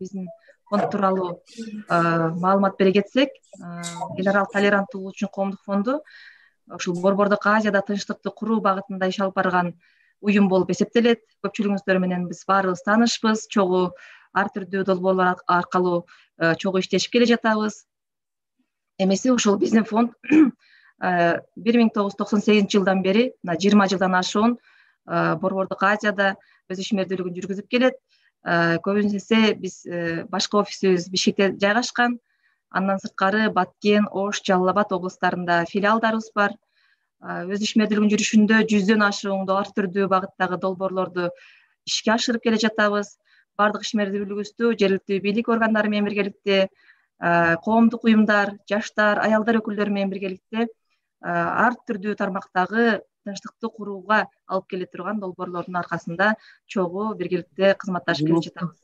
биздин фонд тууралуу маалымат бере кетсек, эл аралык толеранттуулук үчүн коомдук фонду ушул Борбордук Азияда тынчтыкты куруу багытында иш алып барган уюм болуп эсептелет. Көпчүлүгүңүздөр менен биз баарыбыз таанышпыз, чогуу ар түрдүү долбоорлор аркылуу чогуу иштешип келе жатабыз. Эмеси ушул биздин фонд 1998-жылдан бери, мына 20 жылдан ашуун Борбордук Азияда өз ишмердүүлүгүн жүргүзүп келет. Көбүнесе биз башкы офисибиз Бишкекте жайгашкан. Андан сырткары Баткен, Ош, Жалал Абад облустарында филиалдарыбыз бар. Өз ишмердүүлүгүнүн жүрүшүндө 100дөн ашуун ар түрдүү багыттагы долбоорлорду ишке ашырып келе жатабыз. Бардык ишмердүүлүгүбүздү жергиликтүү бийлик органдары менен биргеликте, коомдук уюмдар, жаштар, аялдар өкүлдөрү менен биргеликте ар түрдүү тармактагы тынчтыкты курууга алып келе турган долбоорлордун аркасында чогуу биргеликте кызматташып келе жатабыз.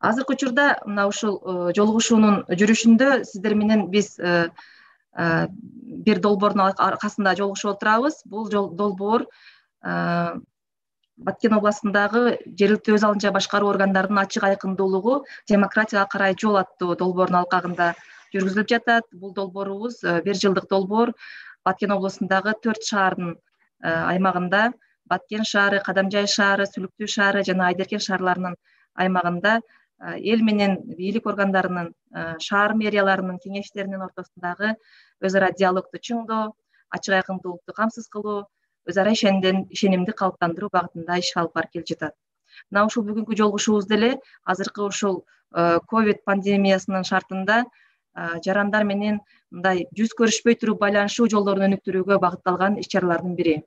Азыркы учурда мына ушул жолугушуунун жүрүшүндө сиздер менен биз бир долбоордун аркасында жолугушуп отурабыз. Бул долбоор Баткен областындагы жергиликтүү өз алдынча башкаруу органдарынын ачык айкындуулугу демократияга карай жол аттуу долбоорунун алкагында жүргүзүлүп жатат. Бул долбоорубуз 1 жылдык долбоор. Баткен областындагы 4 шаардын аймагында, Баткен шаары, Кадамжай шаары, Сүлүктүү шаары жана Айдеркен шаарларынын аймагында эл менен бийлик органдарынын, шаар мэрияларынын кеңештеринин ортосундагы өз ара диалогду чыңдоо, ачык айкындуулукту камсыз кылуу, өз ара ишенимди калыптандыруу багытында иш алып барып келе жатат. Мына ушул бүгүнкү жолугушуубуз деле азыркы ушул ковид пандемиясынын шартында жарандар менен мындай жүз көрүшпөй туруп байланышуу жолдорун өнүктүрүүгө багытталган иш-чаралардын бири.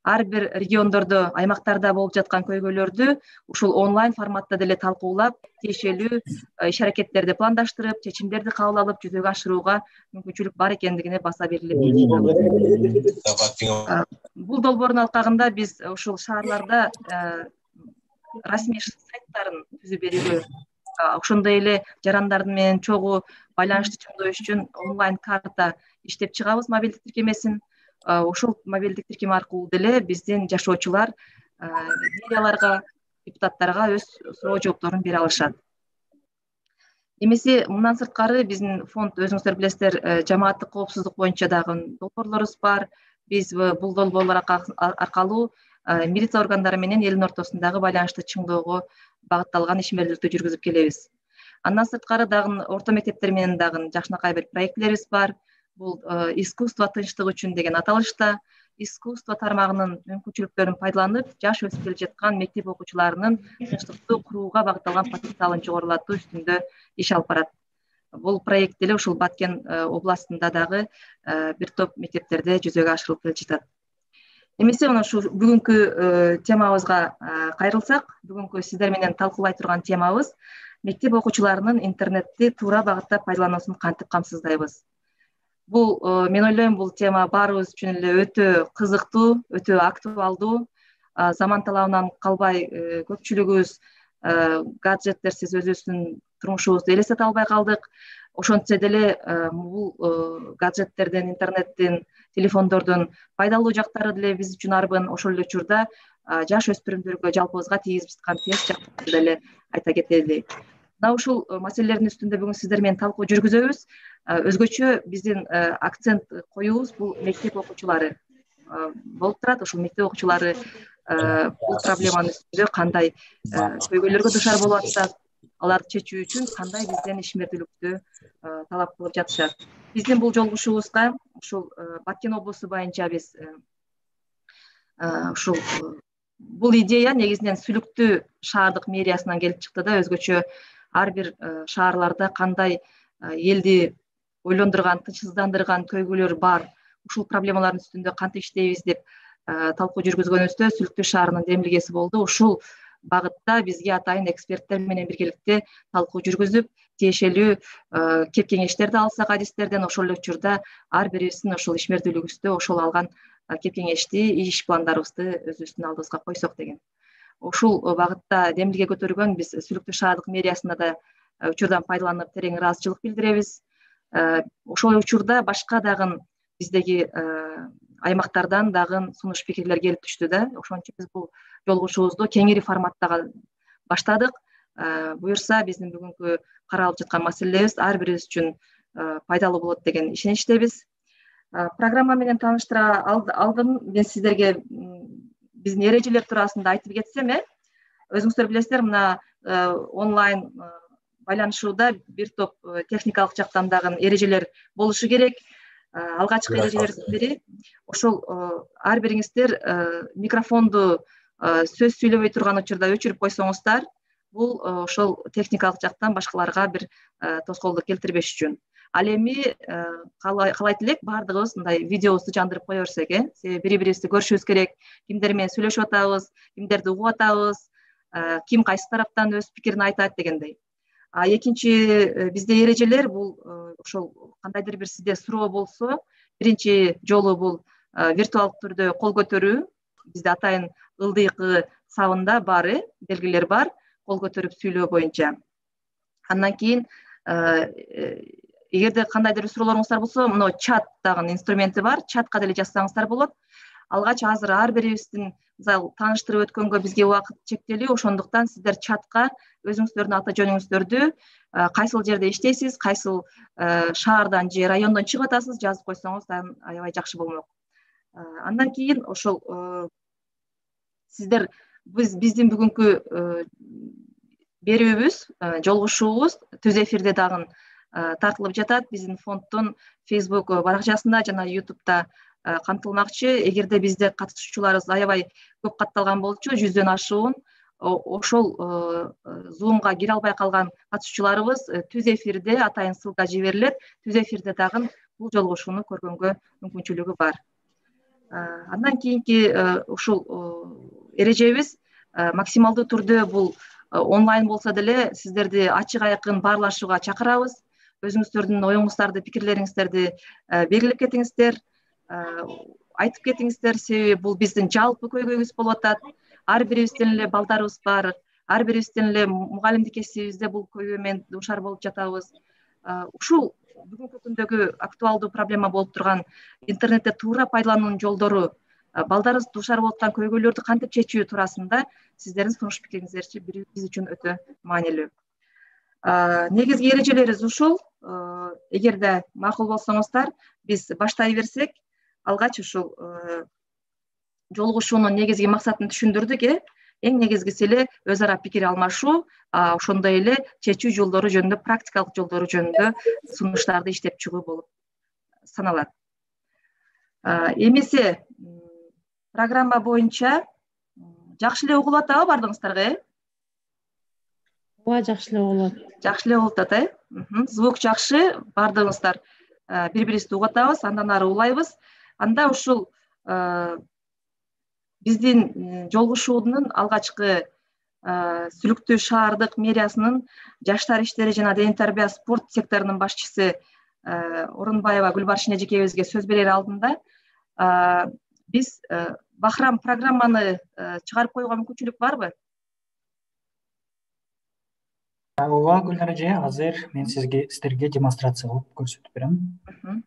Ар бир региондордо, аймактарда болуп жаткан көйгөйлөрдү ушул онлайн форматта деле талкуулап, тиешелүү иш-аракеттерди пландаштырып, чечимдерди кабыл алып жүзөгө ашырууга мүмкүнчүлүк бар экендигине баса белгилеп жатабыз. Бул долбоордун алкагында биз ушул шаарларда расмий сайттарын түзүп берүүгө, ошондой эле жарандар менен чогуу байланышты чыңдоо үчүн онлайн карта иштеп чыгабыз, мобилдик тиркемесин. Ушул мобилдик тиркеме аркылуу деле биздин жашоочулар мэрияларга, депутаттарга өз суроо жоопторун бере алышат. Эмеси мындан сырткары биздин фонд, өзүңүздөр билесиздер, жамааттык коопсуздук боюнча дагы долбоорлорубуз бар. Биз бул долбоорлор аркылуу милиция органдары менен элдин ортосундагы байланышты чыңдоого багытталган ишмердүүлүктү жүргүзүп келебиз. Андан сырткары дагы орто мектептер менен дагы жакшынакай бир проектилерибиз бар. Бул искусство тынчтык үчүн деген аталышта искусство тармагынын мүмкүнчүлүктөрүн пайдаланып, жаш өсүп келе жаткан мектеп окуучуларынын тынчтыкты курууга багытталган потенциалын жогорулатуу үстүндө иш алып барат. Бул проект деле ушул Баткен областында дагы бир топ мектептерде жүзөгө ашырылып келе жатат. Эмесе мына ушул бүгүнкү темабызга кайрылсак, бүгүнкү сиздер менен талкуулай турган темабыз мектеп окуучуларынын интернетти туура багытта пайдалануусун кантип камсыздайбыз. Бул мен ойлойм, бул тема баарыбыз үчүн эле өтө кызыктуу, өтө актуалдуу. Заман талабынан калбай көпчүлүгүбүз гаджеттерсиз өзүбүздүн турмушубузду элестете албай калдык. Ошентсе деле бул гаджеттердин, интернеттин, телефондордун пайдалуу жактары деле биз үчүн арбын. Ошол эле учурда жаш өспүрүмдөргө, жалпыбызга тийгизип жаткан терс жактарын деле айта кетели. Мына ушул маселелердин үстүндө бүгүн сиздер менен талкуу жүргүзөбүз. Өзгөчө биздин акцент коюубуз бул мектеп окуучулары болуп турат. Ушул мектеп окуучулары бул проблеманын үстүндө кандай көйгөйлөргө дуушар болуп атышат, аларды чечүү үчүн кандай бизден ишмердүүлүктү талап кылып жатышат. Биздин бул жолугушуубузга ушул Баткен облусу боюнча биз ушул бул идея негизинен Сүлүктүү шаардык мэриясынан келип чыкты да, өзгөчө ар бир шаарларда кандай элди ойлондурган, тынчсыздандырган көйгөйлөр бар, ушул проблемалардын үстүндө кантип иштейбиз деп талкуу жүргүзгөнүбүздө Сүлүктүү шаарынын демилгеси болду. Ушул багытта бизге атайын эксперттер менен биргеликте талкуу жүргүзүп, тиешелүү кеп кеңештерди алсак адистерден, ошол эле учурда ар бирибиздин ошол ишмердүүлүгүбүздө ошол алган кеп кеңешти, иш пландарыбызды өзүбүздүн алдыбызга койсок деген. Ушул багытта демилге көтөргөн биз Сүлүктүү шаардык мэриясына да учурдан пайдаланып терең ыраазычылык билдиребиз. Ошол учурда башка дагы биздеги аймактардан дагы сунуш пикирлер келип түштү да. Ошон үчүн биз бул жолугушуубузду кеңири форматтагы баштадык. Буюрса биздин бүгүнкү каралып жаткан маселелерибиз ар бирибиз үчүн пайдалуу болот деген ишеничтебиз. Программа менен тааныштыра алдым мен сиздерге биздин эрежелер туурасында айтып кетсем, өзүңүздөр билесиздер, мына онлайн байланышууда бир топ техникалык жактан дагы эрежелер болушу керек. Алгачкы эрежелердин бири ошол ар бириңиздер микрофонду сөз сүйлөбөй турган учурда өчүрүп койсоңуздар, бул ошол техникалык жактан башкаларга бир тоскоолдук келтирбеш үчүн. Ал эми каалайт элек баардыгыбыз мындай видеобузду жандырып кое берсек, себеби бири-бирибизди көрүшүбүз керек, кимдер менен сүйлөшүп атабыз, кимдерди угуп атабыз, ким кайсы тараптан өз пикирин айтат дегендей. Экинчи бизде эрежелер бул ошол кандайдыр бир сизде суроо болсо, биринчи жолу бул виртуалдык түрдө кол көтөрүү. Бизде атайын ылдыйкы сабында бар, белгилер бар, кол көтөрүп сүйлөө боюнча. Андан кийин эгерде кандайдыр бир суроолоруңуздар болсо, мына чат дагы инструменти бар, чатка деле жазсаңыздар болот. Алгач азыр ар бирибиздин мисалы тааныштырып өткөнгө бизге убакыт чектелүү, ошондуктан сиздер чатка өзүңүздөрдүн ата жөнүңүздөрдү, кайсыл жерде иштейсиз, кайсыл шаардан же райондон чыгып атасыз жазып койсоңуз дагы аябай жакшы болмок. Андан кийин ошол сиздер биздин бүгүнкү берүүбүз, жолугушуубуз түз эфирде дагы тартылып жатат. Биздин фонддун Facebook баракчасында жана YouTube'да камтылмакчы. Эгерде бизде катышуучуларыбыз аябай көп катталган болчу, 100дөн ашуун, ошол Zoom'га кире албай калган катышуучуларыбыз түз эфирде атайын ссылка жиберилет. Түз эфирде дагы бул жолугушууну көргөнгө мүмкүнчүлүгү бар. Андан кийинки ушул эрежебиз максималдуу түрдө бул онлайн болсо деле сиздерди ачык айкын баарлашууга чакырабыз. Өзүңүздөрдүн оюңуздарды, пикирлериңиздерди белгилеп кетиңиздер, айтып кетиңиздер, себеби бул биздин жалпы көйгөйүбүз болуп атат. Ар бирибиздин эле балдарыбыз бар, ар бирибиздин эле мугалимдик кесибибизде бул көйгөй менен дуушар болуп жатабыз. Ушул бүгүнкү күндөгү актуалдуу проблема болуп турган интернетте туура пайдалануунун жолдору, балдарыбыз дуушар болуп аткан көйгөйлөрдү кантип чечүү туурасында сиздердин сунуш пикириңиздерчи биз үчүн өтө маанилүү. Негизги эрежелерибиз ушул. Эгерде макул болсоңуздар, биз баштай берсек, алгач ушул жолугушуунун негизги максатын түшүндүрдүк. Эң негизгиси эле өз ара пикир алмашуу, ошондой эле чечүү жолдору жөнүндө, практикалык жолдору жөнүндө сунуштарды иштеп чыгуу болуп саналат. Эмесе программа боюнча жакшы эле угулуп атабы баардыгыңыздарга? Ооба, жакшы эле угулат. Жакшы эле болуп атат, Звук жакшы, баардыгыбыздар бири-бирибизди угуп атабыз, андан ары улайбыз. Анда ушул биздин жолугушуунун алгачкы Сүлүктүү шаардык мэриясынын жаштар иштери жана дене тарбия спорт секторунун башчысы Орунбаева Гүлбаршин эжекебизге сөз берер алдында биз Бахрам программаны чыгарып коюуга мүмкүнчүлүк барбы? Ооба, Гүлнар эже, азыр мен сиздерге демонстрация кылып көрсөтүп берем.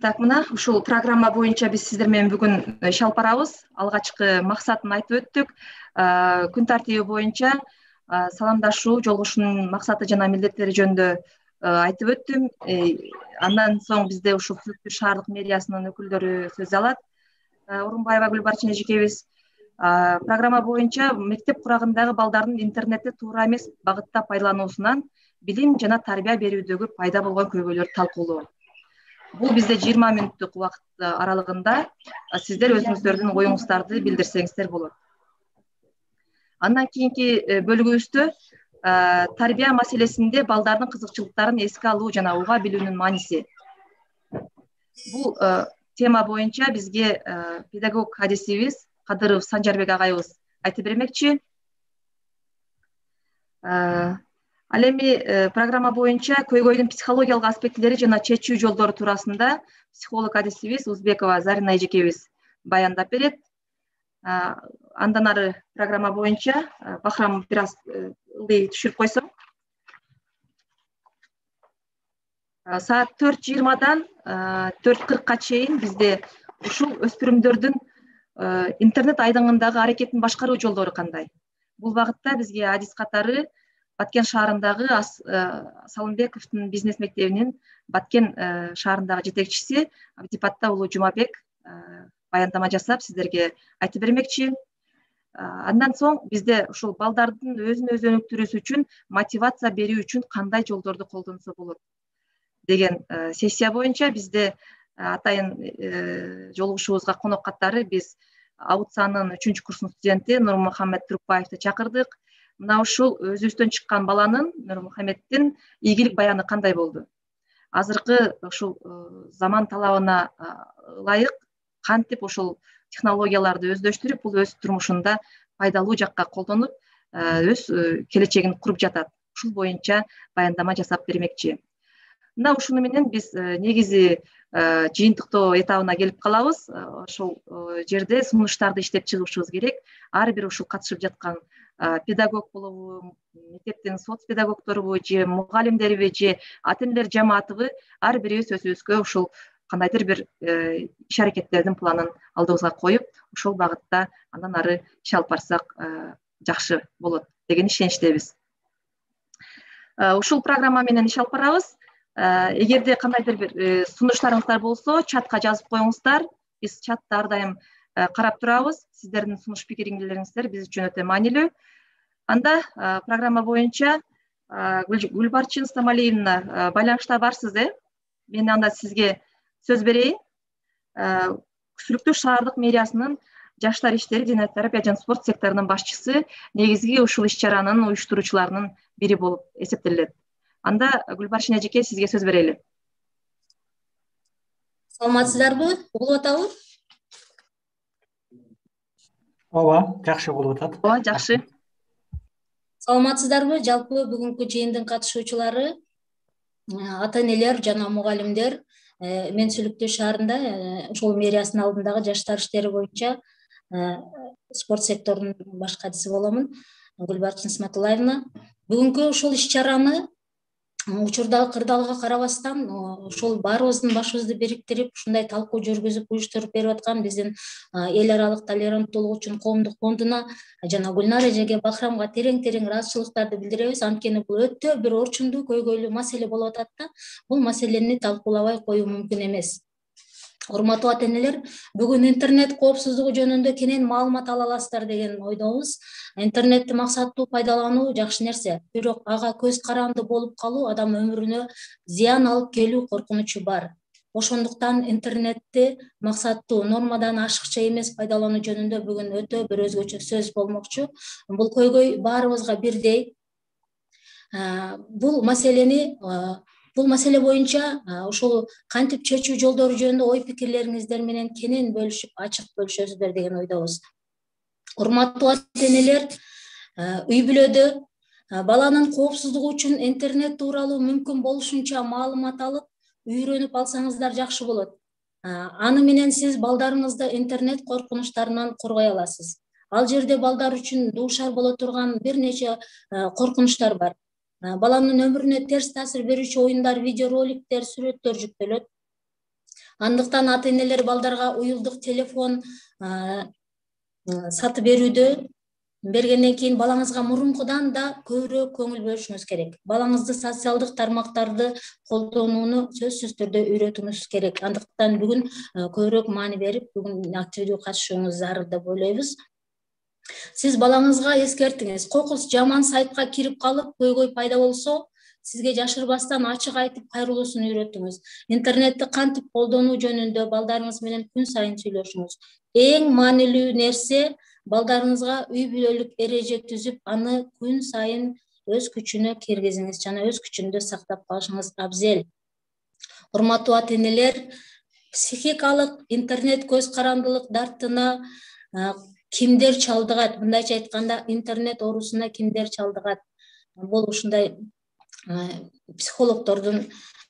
Так, мына ушул программа боюнча биз сиздер менен бүгүн иш алып барабыз. Алгачкы максатын айтып өттүк. Күн тартиби боюнча саламдашуу, жолугушуунун максаты жана милдеттери жөнүндө айтып өттүм. Андан соң бизде ушул Сүлүктүү шаардык мэриясынын өкүлдөрү сөз алат. Орунбаева Гүлбаршин эжекебиз программа боюнча мектеп курагындагы балдардын интернетти туура эмес багытта пайдалануусунан билим жана тарбия берүүдөгү пайда болгон көйгөйлөрдү талкуулоо. Бул бизде 20 мүнөттүк убакыт аралыгында сиздер өзүңүздөрдүн оюңуздарды билдирсеңиздер болот. Андан кийинки бөлүгүбүздө тарбия маселесинде балдардын кызыкчылыктарын эске алуу жана уга билүүнүн мааниси. Бул тема боюнча бизге педагог адисибиз Кадыров Санжарбек агайыбыз айтып бермекчи. Ал эми программа боюнча көйгөйдүн психологиялык аспектилери жана чечүү жолдору туурасында психолог адисибиз Узбекова Зарина эжекебиз баяндап берет. Андан ары программа боюнча Бахрам бир аз ылдый түшүрүп койсоң. Саат 4:20-дан 4:40-ка чейин бизде ушул өспүрүмдөрдүн интернет айдыңындагы аракетин башкаруу жолдору кандай? Бул багытта бизге адис катары Баткен шаарындагы Салымбековдун бизнес мектебинин Баткен шаарындагы жетекчиси Абдипатта уулу Жумабек баяндама жасап сиздерге айтып бермекчи. Андан соң бизде ушул балдардын өзүн өзү өнүктүрүүсү үчүн мотивация берүү үчүн кандай жолдорду колдонсо болот деген сессия боюнча бизде атайын жолугушуубузга конок катары биз АУЦАнын 3-курстун студенти Нурмухаммед Турукбаевди чакырдык. Мына ушул өзүбүздөн чыккан баланын Нурмухаммеддин ийгилик баяны кандай болду? Азыркы ушул заман талабына ылайык кантип ушул технологияларды өздөштүрүп, бул өз турмушунда пайдалуу жакка колдонуп, өз келечегин куруп жатат. Ушул боюнча баяндама жасап бермекчи. Мына ушуну менен биз негизи жыйынтыктоо этабына келип калабыз. Ошол жерде сунуштарды иштеп чыгышыбыз керек. Ар бир ушул катышып жаткан педагог болобу, мектептин соц педагогдорубу же мугалимдерби же ата-энелер жамаатыбы ар бирибиз өзүбүзгө ушул кандайдыр бир иш аракеттердин планын алдыбызга коюп, ошол багытта андан ары иш алып барсак жакшы болот деген ишеничтебиз. Ушул программа менен иш алып барабыз. Эгерде кандайдыр бир сунуштарыңыздар болсо, чатка жазып коюңуздар. Биз чатты ар дайым карап турабыз. Сиздердин сунуш пикириңиздер биз үчүн өтө маанилүү. Анда программа боюнча Гүлбарчын Самалиевна байланышта барсыз, Мен анда сизге сөз берейин. Сүлүктүү шаардык мэриясынын жаштар иштери, дене терапия жана спорт секторунун башчысы, негизги ушул иш-чаранын уюштуруучуларынын бири болуп эсептелет. Анда Гүлбарчын эжеке, сизге сөз берели. Саламатсыздарбы? Угулуп атабы? Ооба, жакшы болуп атат. Ооба, жакшы. Саламатсыздарбы? Жалпы бүгүнкү жыйындын катышуучулары ата-энелер жана мугалимдер. Мен Сүлүктүү шаарында ошол мэриясынын алдындагы жаштар иштери боюнча спорт секторунун баш катчысы боломун, Гүлбарчын Исматуллаевна. Бүгүнкү ушул иш-чараны учурдагы кырдаалга карабастан ошол баарыбыздын башыбызды бириктирип, ушундай талкуу жүргүзүп, уюштуруп берип аткан биздин эл аралык толеранттуулук үчүн коомдук фондуна жана Гүлнар эжеге, Бахрамга терең ыраазычылыктарды билдиребиз. Анткени бул өтө бир орчундуу, көйгөйлүү маселе болуп атат да, бул маселени талкуулабай коюу мүмкүн эмес. Урматтуу ата-энелер, бүгүн интернет коопсуздугу жөнүндө кенен маалымат ала аласыздар деген ойдобуз. Интернетти максаттуу пайдалануу жакшы нерсе, бирок ага көз каранды болуп калуу адам өмүрүнө зыян алып келүү коркунучу бар. Ошондуктан интернетти максаттуу, нормадан ашыкча эмес пайдалануу жөнүндө бүгүн өтө бир өзгөчө сөз болмокчу. Бул көйгөй баарыбызга бирдей. Бул маселе боюнча ошол кантип чечүү жолдору жөнүндө ой пикирлериңиздер менен кенен бөлүшүп, ачык бөлүшөсүздөр деген ойдобуз. Урматтуу ата-энелер, үй бүлөдө баланын коопсуздугу үчүн интернет тууралуу мүмкүн болушунча маалымат алып, үйрөнүп алсаңыздар жакшы болот. Аны менен сиз балдарыңызды интернет коркунучтарынан коргой аласыз. Ал жерде балдар үчүн дуушар боло турган бир нече коркунучтар бар. Баланын өмүрүнө терс таасир берүүчү оюндар, видеороликтер, сүрөттөр жүктөлөт. Андыктан ата-энелер балдарга уюлдук телефон сатып бергенден кийин балаңызга мурункудан да көбүрөөк көңүл бөлүшүңүз керек. Балаңызды социалдык тармактарды колдонууну сөзсүз түрдө үйрөтүүңүз керек. Андыктан бүгүн көбүрөөк маани берип, бүгүн активдүү катышууңуз зарыл деп ойлойбуз. Сиз балаңызга эскертиңиз. Кокус жаман сайтка кирип калып, көйгөй пайда болсо, сизге жашырбастан ачык айтып кайрылуусун үйрөтүңүз. Интернетти кантип колдонуу жөнүндө балдарыңыз менен күн сайын сүйлөшүңүз. Эң маанилүү нерсе балдарыңызга үй бүлөлүк эреже түзүп, аны күн сайын өз күчүнө киргизиңиз жана өз күчүндө сактап калышыңыз абзел. Урматтуу ата-энелер, психикалык интернет көз карандылык дартына кимдер чалдыгат? Мындайча айтканда, интернет оорусуна кимдер чалдыгат? Бул ушундай психологдордун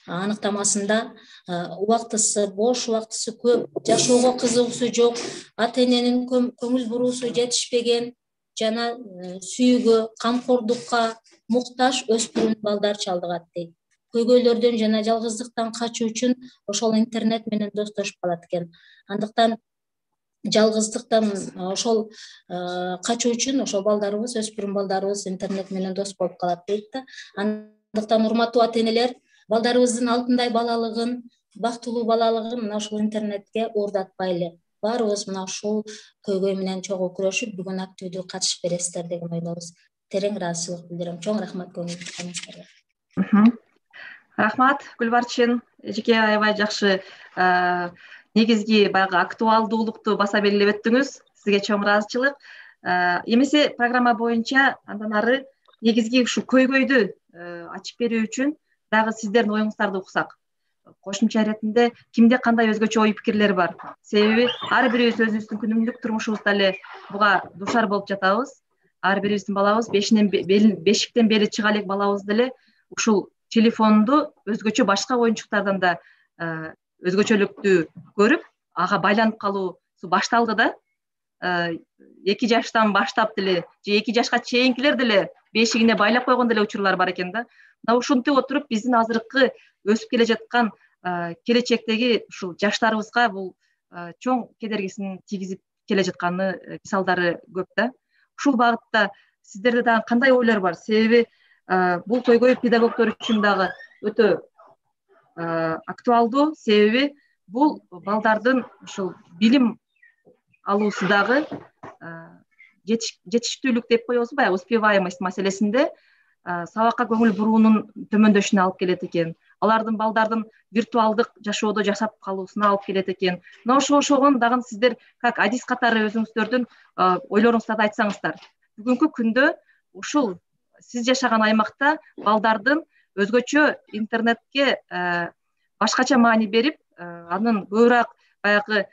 аныктамасында бош убактысы көп, жашоого кызыгуусу жок, ата эненин көңүл буруусу жетишпеген жана сүйүүгө, камкордукка муктаж өспүрүм балдар чалдыгат дейт. Көйгөйлөрдөн жана жалгыздыктан качуу үчүн ошол интернет менен достошуп калат экен. Андыктан жалгыздыктан ошол качуу үчүн ошол балдарыбыз, өспүрүм балдарыбыз интернет менен дос болуп калат дейт да. Андыктан урматтуу ата энелер, балдарыбыздын алтындай балалыгын, бактылуу балалыгын мына ушул интернетке уурдатпайлы. Баарыбыз мына ушул көйгөй менен чогуу күрөшүп, бүгүн активдүү катышып бересиздер деген ойдобуз. Терең ыраазычылык билдирем. Чоң рахмат көңүл бурганыңыздарга. Рахмат Гүлбарчын, эжеке аябай жакшы негизги баягы актуалдуулукту баса белгилеп өттүңүз. Сизге чоң ыраазычылык. Эмесе программа боюнча андан ары негизги ушул көйгөйдү ачып берүү үчүн дагы сиздердин оюңуздарды уксак. Кошумча иретинде кимде кандай өзгөчө ой пикирлер бар? Себеби ар бирибиз өзүбүздүн күнүмдүк турмушубузда эле буга дуушар болуп жатабыз. Ар бирибиздин балабыз бешиктен бери чыга элек балабыз деле ушул телефонду өзгөчө башка оюнчуктардан да өзгөчөлүктүү көрүп, ага байланып калуусу башталды да. 2 жаштан баштап деле же 2 жашка чейинкилер деле бешигине байлап койгон деле учурлар бар экен да. Мына ушинтип отуруп биздин азыркы өсүп келе жаткан келечектеги ушул жаштарыбызга бул чоң кедергисин тийгизип келе жатканы мисалдары көп да. Ушул багытта сиздерде дагы кандай ойлор бар? Себеби бул көйгөй педагогдор үчүн дагы өтө актуалдуу. Себеби бул балдардын ушул билим алуусу дагы жетиштүүлүк деп коебуз, баягы успеваемость маселесинде сабакка көңүл буруунун төмөндөшүнө алып келет экен. Алардын балдардын виртуалдык жашоодо жашап калуусуна алып келет экен. Мына ошогон дагы сиздер как адис катары өзүңүздөрдүн ойлоруңуздарды айтсаңыздар. Бүгүнкү күндө ушул сиз жашаган аймакта балдардын өзгөчө интернетке башкача маани берип, анын көбүрөөк баягы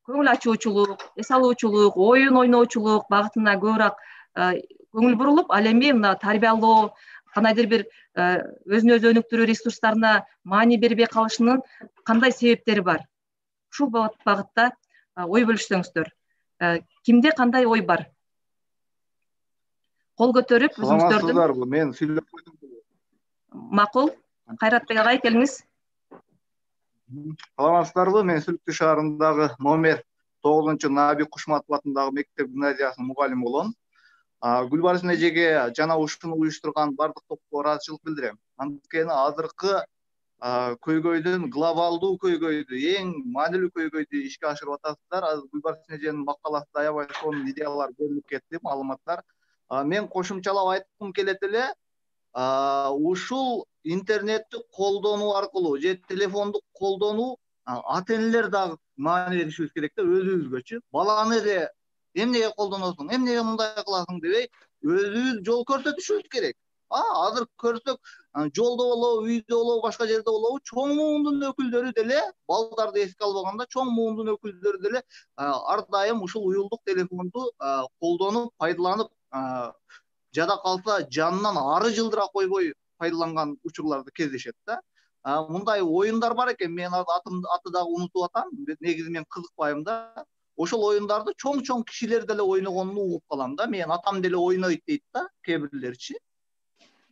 көңүл ачуучулук, эс алуучулук, оюн ойноочулук багытына көбүрөөк көңүл бурулуп, ал эми мына тарбиялоо, кандайдыр бир өзүнө өзү өнүктүрүү ресурстарына маани бербей калышынын кандай себептери бар? Ушул багытта ой бөлүшсөңүздөр. Кимде кандай ой бар? Кол көтөрүп өзүңүздөрдүн. Саламатсыздарбы? Мен сүйлөп койдум. Макул. Кайратбек агай, келиңиз. Саламатсыздарбы? Мен Сүлүктүү шаарындагы номер 9 Наби Кушматов атындагы мектеп гимназиясынын мугалими болом. Гүлбарчын эжеге жана ушуну уюштурган бардык топко ыраазычылык билдирем. Анткени азыркы көйгөйдүн, глобалдуу көйгөйдү, эң маанилүү көйгөйдү ишке ашырып атасыздар. Азыр Гүлбарчын эженин макаласында аябай сонун идеялар берилип кетти, маалыматтар. Мен кошумчалап айткым келет эле, ушул интернетти колдонуу аркылуу же телефонду колдонуу ата энелер дагы маани беришибиз керек да, өзүбүзгөчү. Баланы эле эмнеге колдоносуң, эмнеге мындай кыласың дебей, өзүбүз жол көрсөтүшүбүз керек. Азыр көрсөк, жолдо болобу, үйдө болобу, башка жерде болобу, чоң муундун өкүлдөрү деле, балдарды эске албаганда, чоң муундун өкүлдөрү деле ар дайым ушул уюлдук телефонду колдонуп, пайдаланып, жада калса жанынан ары жылдыра койбой пайдаланган учурларды кездешет да. Мындай оюндар бар экен, мен аты дагы унутуп атам, негизи мен кызыкпайм да. Ошол оюндарды чоң кишилер деле ойногонун угуп калам да. Мен атам деле ойнойт дейт да, кээ бирлерчи.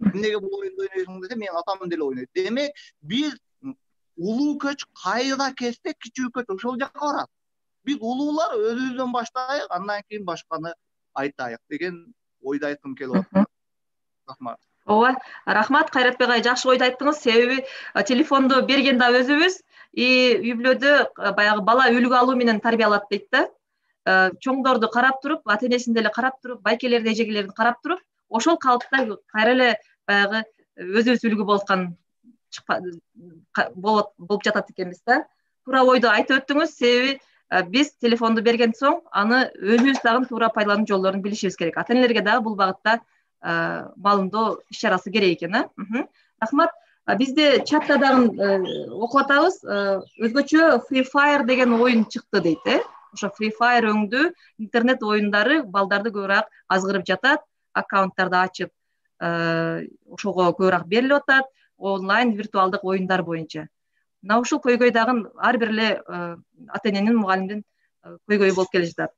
Эмнеге бул оюнду ойнойсуң десе, мен атам деле ойнойт. Демек, биз улуу көч кайда кетсек, кичүү көч ошол жакка барат. Биз улуулар өзүбүздөн баштайык, андан кийин башканы айтайык деген ойду айткым келип атат. Рахмат. Ооба, рахмат Кайратбек агай, жакшы ойду айттыңыз. Себеби телефонду берген да өзүбүз, үй бүлөдө баягы бала үлгү алуу менен тарбиялат дейт да. Чоңдорду карап туруп, ата энесин деле карап туруп, байкелерди, эжегелерди карап туруп, ошол калыпта кайра эле баягы өзүбүз үлгү болуп болуп жатат экенбиз да. Туура ойду айтып өттүңүз. Себеби биз телефонду берген соң, аны өзүбүз дагы туура пайдалануу жолдорун билишибиз керек. Ата энелерге дагы бул багытта маалымдоо иш чарасы керек экен. Рахмат. Бизде чатта дагы окуп атабыз. Өзгөчө Free Fire деген оюн чыкты дейт. Ошо Free Fire өңдүү интернет оюндары балдарды көбүрөөк азгырып жатат, аккаунттарды ачып. ошого көбүрөөк берилип атат, онлайн виртуалдык оюндар боюнча. Мына ушул көйгөй дагы ар бир эле ата эненин, мугалимдин көйгөйү болуп келе жатат.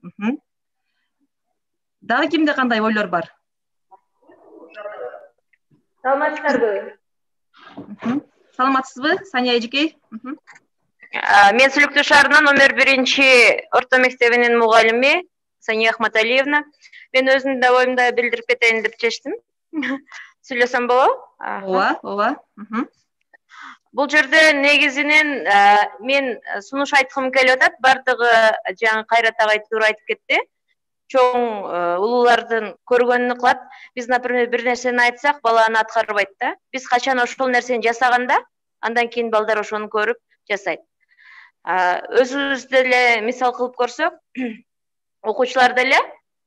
Дагы кимде кандай ойлор бар? Саламатсыздарбы? Саламатсызбы, Сания эжекей? Мен Сүлүктүү шаарынын номер 1-орто мектебинин мугалими Сания Ахматалиевна. Мен өзүмдүн да оюмду билдирип кетейин деп чечтим. Сүйлөсөм болобу? Ооба. Бул жерде негизинен мен сунуш айткым келип атат. Бардыгы жаңы Кайрат агай туура айтып кетти. Чоң улуулардын көргөнүнү кылат. Биз, например, бир нерсени айтсак, бала аны аткарбайт да. Биз качан ошол нерсени жасаганда, андан кийин балдар ошону көрүп жасайт. Өзүбүз деле мисал кылып көрсөк, окуучулар деле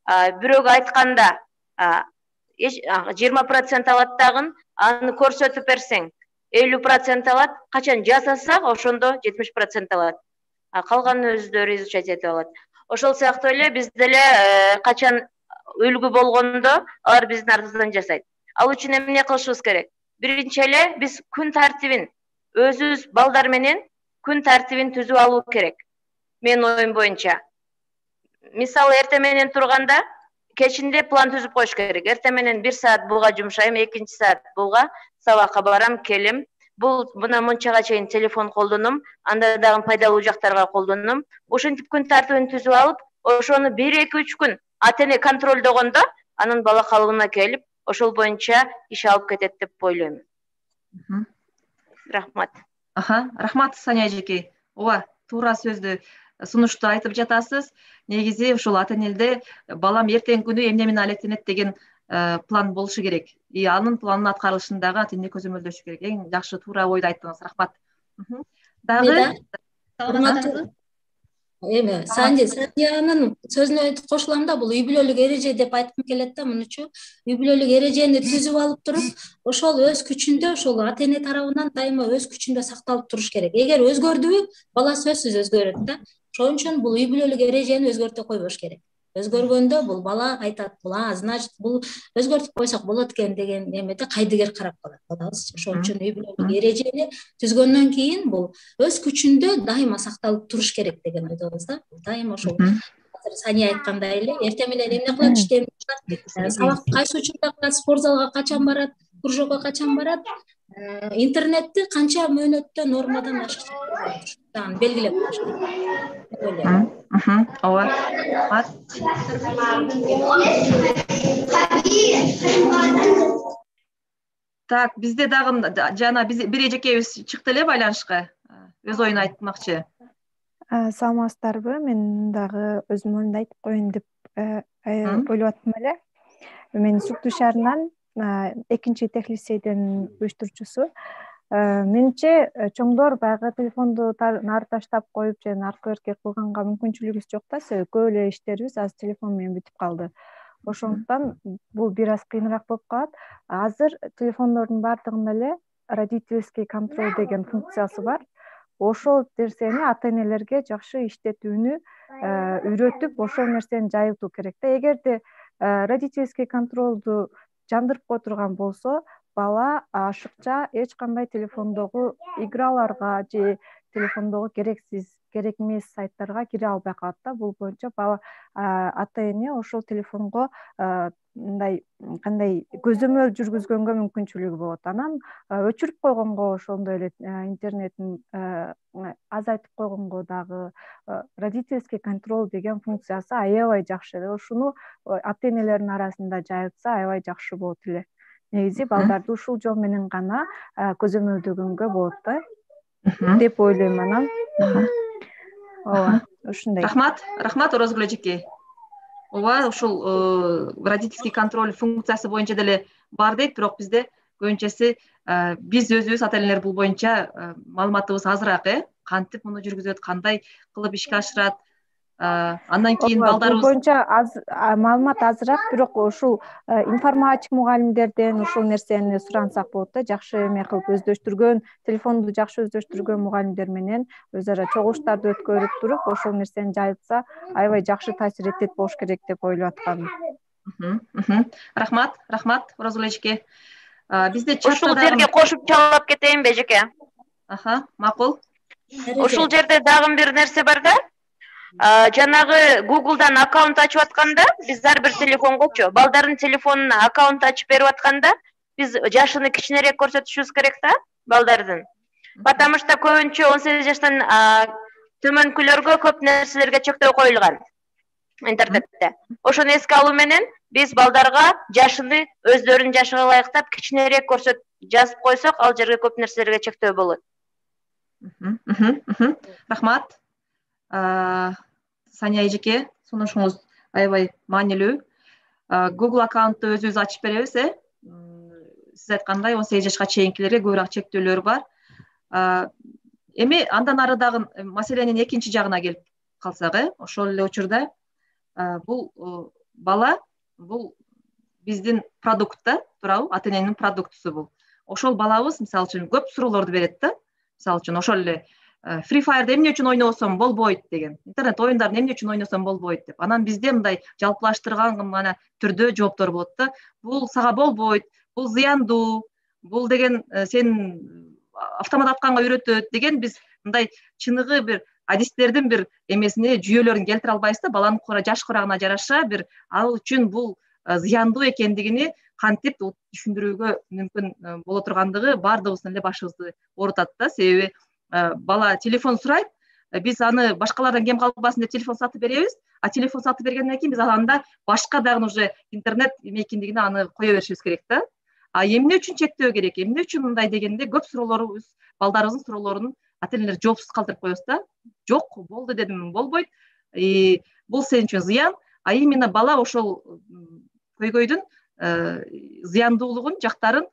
бирөөгө айтканда 20% алат дагы, аны көрсөтүп берсең 50% алат, качан жасасак ошондо 70% алат. Калганын өздөрү изучать этип алат. Ошол сыяктуу эле биз деле качан үлгү болгондо алар биздин артыбыздан жасайт. Ал үчүн эмне кылышыбыз керек? Биринчи эле биз күн тартибин өзүбүз балдар менен күн тартибин түзүп алуу керек. Менин оюм боюнча. Мисалы, эртең менен турганда кечинде план түзүп коюш керек. Эртең менен 1 саат буга жумшайм, 2 саат буга, сабакка барам, келем. Бул мына мынчага чейин телефон колдоном, анда дагы пайдалуу жактарга колдоном. Ошентип күн тартибин түзүп алып, ошону 1-2-3 күн ата эне контролдогондо, анын бала калыбына келип, ошол боюнча иш алып кетет деп ойлойм. Рахмат. Рахмат, Сания эжекей. Ооба, туура сөздү, сунушту айтып жатасыз. Негизи ушул ата энеде балам эртең күнү эмне менен алектенет деген план болушу керек. И анын планын аткарылышын дагы ата эне көзөмөлдөшү керек. Эң жакшы, туура ойду айттыңыз. Рахмат. Дагы саламатсызбы? Сандиянын сөзүнө кошулам да, бул үй бүлөлүк эреже деп айткым келет да, мунучу. Үй бүлөлүк эрежени түзүп алып туруп, ошол өз күчүндө, ошол ата эне тарабынан дайыма өз күчүндө сакталып туруш керек. Эгер өзгөрдүбү, бала сөзсүз өзгөрөт да. Ошон үчүн бул үй бүлөлүк эрежени өзгөртө койбош керек. Өзгөргөндө бул бала айтат, значит, бул өзгөртүп койсок болот экен деген эмеде кайдыгер карап калат балабыз. Ошон үчүн үй бүлөлүк эрежени түзгөндөн кийин бул өз күчүндө дайыма сакталып туруш керек деген ойдобуз да. Дайыма ошол Сания айткандай эле, эртең менен эмне кылат, иштеп кылат, сабак кайсы учурда кылат, спорт залга качан барат, кружокко качан барат, интернетти канча мөөнөттө нормадан ашыкча белгилеп коюш керек. Ооба. Так, бизде дагы жана бир эжекебиз чыкты эле байланышка. Өз оюн айтмакчы. Саламатсыздарбы? Мен дагы өзүмдүн оюмду айтып коеюн деп ойлоп аттым эле. Мен Сүлүктүү шаарынан 2-тех-лицейдин уюштуруучусу. Менимче чоңдор баягы телефонду нары таштап коюп же арка берке кылганга мүмкүнчүлүгүбүз жок да, себеби көп эле иштерибиз азыр телефон менен бүтүп калды. Ошондуктан бул бир аз кыйыныраак болуп калат. Азыр телефондордун баардыгында эле родительский контроль деген функциясы бар. Ошол нерсени ата энелерге жакшы иштетүүнү үйрөтүп, ошол нерсени жайылтуу керек да. Эгерде родительский контролду жандырып кое турган болсо, бала ашыкча эч кандай телефондогу играларга же телефондогу керек эмес сайттарга кире албай калат да. Бул боюнча бала ата эне ошол телефонго мындай кандай көзөмөл жүргүзгөнгө мүмкүнчүлүгү болот. Анан өчүрүп койгонго, ошондой эле интернетин азайтып койгонго дагы родительский контроль деген функциясы аябай жакшы. Ушуну ата энелердин арасында жайылтса аябай жакшы болот эле. Негизи балдарды ушул жол менен гана көзөмөлдөгөнгө болот да деп ойлойм анан. Ооба, ушундай. Рахмат Орозгүл эжекей. Ооба, ушул родительский контроль функциясы боюнча деле бар дейт, бирок бизде көбүнчөсү биз өзүбүз ата энелер бул боюнча маалыматыбыз азыраак, кантип муну жүргүзөт, кандай кылып ишке ашырат. Андан кийин балдарыбыз бул боюнча маалымат азыраак, бирок ушул информатик мугалимдерден ушул нерсени сурансак болот да. Жакшы эме кылып өздөштүргөн, телефонду жакшы өздөштүргөн мугалимдер менен өз ара чогулуштарды өткөрүп туруп, ошол нерсени жайылтса аябай жакшы таасир этет болуш керек деп ойлоп аткам. Рахмат Оразгүл эжеке. Бизде ушул жерге кошуп чалып кетейинби эжеке? Макул. Ушул жерде дагы бир нерсе бар да. Жанагы Google'дан аккаунт ачып атканда, биз ар бир телефонгочу балдардын телефонуна аккаунт ачып берип атканда, биз жашыны кичинерээк көрсөтүшүбүз керек да балдардын. Потому что көбүнчө 18 жаштан төмөнкүлөргө көп нерселерге чектөө коюлган интернетте. Ошону эске алуу менен биз балдарга жашыны өздөрүнүн жашыга ылайыктап кичинерээк жазып койсок, ал жерге көп нерселерге чектөө болот. Рахмат. Сания эжеке, сунушуңуз аябай маанилүү. Google аккаунтту өзүбүз ачып беребиз, Сиз айткандай 18 жашка чейинкилерге көбүрөөк чектөөлөр бар. Эми андан ары дагы маселенин экинчи жагына келип калсак, ошол эле учурда бул бала бул биздин продукт да, туурабы? Ата-эненин продуктусу бул. Ошол балабыз мисалы үчүн көп суроолорду берет да. Мисалы үчүн ошол эле Free Fire'да эмне үчүн ойносом болбойт деген. Интернет оюндарын эмне үчүн ойносом болбойт деп. Анан бизде мындай жалпылаштырган гана түрдө жооптор болот да. Бул сага болбойт, бул зыяндуу, бул деген сен автомат атканга үйрөтөт деген биз мындай чыныгы бир адистердин бир эмесине жүйөлөрүн келтире албайбыз да. Баланын жаш курагына жараша бир ал үчүн бул зыяндуу экендигини кантип түшүндүрүүгө мүмкүн боло тургандыгы баардыгыбыздын эле башыбызды оорутат да. Себеби бала телефон сурайт, биз аны башкалардан кем калбасын деп телефон сатып беребиз, а телефон сатып бергенден кийин биз анда башка дагы уже интернет эме экендигине аны кое беришибиз керек да. А эмне үчүн чектөө керек, эмне үчүн мындай дегенде көп суроолорубуз, балдарыбыздын суроолорун ата-энелер жоопсуз калтырып коебуз да. Жок, болду дедим, болбойт. Бул сен үчүн зыян, а именно бала ошол көйгөйдүн зыяндуулугун, жактарын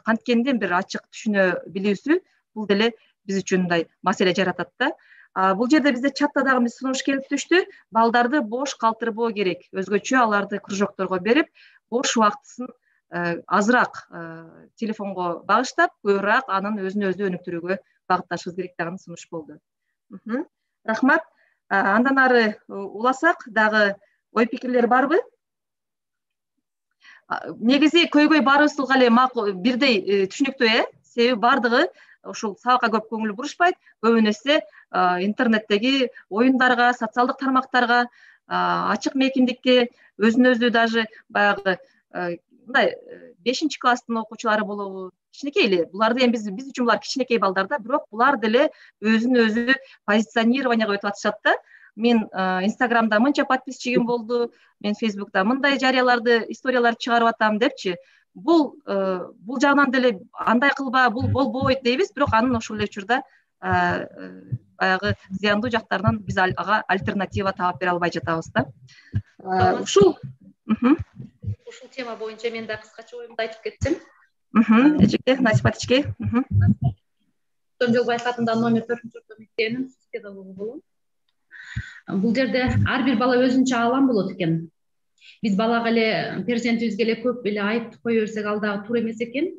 канткенден бир ачык түшүнө билүүсү бул деле биз үчүн мындай маселе жаратат да. Бул жерде бизде чатта дагы биз сунуш келип түштү. Балдарды бош калтырбоо керек. Өзгөчө аларды кружокторго берип, бош убактысын азыраак телефонго багыштап, көбүрөөк анын өзүн өзү өнүктүрүүгө багытташыбыз керек деген сунуш болду. Рахмат. Андан ары уласак дагы ой пикирлер барбы? Негизи көйгөй баарыбызга эле макул, бирдей түшүнүктүү, себеби баардыгы ушул сабакка көп көңүл бурушпайт. Көбүнесе интернеттеги оюндарга, социалдык тармактарга, ачык мейкиндикке, өзүн өзү даже баягы мындай 5-класстын окуучулары болобу, кичинекей эле. Буларды эми биз үчүн булар кичинекей балдар да, бирок булар деле өзүн өзү позиционированиеге өтүп атышат да. Мен Инстаграмда мынча подписчигим болду, мен Фейсбукта мындай жарыяларды, историяларды чыгарып атам депчи. Бул жагынан деле андай кылба, бул болбойт дейбиз, бирок анын ошол эле учурда баягы зыяндуу жактарынан биз ага альтернатива таап бере албай жатабыз да. Ушул тема боюнча мен да кыскача оюмду айтып кетсем. Эжеке, Насипат эжеке. Жолбаев атындагы номер 4-орто мектебинин педагогу болом. Бул жерде ар бир бала өзүнчө алам болот экен. Биз балага эле, перзентибизге эле көп эле айып кое берсек, ал дагы туура эмес экен.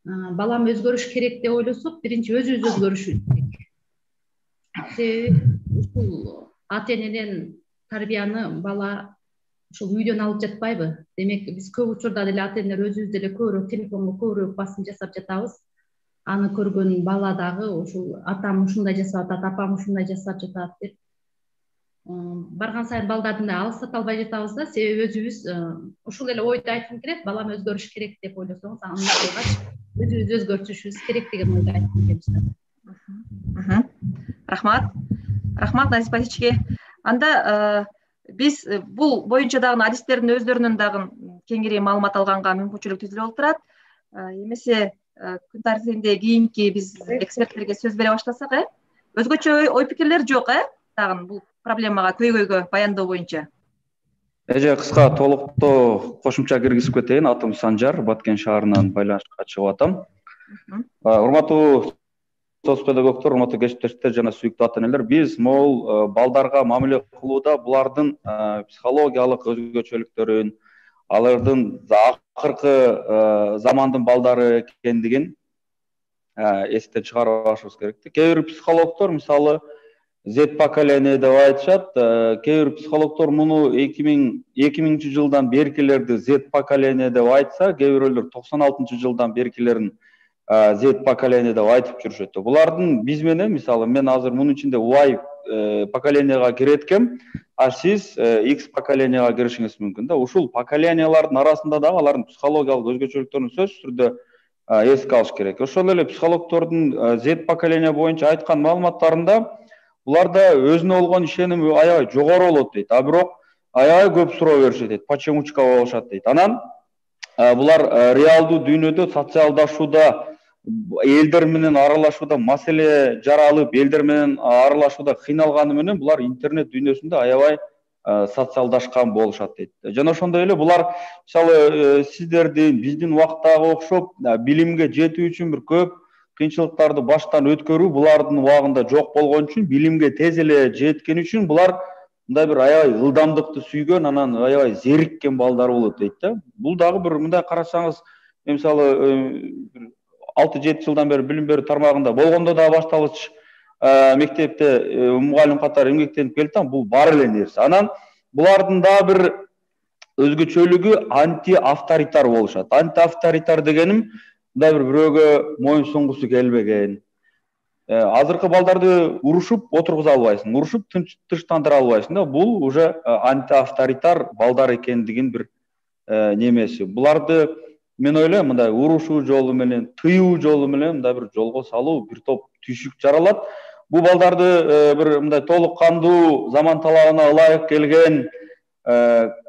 Балам өзгөрүш керек деп ойлосок, биринчи өзүбүз өзгөрүшүбүз керек. Себеби ушул ата-энеден тарбияны бала ушул үйдөн алып жатпайбы? Демек, биз көп учурда деле ата-энелер өзүбүз деле көбүрөөк телефонго көбүрөөк басым жасап жатабыз. Аны көргөн бала дагы ушул атам ушундай жасап атат, апам ушундай жасап жатат деп барган сайын балдардын да алыстата албай жатабыз да. Себеби өзүбүз ушул эле ойду айткым келет. Балам өзгөрүш керек деп ойлосоңуз, аны өзүбүз өзгөртүшүбүз керек деген ойду айткым келет. Рахмат Насипат эжеке. Анда биз бул боюнча дагы адистердин өздөрүнүн дагы кеңири маалымат алганга мүмкүнчүлүк түзүлүп отурат. Эмесе күн тартибинде кийинки биз эксперттерге сөз бере баштасак, өзгөчө ой пикирлер жок, дагы бул проблемага, көйгөйгө баяндоо боюнча. Эже кыска толуктоо кошумча киргизип кетейин. Атым Санжар, Баткен шаарынан байланышка чыгып атам. Урматтуу соц педагогдор, урматтуу кесиптештер жана сүйүктүү ата-энелер, биз могул балдарга мамиле кылууда булардын психологиялык өзгөчөлүктөрүн, алардын акыркы замандын балдары экендигин эстен чыгарып алышыбыз керек. Кээ бир психологдор мисалы Z поколение деп айтышат. Кээ бир психологдор муну 2000 жылдан беркилерди Z поколение деп айтса, кээ бирөөлөр 96 жылдан беркилерин Z поколение деп айтып жүрүшөт. Булардын биз менен, мисалы, мен азыр мунун ичинде Y поколениега кирет экем, а сиз X поколениега киришиңиз мүмкүн да. Ушул поколениялардын арасында дагы алардын психологиялык өзгөчөлүктөрүн сөзсүз түрдө эске алыш керек. Ошол эле психологдордун Z поколение боюнча айткан маалыматтарында буларда өзүнө болгон ишеним аябай жогору болот дейт. А бирок аябай көп суроо беришет дейт. Почемучка болушат дейт. Анан булар реалдуу дүйнөдө социалдашууда, элдер менен аралашууда маселе жаралып, элдер менен аралашууда кыйналганы менен булар интернет дүйнөсүндө аябай социалдашкан болушат дейт. Жана ошондой эле булар мисалы сиздердин, биздин убактагы окшоп билимге жетүү үчүн бир көп кыйынчылыктарды баштан өткөрүү булардын убагында жок болгон үчүн, билимге тез эле жеткен үчүн булар мындай бир аябай ылдамдыкты сүйгөн, анан аябай зериккен балдар болот дейт да. Бул дагы бир мындай карасаңыз, мисалы 6-7 жылдан бери билим берүү тармагында болгондо да башталгыч мектепте мугалим катары эмгектенип келатам, бул бар эле нерсе. Анан булардын дагы бир өзгөчөлүгү антиавторитар болушат. Антиавторитар дегеним мындай бирөөгө моюн сунгусу келбеген. Азыркы балдарды урушуп отургуза албайсың, урушуп тынчтандыра албайсың да. Бул уже антиавторитар балдар экендигин бир немеси. Буларды мен ойлойм мындай урушуу жолу менен, тыюу жолу менен мындай бир жолго салуу, бир топ түйшүк жаралат. Бул балдарды бир мындай толук кандуу, заман талабына ылайык келген,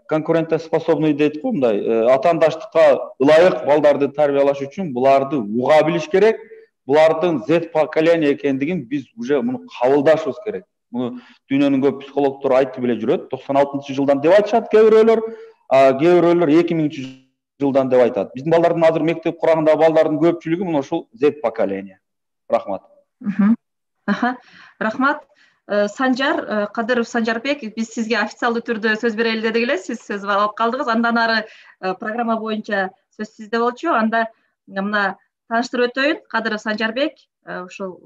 конкурентоспособный дейт го, мындай атаандаштыкка ылайык балдарды тарбиялаш үчүн буларды уга билиш керек. Булардын Z поколение экендигин биз уже муну кабылдашыбыз керек. Муну дүйнөнүн көп психологдору айтып эле жүрөт. 96 жылдан деп айтышат кээ бирөөлөр, кээ бирөөлөр 2000 жылдан деп айтат. Биздин балдардын азыр мектеп курагындагы балдардын көпчүлүгү мына ушул Z поколение. Рахмат. Рахмат. Санжар Кадыров Санжарбек, биз сизге официалдуу түрдө сөз берели дедик эле, сиз сөз алып калдыңыз. Андан ары программа боюнча сөз сизде болчу. Анда мына тааныштырып өтөйүн. Кадыров Санжарбек ушул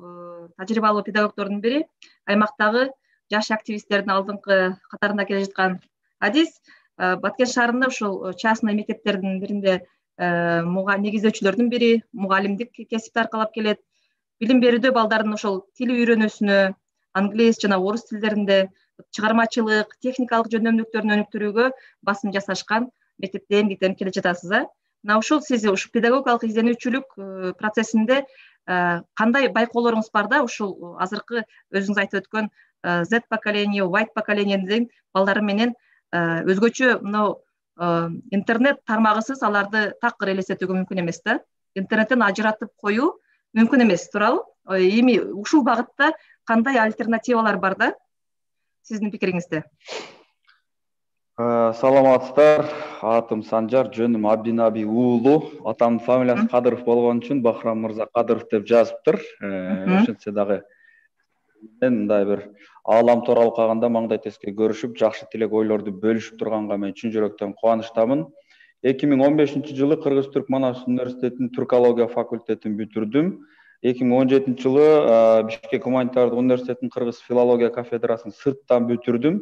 тажрыйбалуу педагогдордун бири, аймактагы жаш активисттердин алдыңкы катарында келе жаткан адис. Баткен шаарында ушул частный мектептердин биринде негиздөөчүлөрдүн бири, мугалимдик кесипти аркалап келет. Билим берүүдө балдардын ошол тил үйрөнүүсүнө, англис жана орус тилдеринде чыгармачылык, техникалык жөндөмдүктөрүн өнүктүрүүгө басым жасашкан мектепте эмгектенип келе жатасыз. Мына ушул сиз ушул педагогикалык изденүүчүлүк процессинде кандай байкоолоруңуз бар да, ушул азыркы өзүңүз айтып өткөн Z поколение, Y поколениенин балдары менен өзгөчө мына интернет тармагысыз аларды такыр элестетүүгө мүмкүн эмес да. Интернеттен ажыратып коюу мүмкүн эмес, туурабы? Эми ушул багытта кандай альтернативалар бар да? Сиздин пикириңизде. Саламатсыздар. Атым Санжар, жөнүм Абдинаби уулу. Атамдын фамилиясы Кадыров болгон үчүн Бахрам мырза Кадыров деп жазыптыр. Ошентсе дагы мен мындай бир аалам тууралуу калганда маңдай теске көрүшүп, жакшы тилек ойлорду бөлүшүп турганга мен чын жүрөктөн кубанычтамын. 2015 жылы Кыргыз-Түрк Манас университетинин түркология факультетин бүтүрдүм. 2017 жылы Бишкек гуманитардык университетинин Кыргыз филология кафедрасын сырттан бүтүрдүм.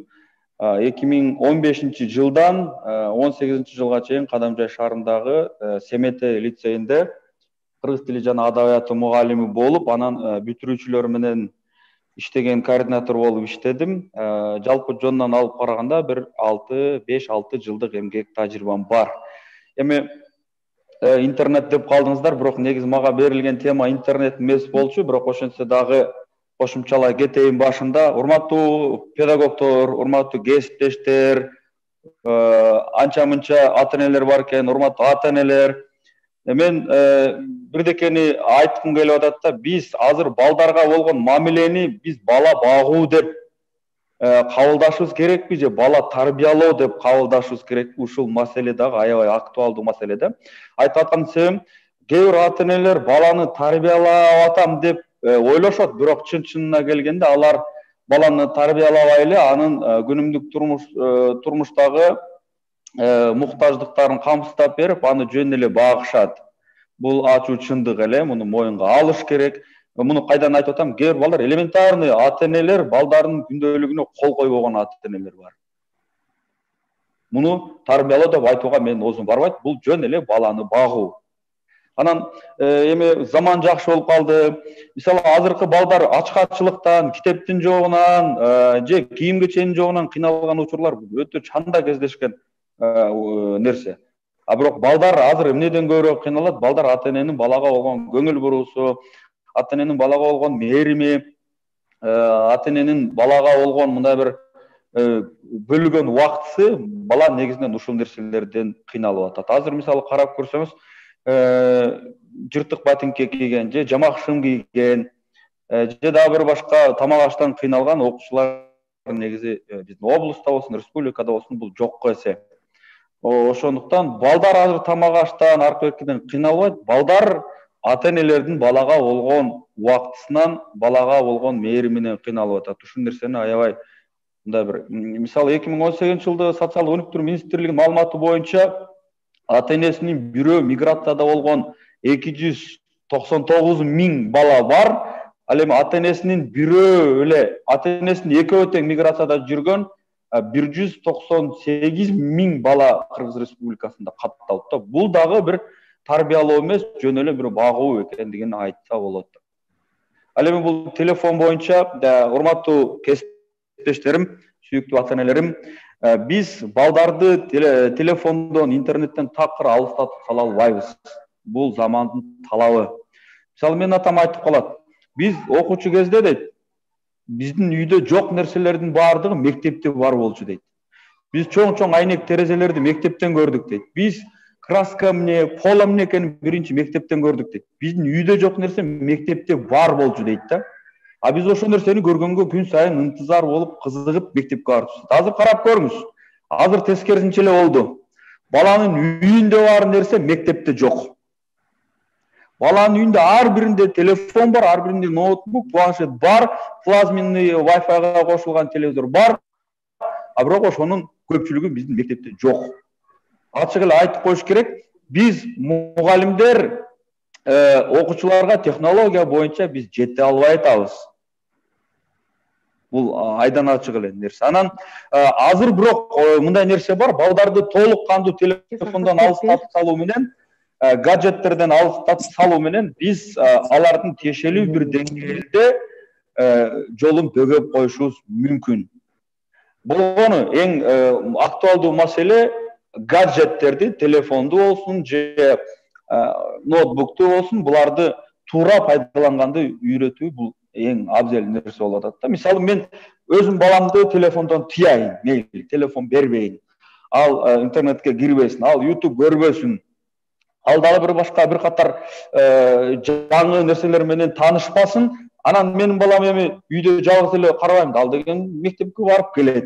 2015 жылдан 18 жылга чейин Кадамжай шаарындагы Семете лицейинде кыргыз тили жана адабияты мугалими болуп, анан бүтүрүүчүлөр менен иштеген координатор болуп иштедим. Жалпы жонунан алып караганда бир 5-6 жылдык эмгек тажрыйбам бар. Эми интернет деп калдыңыздар, бирок негизи мага берилген тема интернет эмес болчу, бирок ошентсе дагы кошумчалай кетейин башында. Урматтуу педагогдор, урматтуу кесиптештер, анча-мынча ата-энелер бар экен, урматтуу ата-энелер. Мен бирдекени айткым келип атат да, биз азыр балдарга болгон мамилени биз бала багуу деп кабылдашыбыз керекпи же бала тарбиялоо деп кабылдашыбыз керекпи? Ушул маселе дагы аябай актуалдуу маселе да. Айтып аткан себебим, кээ бир ата-энелер баланы тарбиялап атам деп ойлошот, бирок чын-чынына келгенде алар баланы тарбиялабай эле анын күнүмдүк турмуштагы муктаждыктарын камсыздап берип, аны жөн эле багышат. Бул ачуу чындык эле, муну моюнга алыш керек. муну кайдан айтып атам? Кээ бир балдар элементарный ата-энелер балдарынын күндөлүгүнө кол койбогон ата-энелер бар. Муну тарбиялоо деп айтууга менин оозум барбайт. Бул жөн эле баланы багуу. Анан эми заман жакшы болуп калды. Мисалы азыркы балдар ачкачылыктан, китептин жогунан, же кийим кеченин жогунан кыйналган учурлар өтө чанда кездешкен нерсе. А бирок балдар азыр эмнеден көбүрөөк кыйналат? Балдар ата-эненин балага болгон көңүл буруусу, ата-эненин балага болгон мээрими, ата-эненин балага болгон мындай бир бөлгөн убактысы бала негизинен ушул нерселерден кыйналып атат. Азыр мисалы карап көрсөңүз, жыртык ботинке кийген же жамак шым кийген же дагы бир башка тамак аштан кыйналган окуучулар негизи биздин облустта болсун, республикада болсун бул жокко эсе. Ошондуктан балдар азыр тамак аштан, аркы беркиден кыйналбайт. Балдар ата-энелердин балага болгон убактысынан, балага болгон мээриминен кыйналып атат. Ушул нерсени аябай мындай бир мисалы 2018-жылды социалдык өнүктүрүү министрлигинин маалыматы боюнча ата-энесинин бирөө миграцияда болгон 299 000 бала бар. Ал эми ата-энесинин бирөө эле, ата-энесинин экөө тең миграцияда жүргөн 198 000 бала Кыргыз Республикасында катталды. Бул дагы бир тарбиялоо эмес, жөн эле бир багуу экендигин айтса болот. Ал эми бул телефон боюнча урматтуу кесиптештерим, сүйүктүү ата-энелерим, биз балдарды телефондон, интернеттен такыр алыстатып сала албайбыз. Бул замандын талабы. Мисалы менин атам айтып калат. Биз окуучу кезде дейт, биздин үйдө жок нерселердин баардыгы мектепте бар болчу дейт. Биз чоң-чоң айнек терезелерди мектептен көрдүк дейт. Биз краска эмне, пол эмне экенин биринчи мектептен көрдүк дейт. Биздин үйдө жок нерсе мектепте бар болчу дейт да. А биз ошол нерсени көргөнгө күн сайын ынтызар болуп, кызыгып мектепке барып. Азыр карап көрүңүз. Азыр тескерисинче эле болду. Баланын үйүндө бар нерсе мектепте жок. Баланын үйүндө ар биринде телефон бар, ар биринде ноутбук, планшет бар, плазменный Wi-Fi-га кошулган телевизор бар. А бирок ошонун көпчүлүгү биздин мектепте жок. Ачык эле айтып коюш керек. Биз мугалимдер окуучуларга технология боюнча биз жете албай атабыз. Бул айдан ачык эле нерсе. Анан азыр бирок мындай нерсе бар, балдарды толук кандуу телефондон алыстатып салуу менен, гаджеттерден алыстатып салуу менен биз алардын тиешелүү бир деңгээлде жолун бөгөп коюшубуз мүмкүн. Болгону эң актуалдуу маселе гаджеттерди, телефонду болсун же ноутбукту болсун, буларды туура пайдаланганды үйрөтүү бул эң абзел нерсе болуп атат да. Мисалы мен өзүм баламды телефондон тыяйын, мейли, телефон бербейин. Ал интернетке кирбесин, ал YouTube көрбөсүн. Ал дагы бир башка бир катар жаңы нерселер менен таанышпасын. Анан менин балам эми үйдө жалгыз эле карабайм да, ал деген мектепке барып келет.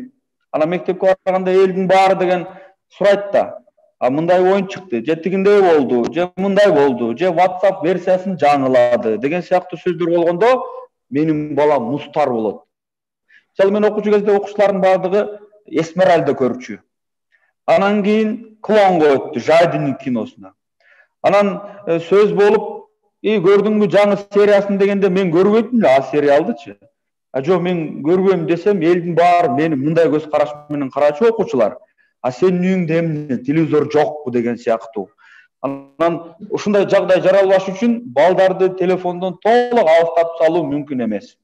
Анан мектепке барганда элдин баары деген сурайт да. А мындай оюн чыкты, же тигиндей болду, же мындай болду, же WhatsApp версиясын жаңылады деген сыяктуу сөздөр болгондо менин балам мустар болот. Мисалы мен окуучу кезде окуучулардын баардыгы Эсмеральда көрчү. Анан кийин Клонго өттү, Жайдын киносуна. Анан сөз болуп, көрдүңбү жаңы сериясын дегенде мен көрбөйдүм эле а сериалдычы. Жок, мен көрбөйм десем, элдин баары мени мындай көз караш менен карачу окуучулар. А сенин үйүңдө эмне, телевизор жокпу деген сыяктуу. Анан ушундай жагдай жаралбаш үчүн балдарды телефондон толук алыстатып салуу мүмкүн эмес.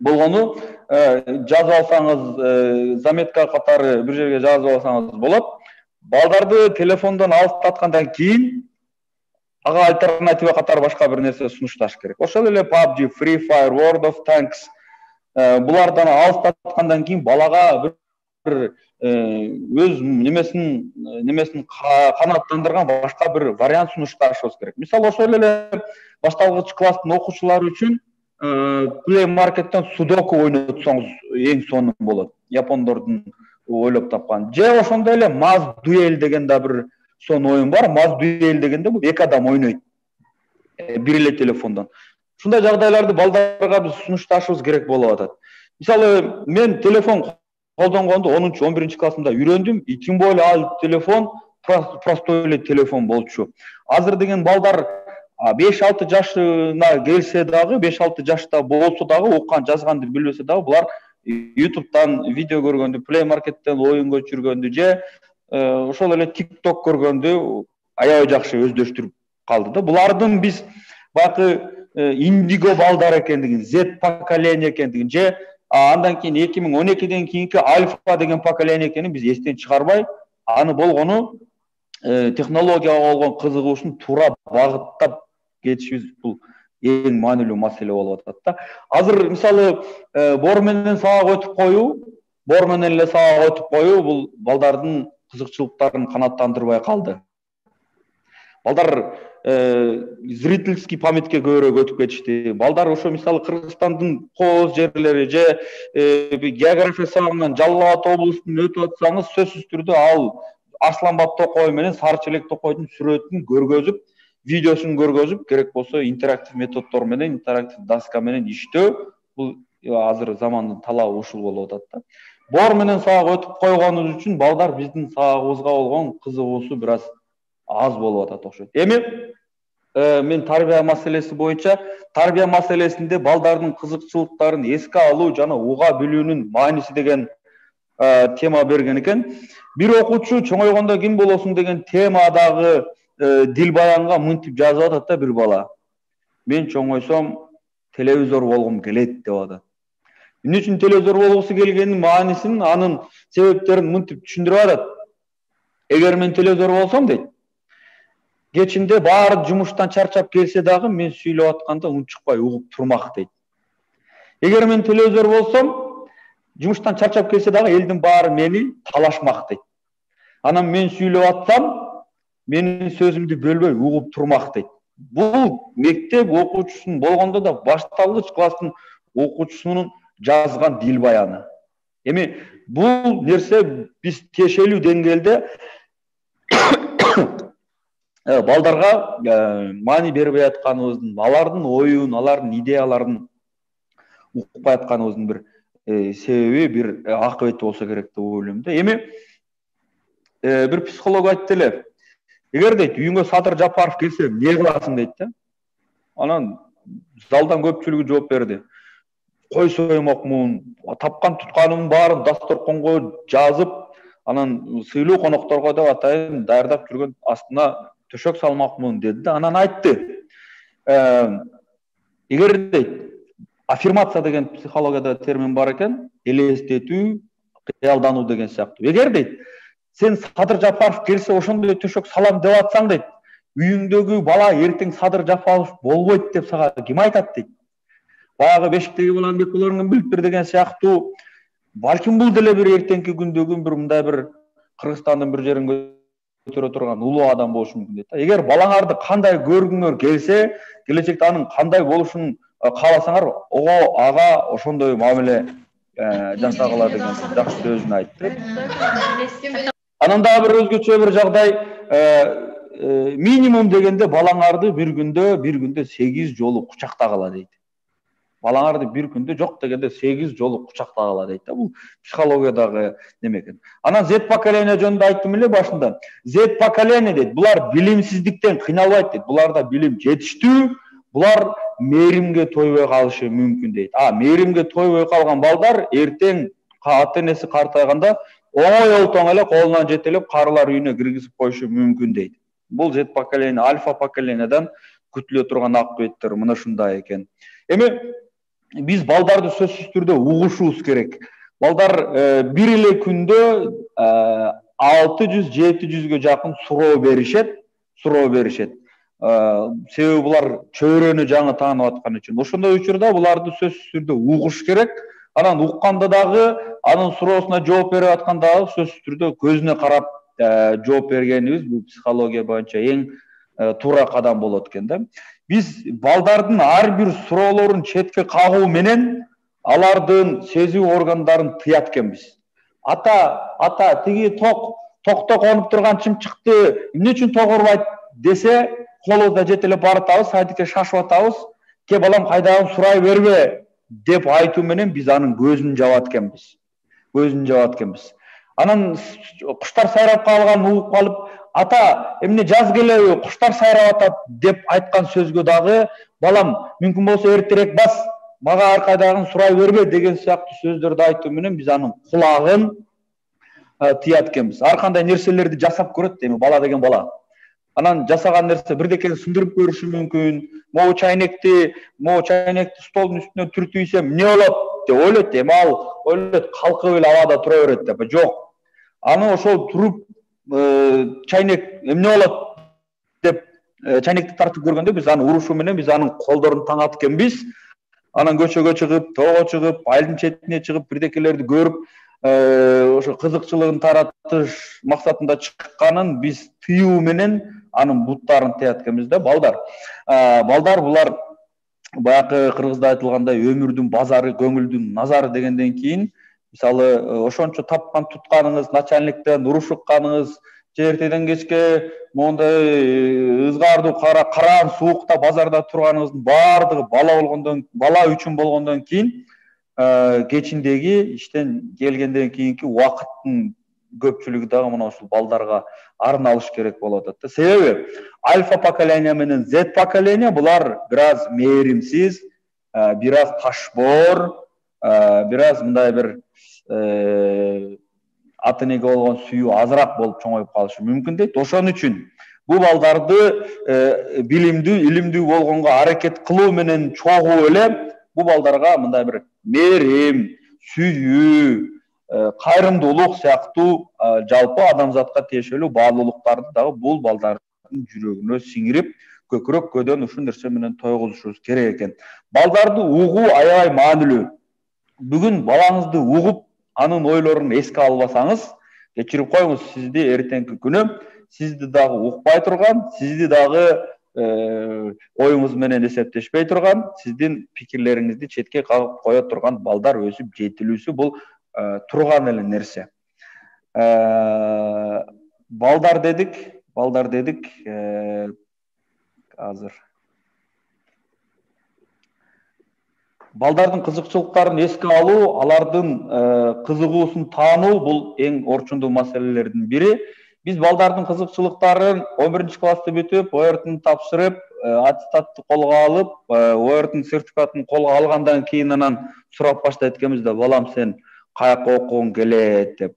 Болгону жазып алсаңыз, заметка катары бир жерге жазып алсаңыз болот. Балдарды телефондон алыстаткандан кийин ага альтернатива катары башка бир нерсе сунушташ керек. Ошол эле PUBG, Free Fire, World of Tanks булардан алыстаткандан кийин балага бир өз немесин канааттандырган башка бир вариант сунушташыбыз керек. Мисалы ошол эле башталгыч класстын окуучулары үчүн Play Market'ten судоку ойнотсоңуз эң сонун болот. Япондордун ойлоп тапкан. Же ошондой эле Maz Duel деген да бир сонун оюн бар. Maz Duel дегенде бул эки адам ойнойт. Бир эле телефондон. Ушундай жагдайларды балдарга биз сунушташыбыз керек болуп атат. Мисалы мен телефон колдонгонду 10-11 классымда үйрөндүм. Тем более ал телефон простой эле телефон болчу. Азыр деген балдар 5-6 жашына келсе дагы, 5-6 жашта болсо дагы, окуган жазганды билбесе дагы, булар YouTube'дан видео көргөндү, Play Market'ten оюн көчүргөндү же ошол эле TikTok көргөндү аябай жакшы өздөштүрүп калды да. Булардын биз баягы индиго балдар экендигин, Z поколение экендигин же андан кийин 2012ден кийинки альфа деген поколение экенин биз эстен чыгарбай, аны болгону технологияга болгон кызыгуушун туура багыттап кетишибиз бул эң маанилүү маселе болуп атат да. Азыр мисалы бор менен сабак өтүп коюу, бор менен эле сабак өтүп коюу бул балдардын кызыкчылыктарын канааттандырбай калды. Балдар зрительский памятке көбүрөөк өтүп кетишти. Балдар ошо мисалы Кыргызстандын кооз жерлери же география сабагынан Жалал Абад облусунун өтүп атсаңыз, сөзсүз түрдө ал Арсланбап Токой менен Сары Челек Токойдун сүрөтүн көргөзүп, видеосун көргөзүп, керек болсо интерактив методдор менен, интерактив доска менен иштөө, бул азыр замандын талабы ушул болуп атат да. Бор менен сабак өтүп койгонубуз үчүн балдар биздин сабагыбызга болгон кызыгуусу бир аз аз болуп атат окшойт. Эми мен тарбия маселеси боюнча, тарбия маселесинде балдардын кызыкчылыктарын эске алуу жана уга билүүнүн мааниси деген тема берген экен. Бир окуучу чоңойгондо ким болосуң деген темадагы дил баянга мынтип жазып атат да бир бала. Мен чоңойсом телевизор болгум келет деп атат. Эмне үчүн телевизор болгусу келгенин маанисин, анын себептерин мынтип түшүндүрүп атат. Эгер мен телевизор болсом дейт, кечинде баары жумуштан чарчап келсе дагы мен сүйлөп атканда унчукпай угуп турмак дейт. Эгер мен телевизор болсом, жумуштан чарчап келсе дагы элдин баары мени талашмак дейт. Анан мен сүйлөп атсам, менин сөзүмдү бөлбөй угуп турмак дейт. Бул мектеп окуучусунун болгондо да башталгыч класстын окуучусунун жазган дил баяны. Эми бул нерсе биз тиешелүү деңгээлде балдарга маани бербей атканыбыздын, алардын оюн, алардын идеяларын укпай атканыбыздын бир себеби, бир акыбети болсо керек деп ойлойм да. Эми бир психолог айтты эле, эгер дейт үйүңө Садыр Жапаров келсе, эмне кыласың дейт да. Анан залдан көпчүлүгү жооп берди. Кой соймокмун, тапкан тутканымдын баарын дасторконго жазып, анан сыйлуу конокторго деп атайын даярдап жүргөн астына төшөк салмакмын деди да. Анан айтты, эгер дейт аффирмация деген психологияда термин бар экен, элестетүү, кыялдануу деген сыяктуу. Эгер дейт сен Садыр Жапаров келсе ошондой төшөк салам деп атсаң дейт, үйүңдөгү бала эртең Садыр Жапаров болбойт деп сага ким айтат дейт. Баягы бешиктеги баланын бек болоруңан билип бир деген сыяктуу, балким бул деле бир эртеңки күндөгү бир мындай бир Кыргызстандын бир жерин көтөрө турган улуу адам болушу мүмкүн дейт. Эгер балаңарды кандай көргүңөр келсе, келечекте анын кандай болушун кааласаңар, ого ага ошондой мамиле жасагыла деген жакшы сөзүн айтты. Анан дагы бир өзгөчө бир жагдай, минимум дегенде балаңарды бир күндө 8 жолу кучактагыла дейт. Балаңарды бир күндө жок дегенде 8 жолу кучактагыла дейт да. Бул психологиядагы неме экен. Анан Z поколение жөнүндө айттым эле башында. Z поколение дейт, булар билимсиздиктен кыйналбайт дейт. Буларда билим жетиштүү, булар мээримге тойбой калышы мүмкүн дейт. Мээримге тойбой калган балдар эртең ата-энеси картайганда оңой олтоң эле колунан жетелеп карылар үйүнө киргизип коюшу мүмкүн дейт. Бул Z поколение, альфа поколенияден күтүлө турган акыбеттер мына ушундай экен. Эми биз балдарды сөзсүз түрдө угушубуз керек. Балдар бир эле күндө 600-700гө жакын суроо беришет. Себеби булар чөйрөнү жаңы таанып аткан үчүн. Ошондой учурда буларды сөзсүз түрдө угуш керек. Анан укканда дагы, анын суроосуна жооп берип атканда дагы сөзсүз түрдө көзүнө карап жооп бергенибиз бул психология боюнча эң туура кадам болот экен да. Биз балдардын ар бир суроолорун четке кагуу менен алардын сезүү органдарын тыят экенбиз. Ата тиги токто конуп турган чымчыкты эмне үчүн тогурбайт десе, колубузда жетелеп баратабыз, сайдыкке шашып атабыз. Ке балам кайдагын сурай бербе деп айтуу менен биз анын көзүн жабат экенбиз. Анан куштар сайрап калган угуп калып, ата эмне жаз келеби, куштар сайрап атат деп айткан сөзгө дагы балам мүмкүн болсо эртерээк бас, мага ар кайдагын сурай бербе деген сыяктуу сөздөрдү айтуу менен биз анын кулагын тыят экенбиз. Ар кандай нерселерди жасап көрөт эми бала деген бала. Анан жасаган нерсе бирдекени сындырып көрүшү мүмкүн. Могу чайнекти столдун үстүнө түртүп ийсем эмне болот деп ойлойт. Эми ал ойлойт калкып эле абада тура берет деп. Жок. Аны ошол туруп чайнек эмне болот деп чайнекти тартып көргөндө биз аны урушу менен биз анын колдорун таңат экенбиз. Анан көчөгө чыгып, тоого чыгып, айылдын четине чыгып, бирдекелерди көрүп, ошо кызыкчылыгын таратыш максатында чыкканын биз тыюу менен анын буттарын тыят экенбиз да. Балдар булар баягы кыргызда айтылгандай өмүрдүн базары, көңүлдүн назары дегенден кийин мисалы ошончо тапкан тутканыңыз, начальниктен уруш укканыңыз, эртеден кечке мондай ызгаардуу караан суукта базарда турганыңыздын баардыгы бала үчүн болгондон кийин кечиндеги иштен келгенден кийинки убакыттын көпчүлүгү дагы мына ушул балдарга арналыш керек болуп атат да. Себеби альфа поколение менен Z поколение булар бир аз мээримсиз, бир аз ташбоор, бир аз мындай бир ата энеге болгон сүйүү азыраак болуп чоңоюп калышы мүмкүн дейт. Ошон үчүн бул балдарды билимдүү, илимдүү болгонго аракет кылуу менен чогуу эле бул балдарга мындай бир мээрим, сүйүү, кайрымдуулук сыяктуу жалпы адамзатка тиешелүү баалуулуктарды дагы бул балдардын жүрөгүнө сиңирип, көкүрөк көдөн ушул нерсе менен тойгузушубуз керек экен. Балдарды угуу аябай маанилүү. Бүгүн балаңызды угуп, анын ойлорун эске албасаңыз, кечирип коюңуз, сизди эртеңки күнү сизди дагы укпай турган, сизди дагы оюңуз менен эсептешпей турган, сиздин пикирлериңизди четке кагып кое турган балдар өсүп жетилүүсү бул турган эле нерсе. Балдар дедик, азыр балдардын кызыкчылыктарын эске алуу, алардын кызыгуусун таануу бул эң орчундуу маселелердин бири. Биз балдардын кызыкчылыктарын 11-классты бүтүп, ОРТны тапшырып, аттестатты колго алып, ОРТнын сертификатын колго алгандан кийин анан сурап баштайт экенбиз да, балам сен каяка окугуң келет деп.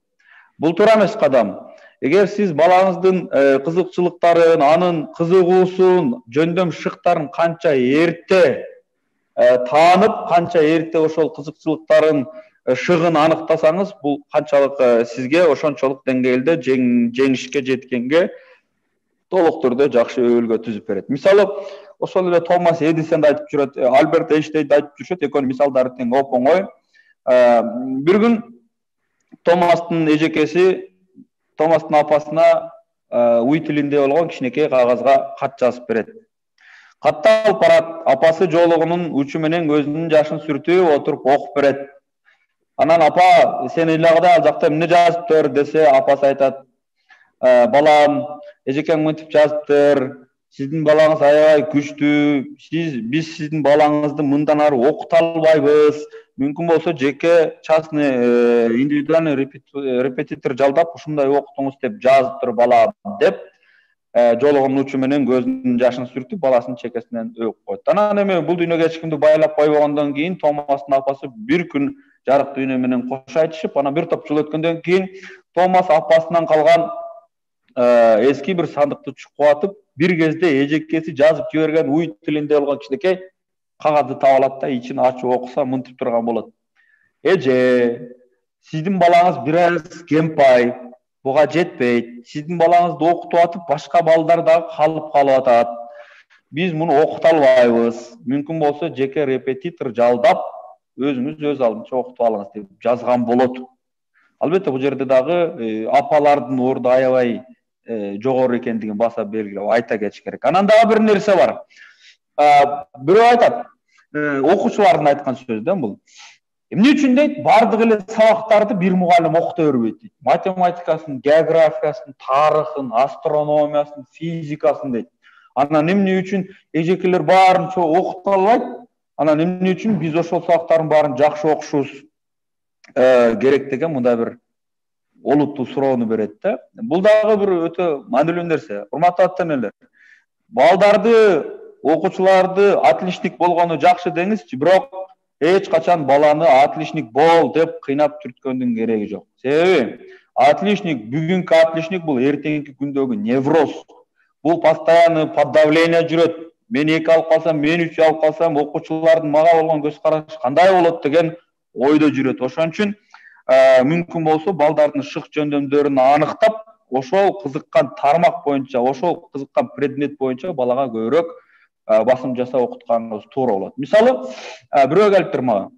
Бул туура эмес кадам. Эгер сиз балаңыздын кызыкчылыктарын, анын кызыгуусун, жөндөм шыктарын канча эрте таанып, канча эрте ошол кызыкчылыктарын шыгын аныктасаңыз, бул канчалык сизге ошончолук деңгээлде жеңишке жеткенге толук түрдө жакшы өбөлгө түзүп берет. Мисалы, ошол эле Томас Эдисон айтып жүрөт, Альберт Эйнштейн айтып жүрүшөт, экөөнүн мисалдары тең оп-оңой. Бир күн Томастын эжекеси Томастын апасына уй тилинде болгон кичинекей кагазга кат жазып берет. Катты алып барат, апасы жоолугунун учу менен көзүнүн жашын сүртүп отуруп окуп берет. Анан апа, сен ыйлагыда ал жакта эмне жазыптыр десе, апасы айтат, балам, эжекең мынтип жазыптыр, сиздин балаңыз аябай күчтүү, биз сиздин балаңызды мындан ары окута албайбыз, мүмкүн болсо жеке частный индивидуальный репетитор жалдап ушундай окутуңуз деп жазыптыр балам деп, жоолугунун учу менен көзүнүн жашын сүртүп, баласынын чекесинен өп койт. Анан эми бул дүйнөгө эч кимди байлап койбогондон кийин Томастын апасы бир күн жарык дүйнө менен кош айтышып, анан бир топ жыл өткөндөн кийин Томас апасынан калган эски бир сандыкты чукуп атып, бир кезде эжекеси жазып жиберген уй тилинде болгон кичинекей кагазды таап алат да, ичин ачып окуса мынтип турган болот. Эже, сиздин балаңыз бир аз кемпай, буга жетпейт. Сиздин балаңызды окутуп атып, башка балдар дагы калып атат. Биз муну окута албайбыз. Мүмкүн болсо жеке репетитор жалдап, өзүңүз өз алдынча окутуп алыңыз деп жазган болот. Албетте бул жерде дагы апалардын орду аябай жогору экендигин баса белгилеп айта кетиш керек. Анан дагы бир нерсе бар. Бирөө айтат, окуучулардын айткан сөзү да бул. Эмне үчүн дейт, бардык эле сабактарды бир мугалим окута бербейт дейт. Математикасын, географиясын, тарыхын, астрономиясын, физикасын дейт. Анан эмне үчүн эжекелер баарын окута албайт? Анан эмне үчүн биз ошол сабактардын баарын жакшы окушубуз керек деген мындай бир олуттуу суроону берет да. Бул дагы бир өтө маанилүү нерсе. Урматтуу ата-энелер, балдарды, окуучуларды отличник болгону жакшы деңизчи, бирок эч качан баланы отличник бол деп кыйнап түрткөндүн кереги жок. Себеби отличник, бүгүнкү отличник бул эртеңки күндөгү невроз. Бул постоянно под давление жүрөт. Мен 2 алып калсам, мен 3 алып калсам, окуучулардын мага болгон көз карашы кандай болот деген ойдо жүрөт. Ошон үчүн мүмкүн болсо балдардын шык жөндөмдөрүн аныктап, ошол кызыккан тармак боюнча, ошол кызыккан предмет боюнча балага көбүрөөк басым жасап окутканыбыз туура болот. Мисалы, бирөө келиптир мага.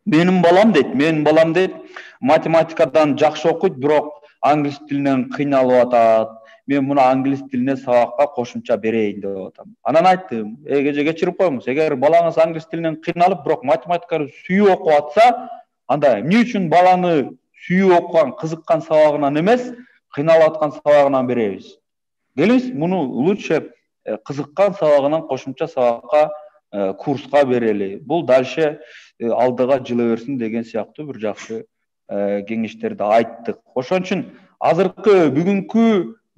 Менин балам дейт, математикадан жакшы окуйт, бирок англис тилинен кыйналып атат. Мен муну англис тилине сабакка кошумча берейин деп атам. Анан айттым, эже кечирип коюңуз, эгер балаңыз англис тилинен кыйналып, бирок математиканы сүйүп окуп атса, анда эмне үчүн баланы сүйүп окуган, кызыккан сабагынан эмес, кыйналып аткан сабагынан беребиз? Келиңиз, муну лучше кызыккан сабагынан кошумча сабакка, курска берели. Бул дальше алдыга жыла берсин деген сыяктуу бир жакшы кеңештерди айттык. Ошон үчүн азыркы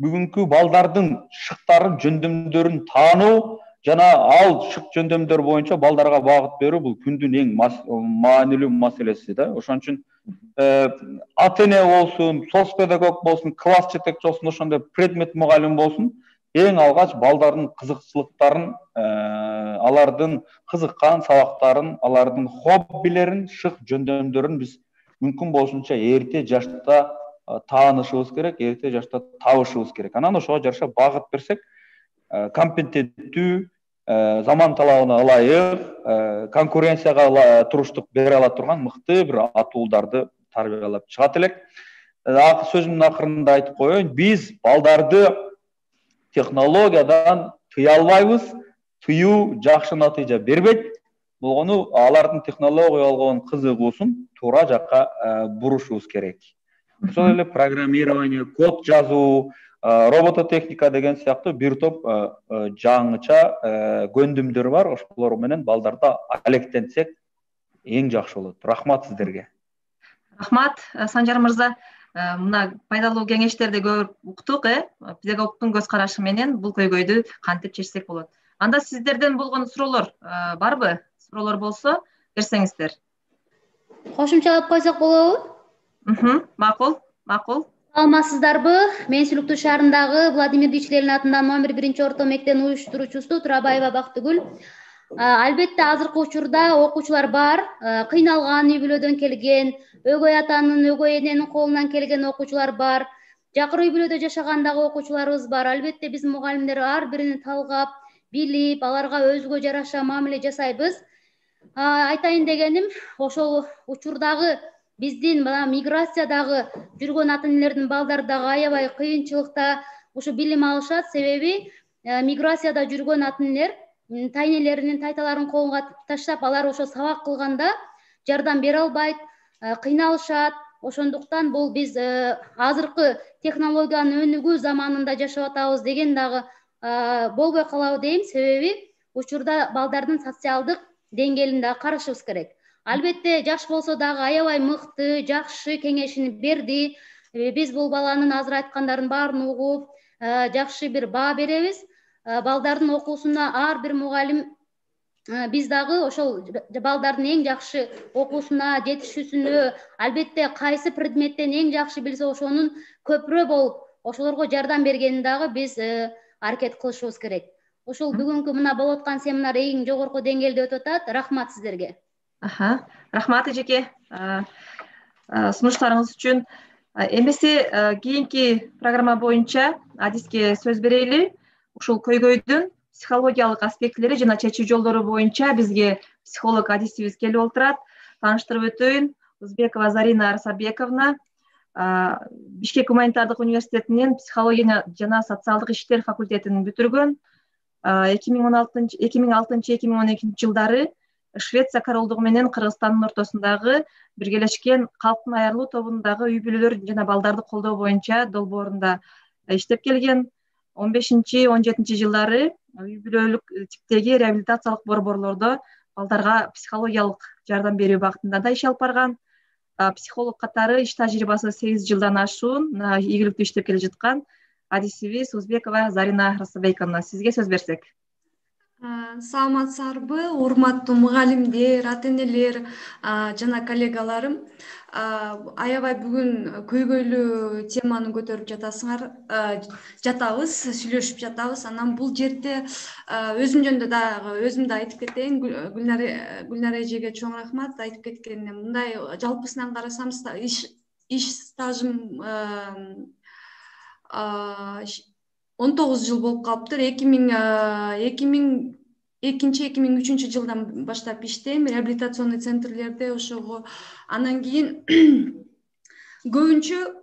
бүгүнкү балдардын шыктарын, жөндөмдөрүн таануу жана ал шык жөндөмдөр боюнча балдарга багыт берүү бул күндүн эң маанилүү маселеси да. Ошон үчүн ата-эне болсун, соц педагог болсун, класс жетекчи болсун, ошондой предмет мугалим болсун, эң алгач балдардын кызыкчылыктарын, алардын кызыккан сабактарын, алардын хоббилерин, шык жөндөмдөрүн биз мүмкүн болушунча эрте жашта таанышыбыз керек, эрте жашта табышыбыз керек. Анан ошого жараша багыт берсек, компетенттүү, заман талабына ылайык, конкуренцияга туруштук бере ала турган мыкты бир атуулдарды тарбиялап чыгат элек. Сөзүмдүн акырында айтып коеюн, биз балдарды технологиядан тыя албайбыз, тыюу жакшы натыйжа бербейт. Болгону алардын технологияга болгон кызыгуусун туура жакка бурушубуз керек. Ошол эле программирование, код жазуу, робототехника деген сыяктуу бир топ жаңыча көндүмдөр бар. Ошолор менен балдарды алектенсек эң жакшы болот. Рахмат сиздерге. Рахмат, Санжар мырза. Мына пайдалуу кеңештерди көп уктук, педагогдун көз карашы менен бул көйгөйдү кантип чечсек болот. Анда сиздерден болгон суроолор барбы? Суроолор болсо берсеңиздер. Кошумчалап койсок болобу? Макул. Саламатсыздарбы? Мен Сүлүктүү шаарындагы Владимир Ильич Ленин атындагы номер 1 орто мектебинин уюштуруучусу Турабаева Бактыгүл. Албетте азыркы учурда окуучулар бар, кыйналган, үй бүлөдөн келген, өгөй атанын, өгөй эненин колунан келген окуучулар бар. Жакыр үй бүлөдө жашаган дагы окуучуларыбыз бар. Албетте биз мугалимдер ар бирин талгап, билип, аларга өзгө жараша мамиле жасайбыз. Айтайын дегеним, ошол учурдагы биздин миграциядагы жүргөн ата-энелердин балдары дагы аябай кыйынчылыкта ушу билим алышат. Себеби миграцияда жүргөн ата-энелер тайнелеринин, тайталарын колунга таштап, алар ошо сабак кылганда жардам бере албайт, кыйналышат. Ошондуктан бул биз азыркы технологиянын өнүгүү заманында жашап атабыз деген дагы болбой калабы дейм. Себеби учурда балдардын социалдык деңгээлин дагы карашыбыз керек. Албетте жаш болсо дагы аябай мыкты, жакшы кеңешин берди. Биз бул баланын азыр айткандарын баарын угуп, жакшы бир баа беребиз. Балдардын окуусуна ар бир мугалим биз дагы ошол балдардын эң жакшы окуусуна, жетишүүсүнө, албетте кайсы предметтен эң жакшы билсе ошонун көпүрө болуп, ошолорго жардам бергенин дагы биз аракет кылышыбыз керек. Ошол бүгүнкү мына болуп аткан семинар эң жогорку деңгээлде өтүп атат. Рахмат сиздерге. Рахмат эжеке сунуштарыңыз үчүн. Эмесе кийинки программа боюнча адиске сөз берели. Ушул көйгөйдүн психологиялык аспектилери жана чечүү жолдору боюнча бизге психолог адисибиз келип отурат. Тааныштырып өтөйүн. Узбекова Зарина Арсабековна, Бишкек гуманитардык университетинин психология жана социалдык иштер факультетин бүтүргөн. 2006-2012 жылдары Швеция королдугу менен Кыргызстандын ортосундагы биргелешкен калктын аярлуу тобундагы үй бүлөлөр жана балдарды колдоо боюнча долбоорунда иштеп келген. 15-17 жылдары үй бүлөлүк типтеги реабилитациялык борборлордо балдарга психологиялык жардам берүү багытында да иш алып барган. психолог катары иш тажрыйбасы 8 жылдан ашуун ийгиликтүү иштеп келе жаткан адисибиз Узбекова Зарина Расабековна, сизге сөз берсек. Саламатсыздарбы, урматтуу мугалимдер, ата энелер жана коллегаларым. Аябай бүгүн көйгөйлүү теманы көтөрүп жатабыз, сүйлөшүп жатабыз. Анан бул жерде өзүм жөнүндө дагы өзүм да айтып кетейин. Гүлнара эжеге чоң рахмат айтып кеткенине. Мындай жалпысынан карасам иш стажым 19 жыл болуп калыптыр. 2002-2003 жылдан баштап иштейм реабилитационный центрлерде ошого. Анан кийин көбүнчө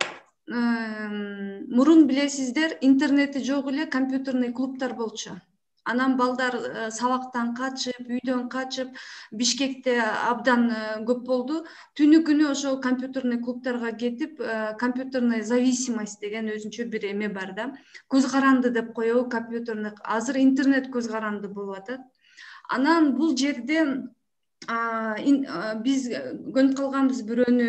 мурун билесиздер, интернети жок эле компьютерный клубтар болчу. Анан балдар сабактан качып, үйдөн качып, Бишкекте абдан көп болду. Түнү күнү ошо компьютерный клубтарга кетип, компьютерная зависимость деген өзүнчө бир эме бар да. Көз каранды деп коебу компьютерный. Азыр интернет көз каранды болуп атат. Анан бул жерде биз көнүп калганбыз бирөөнү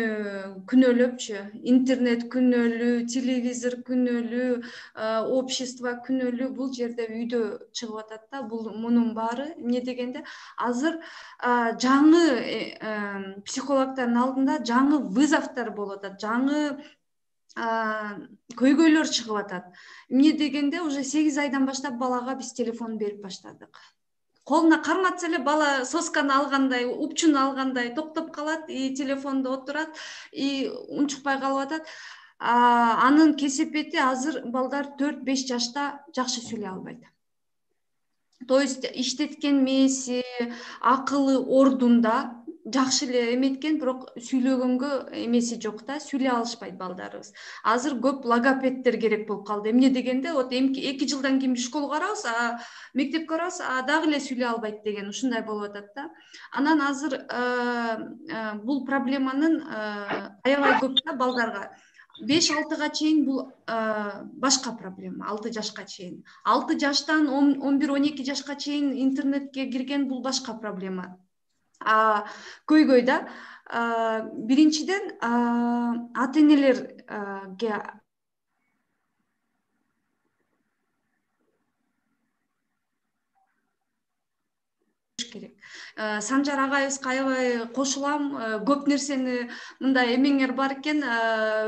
күнөөлөпчү. Интернет күнөөлүү, телевизор күнөөлүү, общество күнөөлүү. Бул жерде үйдө чыгып атат да. Бул мунун баары эмне дегенде азыр жаңы психологдордун алдында жаңы вызовдор болуп атат. Жаңы көйгөйлөр чыгып атат. Эмне дегенде уже 8 айдан баштап балага биз телефон берип баштадык. Колуна карматса эле бала сосканы алгандай, упчуну алгандай токтоп калат, телефондо отурат, унчукпай калып атат. Анын кесепети азыр балдар 4-5 жашта жакшы сүйлөй албайт. То есть иштеткен мээси, акылы ордунда, жакшы эле эметкен, бирок сүйлөгөнгө эмеси жок да, сүйлөй алышпайт балдарыбыз. Азыр көп логопеддер керек болуп калды. Эмне дегенде, вот 2 жылдан кийин школга барабыз, мектепке барабыз, дагы эле сүйлөй албайт деген ушундай болуп атат да. Анан азыр бул проблеманын аябай көп да балдарга. 5-6 чейин бул башка проблема, 6 жашка чейин. 6 жаштан 11-12 жашка чейин интернетке кирген бул башка проблема. Көйгөй да. Биринчиден ата энелерге керек. Санжар агайыбызга аябай кошулам. Көп нерсени мындай эмеңер бар экен,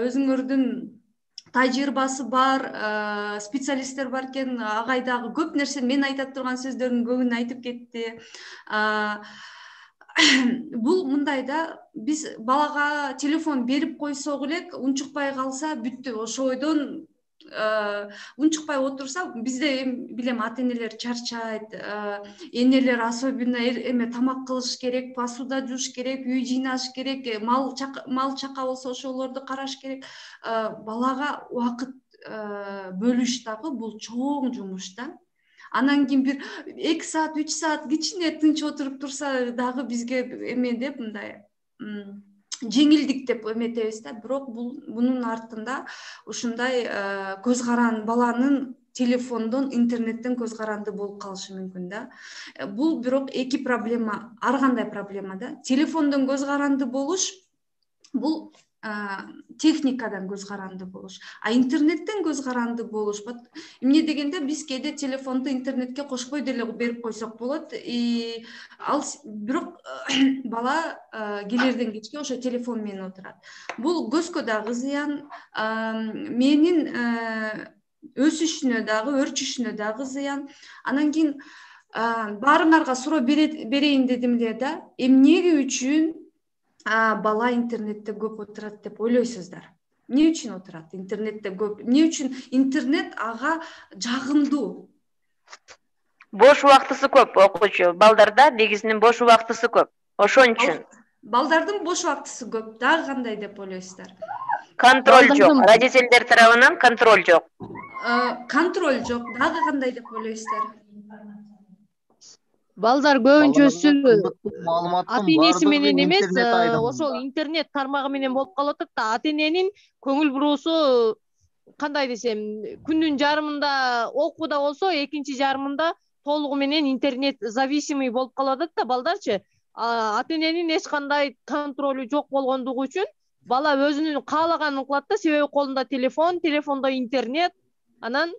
өзүңөрдүн тажрыйбасы бар, специалисттер бар экен. Агай дагы көп нерсени мен айта турган сөздөрдүн көбүн айтып кетти. Бул мындай да, биз балага телефон берип койсок эле, унчукпай калса бүттү. Ошо ойдон унчукпай отурса, бизде билем ата энелер чарчайт, энелер особенно эме тамак кылыш керек, посуда жууш керек, үй жыйнаш керек, мал чака болсо ошолорду караш керек. Балага убакыт бөлүш дагы бул чоң жумуш да. Анан кийин бир 2 саат, 3 саат кичине тынч отуруп турса дагы бизге эме деп мындай жеңилдик деп эметебиз да. Бирок бунун артында ушундай көз каранды, баланын телефондон, интернеттен көз каранды болуп калышы мүмкүн да. Бул бирок эки проблема, ар кандай проблема да. Телефондон көз каранды болуш бул техникадан көз каранды болуш, интернеттен көз каранды болуш. Эмне дегенде биз кээде телефонду интернетке кошпой деле берип койсок болот. Ал бирок бала келерден кечке ошо телефон менен отурат. Бул көзгө дагы зыян, менин өсүшүнө дагы, өрчүшүнө дагы зыян. Анан кийин баарыңарга суроо берейин дедим эле да. Эмне үчүн бала интернетте көп отурат деп ойлойсуздар? Эмне үчүн отурат интернетте көп? Эмне үчүн интернет ага жагымдуу? Бош убактысы көп окуучу балдарда, негизинен бош убактысы көп. Ошон үчүн. Балдардын бош убактысы көп. Дагы кандай деп ойлойсуздар? Контроль жок. Родительдер тарабынан контроль жок. Контроль жок. Дагы кандай деп ойлойсуздар? Балдар көбүнчөсү ата энеси менен эмес, ошол интернет тармагы менен болуп калып атат да. Ата эненин көңүл буруусу кандай десем, күндүн жарымында окууда болсо, экинчи жарымында толугу менен интернет зависимый болуп калып атат да балдарчы. Ата эненин эч кандай контролу жок болгондугу үчүн бала өзүнүн каалаганын кылат да, себеби колунда телефон, телефондо интернет. Анан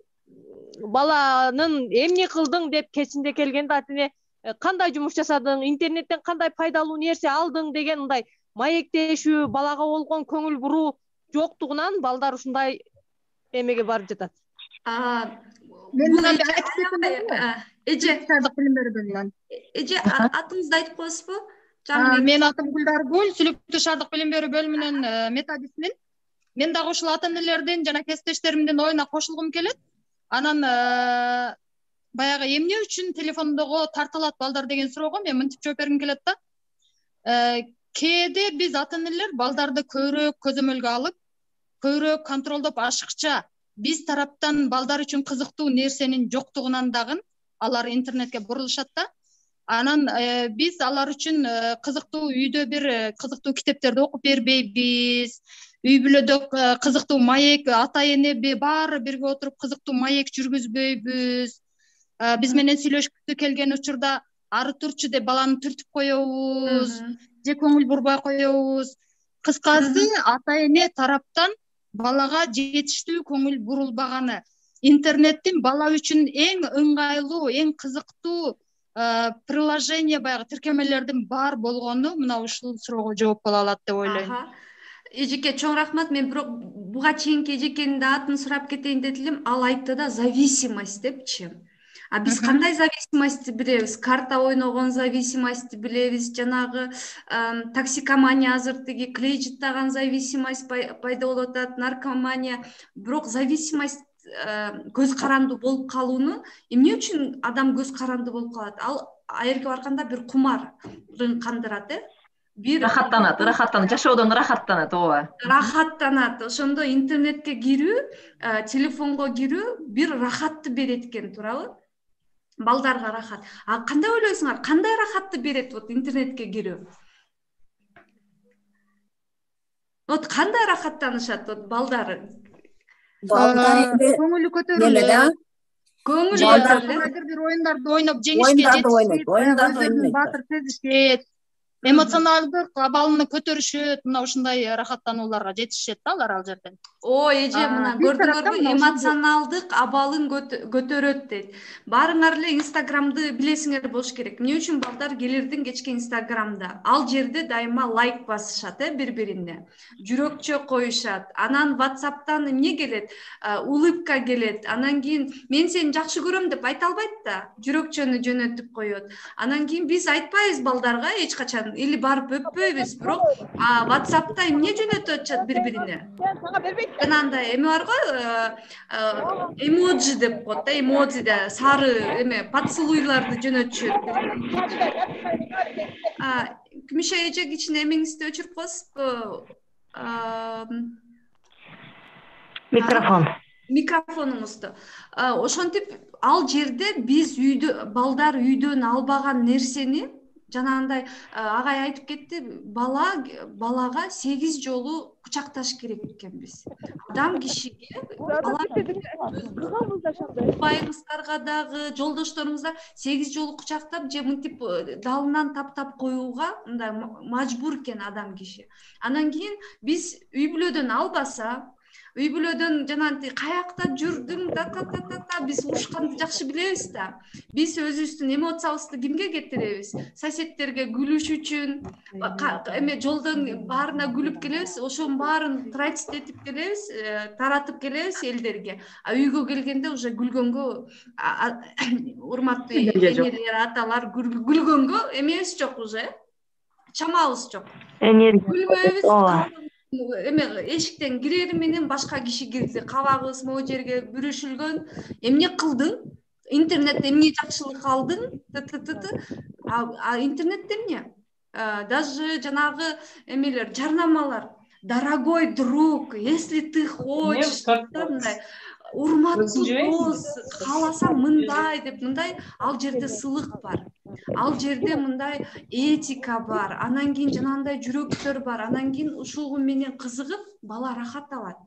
баланын эмне кылдың деп кечинде келгенде ата эне кандай жумуш жасадың, интернеттен кандай пайдалуу нерсе алдың деген мындай маектешүү, балага болгон көңүл буруу жоктугунан балдар ушундай эмеге барып жатат. Мен мындай айтып кетсем, эже Шаардык билим берүү бөлүмүнөн. Эже атыңызды айтып коесузбу? Жаңы Мен атым Гүлдаргүл, Сүлүктүү шаардык билим берүү бөлүмүнөн методистмин. Мен дагы ушул ата энелердин жана кесиптештеримдин оюна кошулгум келет. Анан баягы эмне үчүн телефондого тартылат балдар деген суроого мен мынтип жооп бергим келет да. Кээде биз ата энелер балдарды көбүрөөк көзөмөлгө алып, көбүрөөк контролдоп, ашыкча биз тараптан балдар үчүн кызыктуу нерсенин жоктугунан дагы алар интернетке бурулушат да. Анан биз алар үчүн кызыктуу үйдө бир кызыктуу китептерди окуп бербейбиз. Үй бүлөдө кызыктуу маек, ата эне баары бирге отуруп кызыктуу маек жүргүзбөйбүз. Биз менен сүйлөшкүсү келген учурда ары турчу деп баланы түртүп коебуз, же көңүл бурбай коебуз. Кыскасы, ата эне тараптан балага жетиштүү көңүл бурулбаганы, интернеттин бала үчүн эң ыңгайлуу, эң кызыктуу приложение, баягы тиркемелердин бар болгону мына ушул суроого жооп боло алат деп ойлойм. Эжеке чоң рахмат. Мен бирок буга чейинки эжекенин да атын сурап кетейин деди элем. Ал айтты да зависимость депчи. Биз кандай зависимостьти билебиз? Карта ойногон зависимостьти билебиз, жанагы токсикомания, азыр тиги клей жыттаган зависимость пайда болуп атат, наркомания. Бирок зависимость көз каранды болуп калууну эмне үчүн адам көз каранды болуп калат? Ал аерге барганда бир кумарын кандырат, рахаттанат, жашоодон рахаттанат, ооба. Рахаттанат. Ошондо интернетке кирүү, телефонго кирүү бир рахатты берет экен, туурабы? Балдарга рахат. Кандай ойлойсуңар? Кандай рахатты берет вот интернетке кирүү? Вот кандай рахаттанышат вот балдар? Көңүлү көтөрүлөт. Көңүлү көтөрүлөт. Бир оюндарды ойноп жеңишке жетишет, өзүнүн баатыр сезишет, эмоционалдык абалыны көтөрүшөт, мына ушундай рахаттанууларга жетишет да алар ал жерден. Эже мына көрдүңөрбү, эмоционалдык абалын көтөрөт дейт. Баарыңар эле Инстаграмды билесиңер болуш керек. Эмне үчүн балдар келердин кечке Инстаграмда? Ал жерде дайыма лайк басышат, бири-бирине. Жүрөкчө коюшат. Анан WhatsApp'тан эмне келет? Улыбка келет. Анан кийин мен сени жакшы көрөм деп айта албайт да, жүрөкчөнү жөнөтүп коет. Анан кийин биз айтпайбыз балдарга эч качан, или барып өппөйбүз, бирок WhatsApp'та эмне жөнөтүп атышат бири-бирине? Жанагындай эме бар го, эмоджи деп коет да, эмоджиде сары эме поцелуйларды жөнөтүшөт. Күмүшө эже кичине эмеңизди өчүрүп коесузбу? Микрофонуңузду. Ошентип ал жерде биз балдар үйдөн албаган нерсени, жанагындай агай айтып кетти, балага 8 жолу кучакташ керек экенбиз. Адам кишиге, байыңыздарга дагы, жолдошторуңузга 8 жолу кучактап же мынтип далынан таптап коюуга мындай мажбур экен адам киши. Анан кийин биз үй бүлөдөн албаса, үй бүлөдөн жанагынтип каякта жүрдүң, биз урушканды жакшы билебиз да. Биз өзүбүздүн эмоциябызды кимге кетиребиз? Соседтерге күлүш үчүн, эме жолдон баарына күлүп келебиз, ошонун баарын транслетип келебиз, таратып келебиз элдерге. Үйгө келгенде уже күлгөнгө, урматтуу энелер, аталар, күлгөнгө эмебиз жок уже, чамабыз жок. Күлбөйбүз. Эме эшиктен кирери менен башка киши кирди, кабагыбыз могу жерге бүрүшүлгөн. Эмне кылдың? Интернетте эмне жакшылык алдың? Интернетте эмне? Даже жанагы эмелер, жарнамалар. Дорогой друг, если ты хочешь, урматтуу дос, кааласаң мындай деп, мындай ал жерде сылык бар. Ал жерде мындай этика бар. Анан кийин жанагындай жүрөктөр бар. Анан кийин ушул менен кызыгып, бала рахат алат.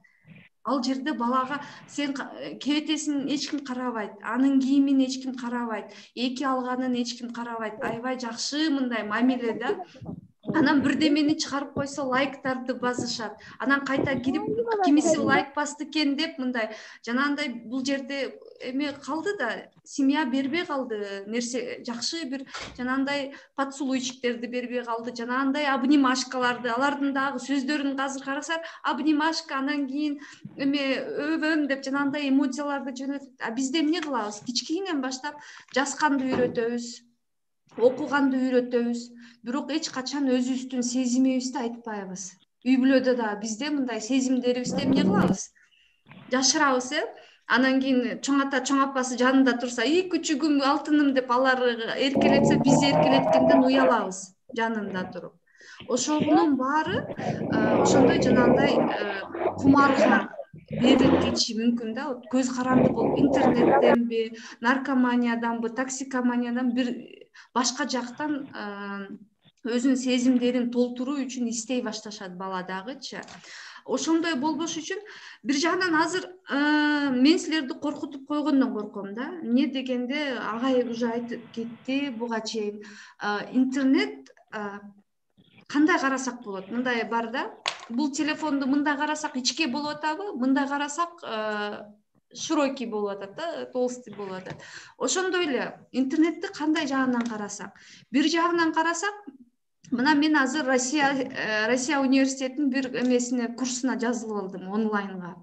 Ал жерде балага сен кебетесин эч ким карабайт, анын кийимин эч ким карабайт, эки алганын эч ким карабайт. Аябай жакшы мындай мамиле да. анан бирдемени чыгарып койсо лайктарды басышат, анан кайта кирип кимиси лайк басты экен деп мындай жанагындай бул жерде эме калды да, семья бербей калды, нерсе жакшы бир жанагындай поцелуйчиктерди бербей калды, жанагындай обнимашкаларды, алардын дагы сөздөрүн азыр карасаң обнимашка, анан кийин эме өбөм деп жанагындай эмоцияларды жөнөтөт. А бизде эмне кылабыз? Кичинен баштап жазганды үйрөтөбүз, окуганды үйрөтөбүз, бирок эч качан өзүбүздүн сезимибизди айтпайбыз. Үй бүлөдө да бизде мындай сезимдерибизди эмне кылабыз? Жашырабыз, Анан кийин чоң ата, чоң апасы жанында турса, күчүгүм, алтыным деп алар эркелетсе, биз эркелеткенден уялабыз жанында туруп. Ошонун баары ошондой жанагындай кумарга берилип кетиши мүмкүн да. Көз каранды болуп, интернеттенби, наркоманияданбы, токсикоманиядан бир башка жактан өзүнүн сезимдерин толтуруу үчүн истей башташат бала дагычы. Ошондой болбош үчүн бир жагынан азыр мен силерди коркутуп койгондон корком да. Эмне дегенде агай уже айтып кетти буга чейин. Интернет кандай карасак болот? Мындай бар да. Бул телефонду мындай карасак ичке болуп атабы? Мындай карасак широкий болуп атат да, толстый болуп атат. Ошондой эле интернетти кандай жагынан карасак? Бир жагынан карасак, мына мен азыр Россия университетинин бир эмесине курсуна жазылып алдым онлайнга.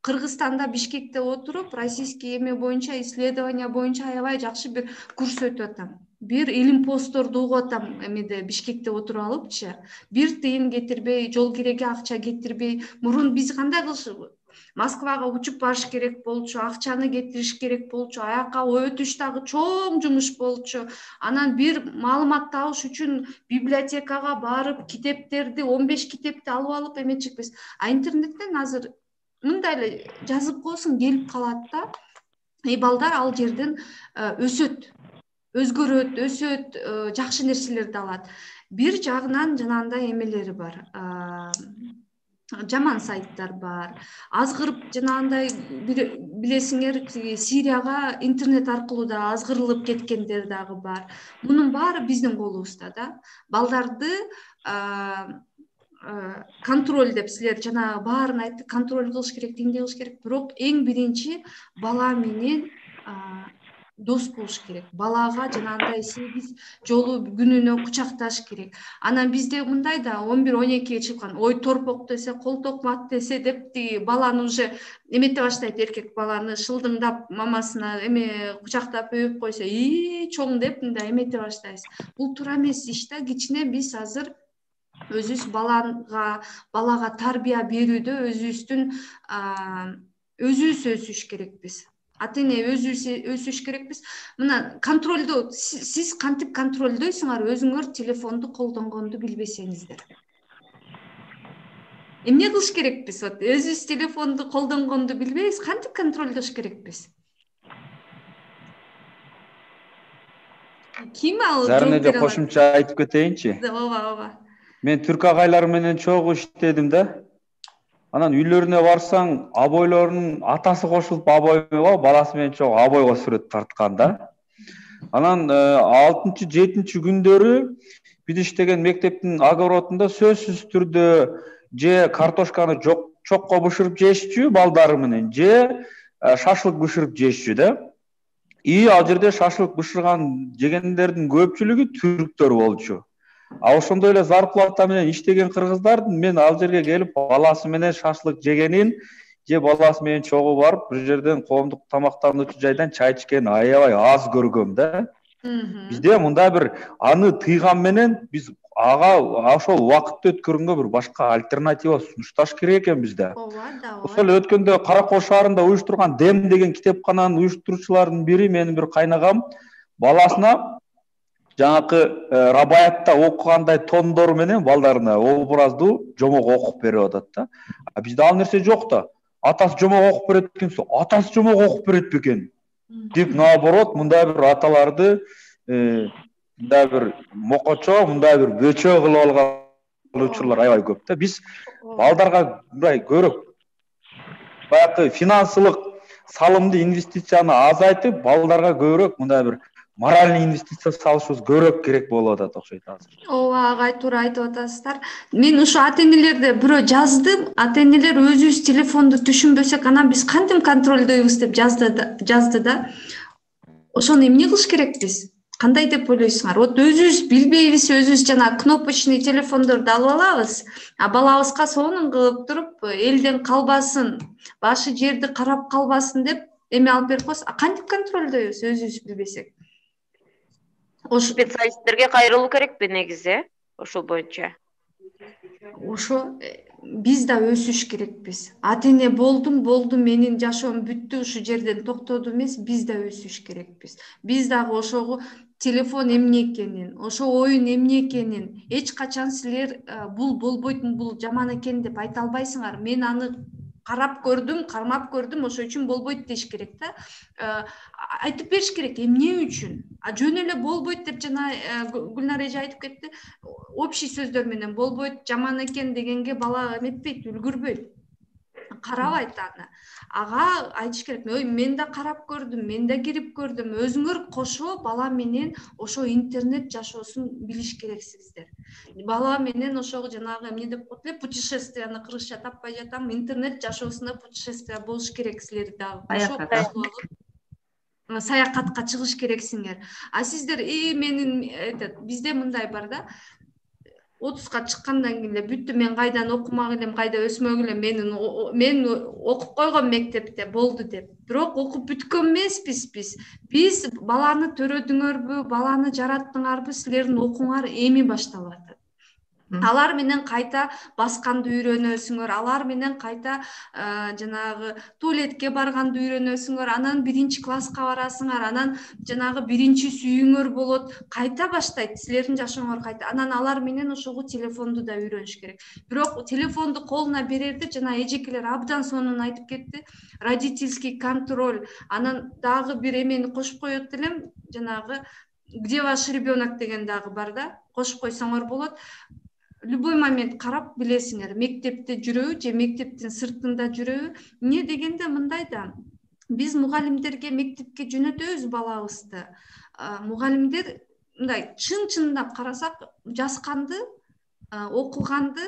Кыргызстанда Бишкекте отуруп, российский эме боюнча, исследование боюнча аябай жакшы бир курс өтүп атам. Бир илим постторду угуп атам эмеде Бишкекте отуруп алыпчы. Бир тыйын кетирбей, жол киреге акча кетирбей. Мурун биз кандай кылышыбыз? Москвага учуп барыш керек болчу, акчаны кетириш керек болчу, аяка өтүш дагы чоң жумуш болчу. Анан бир маалымат табыш үчүн библиотекага барып, китептерди, 15 китепти алып эметчикпиз. А интернеттен азыр мындай эле жазып койсоң келип калат да. Балдар ал жерден өсөт, өзгөрөт, өсөт, жакшы нерселерди алат. Бир жагынан жанагындай эмелери бар. Жаман сайттар бар. Азгырып жанагындай билесиңер, Сирияга интернет аркылуу да азгырылып кеткендер дагы бар. Мунун баары биздин колубузда да. Балдарды контроль деп силер жана баарын айтты, контроль кылыш керек, тиңдей кылыш керек. Бирок эң биринчи бала менен дос болуш керек. Балага жанагындай 8 жолу күнүнө кучакташ керек. Анан бизде мындай да 11-12 чыккан, ой торпок десе, кол токмат десе деп баланы уже эмете баштайт, эркек баланы шылдыңдап мамасына эме кучактап өбүп койсо, чоң деп мындай эмете баштайсыз. Бул туура эмес иш да. Кичине биз азыр өзүбүз балага тарбия берүүдө өзүбүз өсүш керекпиз. Ата-эне өзүбүз өсүш керекпиз. Мына контролдо сиз кантип контролдойсуңар өзүңөр телефонду колдонгонду билбесеңиздер. Эмне кылыш керекпиз? Өзүбүз телефонду колдонгонду билбейбиз, кантип контролдош керекпиз? Ким ал? Зарына же кошумча айтып кетейинчи? Ооба. Мен түрк агайлар менен чогуу иштедим да. Анан үйлөрүнө барсаң, абойлорунун атасы кошулуп абой эмес, баласы менен чогуу абойго сүрөт тарткан да. Анан 6-7 күндөрү биз иштеген мектептин огородунда сөзсүз түрдө же картошканы чокко бышырып жешчү балдары менен, же шашлык бышырып жешчү да. Ал жерде шашлык бышырган жегендердин көпчүлүгү түрктөр болчу. А ошондой эле зарплата менен иштеген кыргыздардын мен ал жерге келип баласы менен шашлык жегенин же баласы менен чогуу барып бир жерден коомдук тамактануучу жайдан чай ичкенин аябай аз көргөм да. Бизде мындай бир аны тыйган менен биз ага ошол убакытты өткөргөнгө бир башка альтернатива сунушташ керек экен бизде. Ошол өткөндө Каракол шаарында уюштурган Дем деген китепкананын уюштуруучуларынын бири менин бир кайнагам баласына жаңакы Рабаятта окугандай тондор менен балдарына образду жомок окуп берип атат да. А бизде ал нерсе жок да. Атасы жомок окуп берет экенсе, атасы жомок окуп берет бекен деп, наоборот, мындай бир аталарды мындай бир мокочо, мындай бир бөчө кылып алган учурлар аябай көп да. Биз балдарга мындай көрөк баягы финансылык салымды, инвестицияны азайтып, балдарга көбүрөөк мындай бир моральный инвестиция салышыбыз көбүрөөк керек болуп атат окшойт азыр. ооба, агай туура айтып атасыздар. Мен ушу ата энелерде бирөө жаздым, ата энелер өзүбүз телефонду түшүнбөсөк анан биз кантип контролдойбуз деп жазды да. Ошону эмне кылыш керекпиз? Кандай деп ойлойсуңар? Вот өзүбүз билбейбиз, өзүбүз жана кнопочный телефондорду алып алабыз, а балабызга сонун кылып туруп элден калбасын, башы жерди карап калбасын деп эме алып берип коебуз. Кантип контролдойбуз өзүбүз билбесек? Специалисттерге кайрылуу керекпи негизи ошол боюнча? Ошо биз да өсүш керекпиз. Ата эне болду, менин жашоом бүттү, ушул жерден токтоду эмес, биз да өсүш керекпиз. Биз дагы ошого телефон эмне экенин, ошо оюн эмне экенин эч качан силер бул болбойт, бул жаман экен деп айта албайсыңар. Мен аны карап көрдүм, кармап көрдүм, ошол үчүн болбойт деш керек да. Айтып бериш керек эмне үчүн. Жөн эле болбойт деп жана Гүлнар эже айтып кетти. Общий сөздөр менен болбойт, жаман экен дегенге бала эметпейт, үлгүрбөйт. Карабайт аны. Ага айтыш керек. Ой, мен да карап көрдүм, мен да кирип көрдүм. Өзүңөр кошо бала менен ошо интернет жашоосун билиш керексиңиздер. Бала менен ошого жанагы эмне деп коет эле, путешествияны кыргызча таппай жатам, интернет жашоосунда путешествие болуш керек силер дагы. Саякатка чыгыш керексиңер. А сиздер менин бизде мындай бар да. 30га чыккандан кийин эле бүттү, мен кайдан окумак элем, кайда өсмөк элем, мен окуп койгом мектепте болду деп. Бирок окуп бүткөн эмеспиз биз. Биз баланы төрөдүңөрбү, баланы жараттыңарбы, силердин окууңар эми башталып атат. Алар менен кайта басканды үйрөнөсүңөр, алар менен кайта жанагы туалетке барганды үйрөнөсүңөр, анан 1-класска барасыңар, анан жанагы 1-сүйүүңөр болот, кайта баштайт силердин жашооңор кайта. Анан алар менен ошого телефонду да үйрөнүш керек. Бирок телефонду колуна берерде жана эжекелер абдан сонун айтып кетти, родительский контроль. Анан дагы бир эмени кошуп коет элем, жанагы где ваш ребенок деген дагы бар да, кошуп койсоңор болот. Любой момент карап билесиңер, мектепте жүрөбү же мектептин сыртында жүрөбү. Эмне дегенде мындай да, биз мугалимдерге мектепке жөнөтөбүз балабызды. Мугалимдер мындай чын-чынындап карасак, жазганды, окуганды,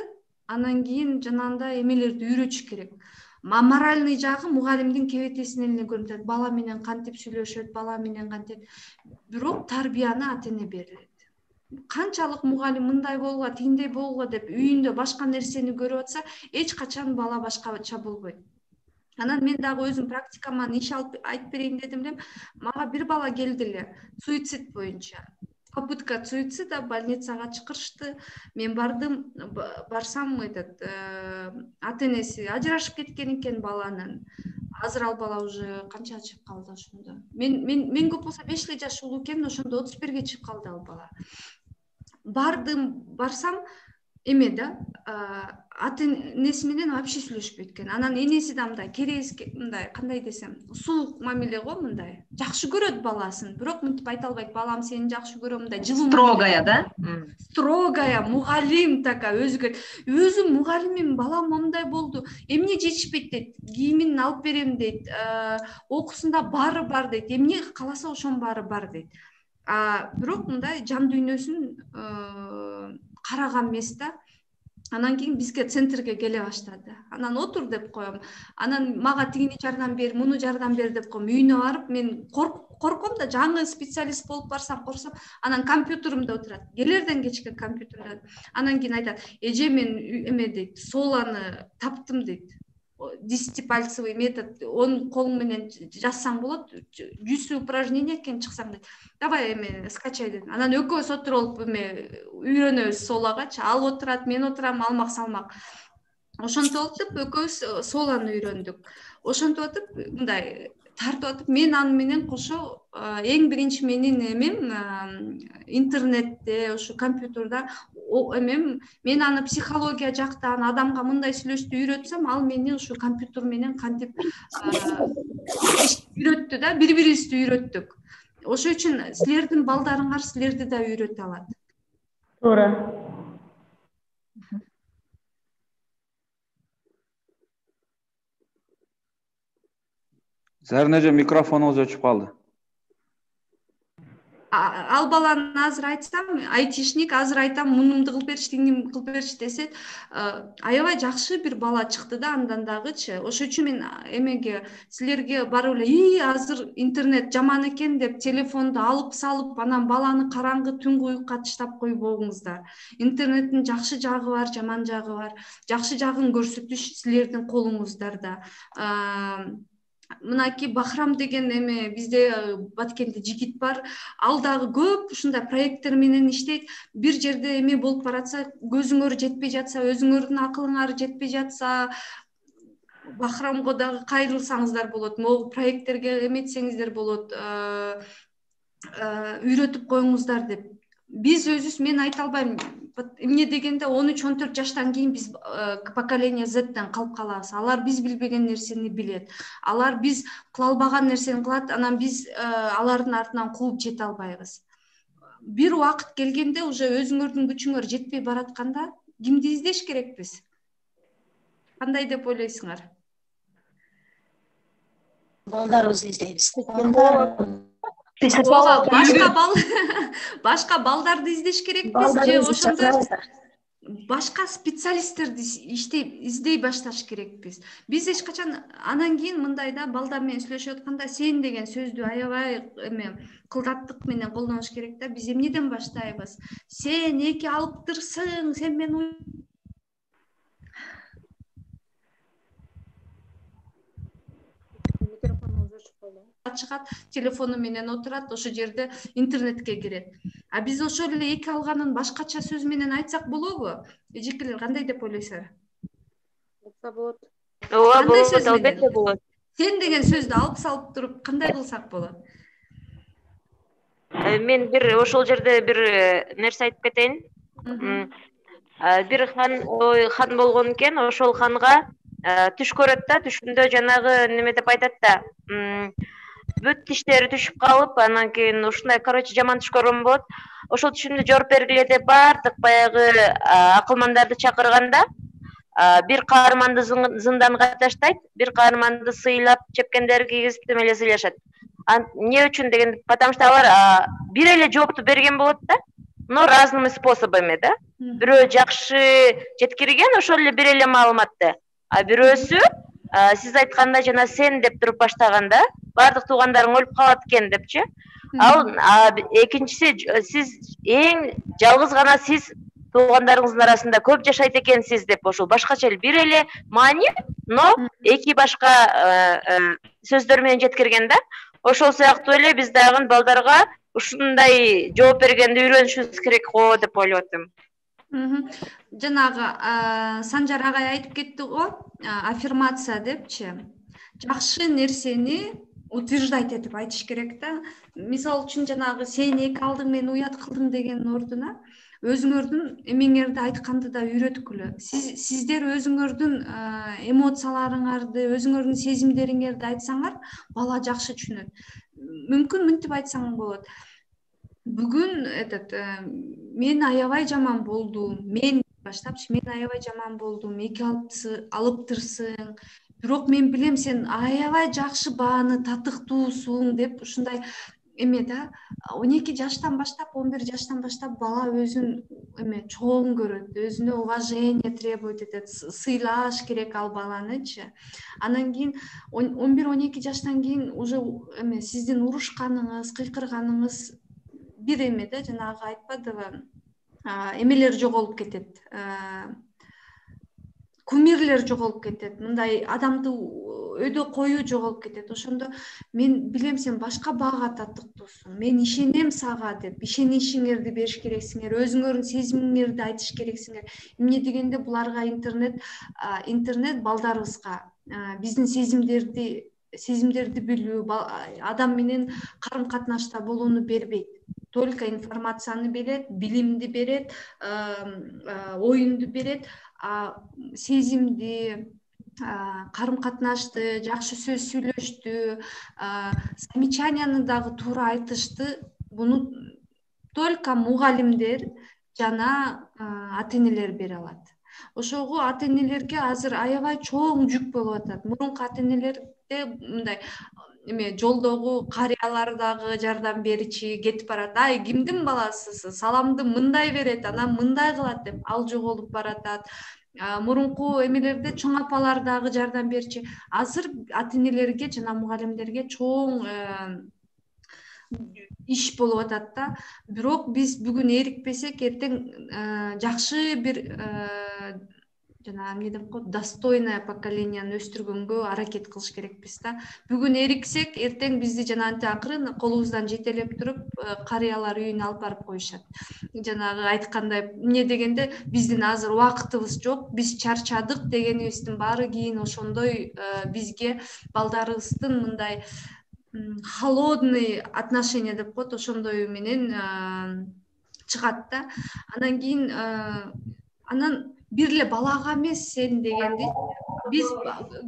анан кийин жанагындай эмелерди үйрөтүш керек. Моральный жагы мугалимдин кебетесинен эле көрүнөт. Бала менен кантип сүйлөшөт, бала менен кантип. Бирок тарбияны ата эне берет. Канчалык мугалим мындай болгула, тигиндей болгула деп үйүндө башка нерсени көрүп атса, эч качан бала башкача болбойт. Анан мен дагы өзүм практикаман иш алып айтып берейин дедим эле. Мага бир бала келди эле, суицид боюнча. Попытка суицида, больницага чакырышты. Мен бардым, барсам ата энеси ажырашып кеткен экен баланын. Азыр ал бала уже канчага чыгып калды ошондо. Мен көп болсо 5 эле жаш улуу экен, ошондо 31ге чыгып калды ал бала. Барсам эме да, ата энеси менен вообще сүйлөшпөйт экен. Анан энеси да мындай керес, мындай кандай десем, суук мамиле го, мындай. Жакшы көрөт баласын, бирок мынтип айта албайт, балам сени жакшы көрөм, мындай жылуу. Строгая да? Строгая, мугалим такая өзгө. Өзүм мугалимим, балам мындай болду. Эмне жетишпейт дейт, кийимин алып берем дейт, окуусунда баары бар дейт. Эмне кааласа ошонун баары бар дейт. Бирок мындай жан дүйнөсүн караган эмес да. Анан кийин бизге центрге келе баштады. Анан отур деп коем. Анан мага тигини жардам бер, муну жардам бер деп коем. Үйүнө барып мен корком да, жаңы специалист болуп барсам корксом. Анан компьютеримде отурат. Келерден кечке компьютерде. Анан кийин айтат: "Эже, мен эме дейт, соланы таптым" дейт. 10-пальцевый метод, он колуң менен жазсаң болот, 100 упражнение экен чыксаң дейт. Давай эме скачай дедим. Анан экөөбүз отуруп эме үйрөнөбүз солагачы. Ал отурат, мен отурам, алмак салмак. Ошентип атып экөөбүз соланы үйрөндүк. Ошентип атып мындай тартып атып, мен аны менен кошо эң биринчи менин эмем интернетте, ошо компьютерда эмем, мен аны психология жактан адамга мындай сүйлөштү үйрөтсөм, ал мени ушу компьютер менен кантип үйрөттү да, бири-бирибизди үйрөттүк. Ошол үчүн силердин балдарыңар силерди да үйрөтө алат. Туура. Зарин эже, микрофонуңуз өчүп калды. ал баланы азыр айтсам, айтишник азыр айтам, мунумду кылып берчи, тигини кылып берчи десет, аябай жакшы бир бала чыкты да андан дагычы. Ошол үчүн мен эмеге силерге барып эле азыр интернет жаман экен деп телефонду алып салып, анан баланы караңгы түнгү уюкка таштап койбоңуздар. Интернеттин жакшы жагы бар, жаман жагы бар. Жакшы жагын көрсөтүш силердин колуңуздарда. Мынакей Бахрам деген эме бизде Баткенде жигит бар. Ал дагы көп ушундай проекттер менен иштейт. Бир жерде эме болуп баратса, көзүңөр жетпей жатса, өзүңөрдүн акылыңар жетпей жатса, Бахрамго дагы кайрылсаңыздар болот. Могу проекттерге эметсеңиздер болот. Үйрөтүп коюңуздар деп. Биз өзүбүз, мен айта албайм. Эмне дегенде 13-14 жаштан кийин биз поколение Z'ден калып калабыз. Алар биз билбеген нерсени билет. Алар биз кыла албаган нерсени кылат, анан биз алардын артынан кууп жете албайбыз. Бир убакыт келгенде уже өзүңөрдүн күчүңөр жетпей баратканда кимди издеш керекпиз? Кандай деп ойлойсуңар? Балдарыбызды издейбиз. Башка балдарды издеш керекпиз же ошондой башка специалисттерди издей башташ керекпиз. Биз эч качан анан кийин мындай да балдар менен сүйлөшүп атканда сен деген сөздү аябай эме кылдаттык менен колдонуш керек да. Биз эмнеден баштайбыз? Сен эки алыптырсың, сен мен чыгат, телефону менен отурат, ошо жерде интернетке кирет. А биз ошол эле эки алганын башкача сөз менен айтсак болобу? Эжекелер кандай деп ойлойсуңар? Болот. Ооба, болот, албетте болот. Сен деген сөздү алып салып туруп кандай кылсак болот? Мен бир ошол жерде бир нерсе айтып кетейин. Бир хан болгон экен, ошол ханга түш көрөт да, түшүндө жанагы неме деп айтат да. Бүт тиштери түшүп калып, анан кийин ушундай, короче, жаман түш көргөн болот. Ошол түшүмдү жооп бергиле деп баардык баягы акылмандарды чакырганда, бир каарманды зынданга таштайт, бир каарманды сыйлап, чепкендер кийгизип эле сыйлашат. Эмне үчүн деген, потому что алар бир эле жоопту берген болот да, но разными способами да. Бирөө жакшы жеткирген ошол эле бир эле маалыматты, а бирөөсү сиз айткандай жана сен деп туруп баштаганда баардык туугандарың өлүп калат экен депчи. Ал экинчиси, сиз эң жалгыз гана сиз туугандарыңыздын арасында көп жашайт экенсиз деп ошол башкача бир эле маани, но эки башка сөздөр менен жеткирген да. Ошол сыяктуу эле биз дагы балдарга ушундай жооп бергенди үйрөнүшүбүз керек го деп ойлоп атам. Жанагы Санжар агай айтып кетти го, аффирмация депчи. Жакшы нерсени утверждать этип айтыш керек да. Мисалы үчүн жанагы сен эки алдың, мен уят кылдым деген ордуна өзүңөрдүн эмеңерди айтканды да үйрөткүлө. Сиздер өзүңөрдүн эмоцияларыңарды, өзүңөрдүн сезимдериңерди айтсаңар, бала жакшы түшүнөт. Мүмкүн мынтип айтсаң болот. Бүгүн мен аябай жаман болдум. Мен баштапчы, мен аябай жаман болдум. Эки алыптырсың. Бирок мен билем сен аябай жакшы бааны татыктуусуң деп ушундай эме да. 12 жаштан баштап, 11 жаштан баштап бала өзүн эме чоң көрөт, өзүнө уважение требует этет, сыйлаш керек ал баланычы. Анан кийин 11-12 жаштан кийин уже эме сиздин урушканыңыз, кыйкырганыңыз бир эме да, жанагы айтпадыбы, эмелер жоголуп кетет, кумирлер жоголуп кетет, мындай адамды өйдө коюу жоголуп кетет. Ошондо мен билем сен башка баага татыктуусуң, мен ишенем сага деп ишеничиңерди бериш керексиңер, өзүңөрдүн сезимиңерди айтыш керексиңер. Эмне дегенде буларга интернет балдарыбызга биздин сезимдерди билүү, адам менен карым катнашта болууну бербейт. Только информацияны берет, билимди берет, оюнду берет, сезимди, карым катнашты, жакшы сөз сүйлөштү, замечанияны дагы туура айтышты. Буну только мугалимдер жана ата-энелер бере алат. Ошого ата-энелерге азыр аябай чоң жүк болуп атат. Мурунку ата-энелерде мындай эме жолдогу карыялар дагы жардам беричи кетип барат. Ай, кимдин баласысыз? Саламды мындай берет, анан мындай кылат деп ал жоголуп баратат. Мурунку эмелерде чоң апалар дагы жардам берчи. Азыр ата энелерге жана мугалимдерге чоң иш болуп атат да. Бирок биз бүгүн эрикпесек, эртең жакшы бир жана эмне деп коет, достойное поколенияны өстүргөнгө аракет кылыш керекпиз да. Бүгүн эриксек, эртең бизди жанагынтип акырын колубуздан жетелеп туруп карыялар үйүнө алып барып коюшат. Жанагы айткандай, эмне дегенде биздин азыр убакытыбыз жок, биз чарчадык дегенибиздин баары кийин ошондой бизге балдарыбыздын мындай холодный отношение деп коет, ошондой менен чыгат да. Анан кийин анан бир эле балага эмес сен дегенди биз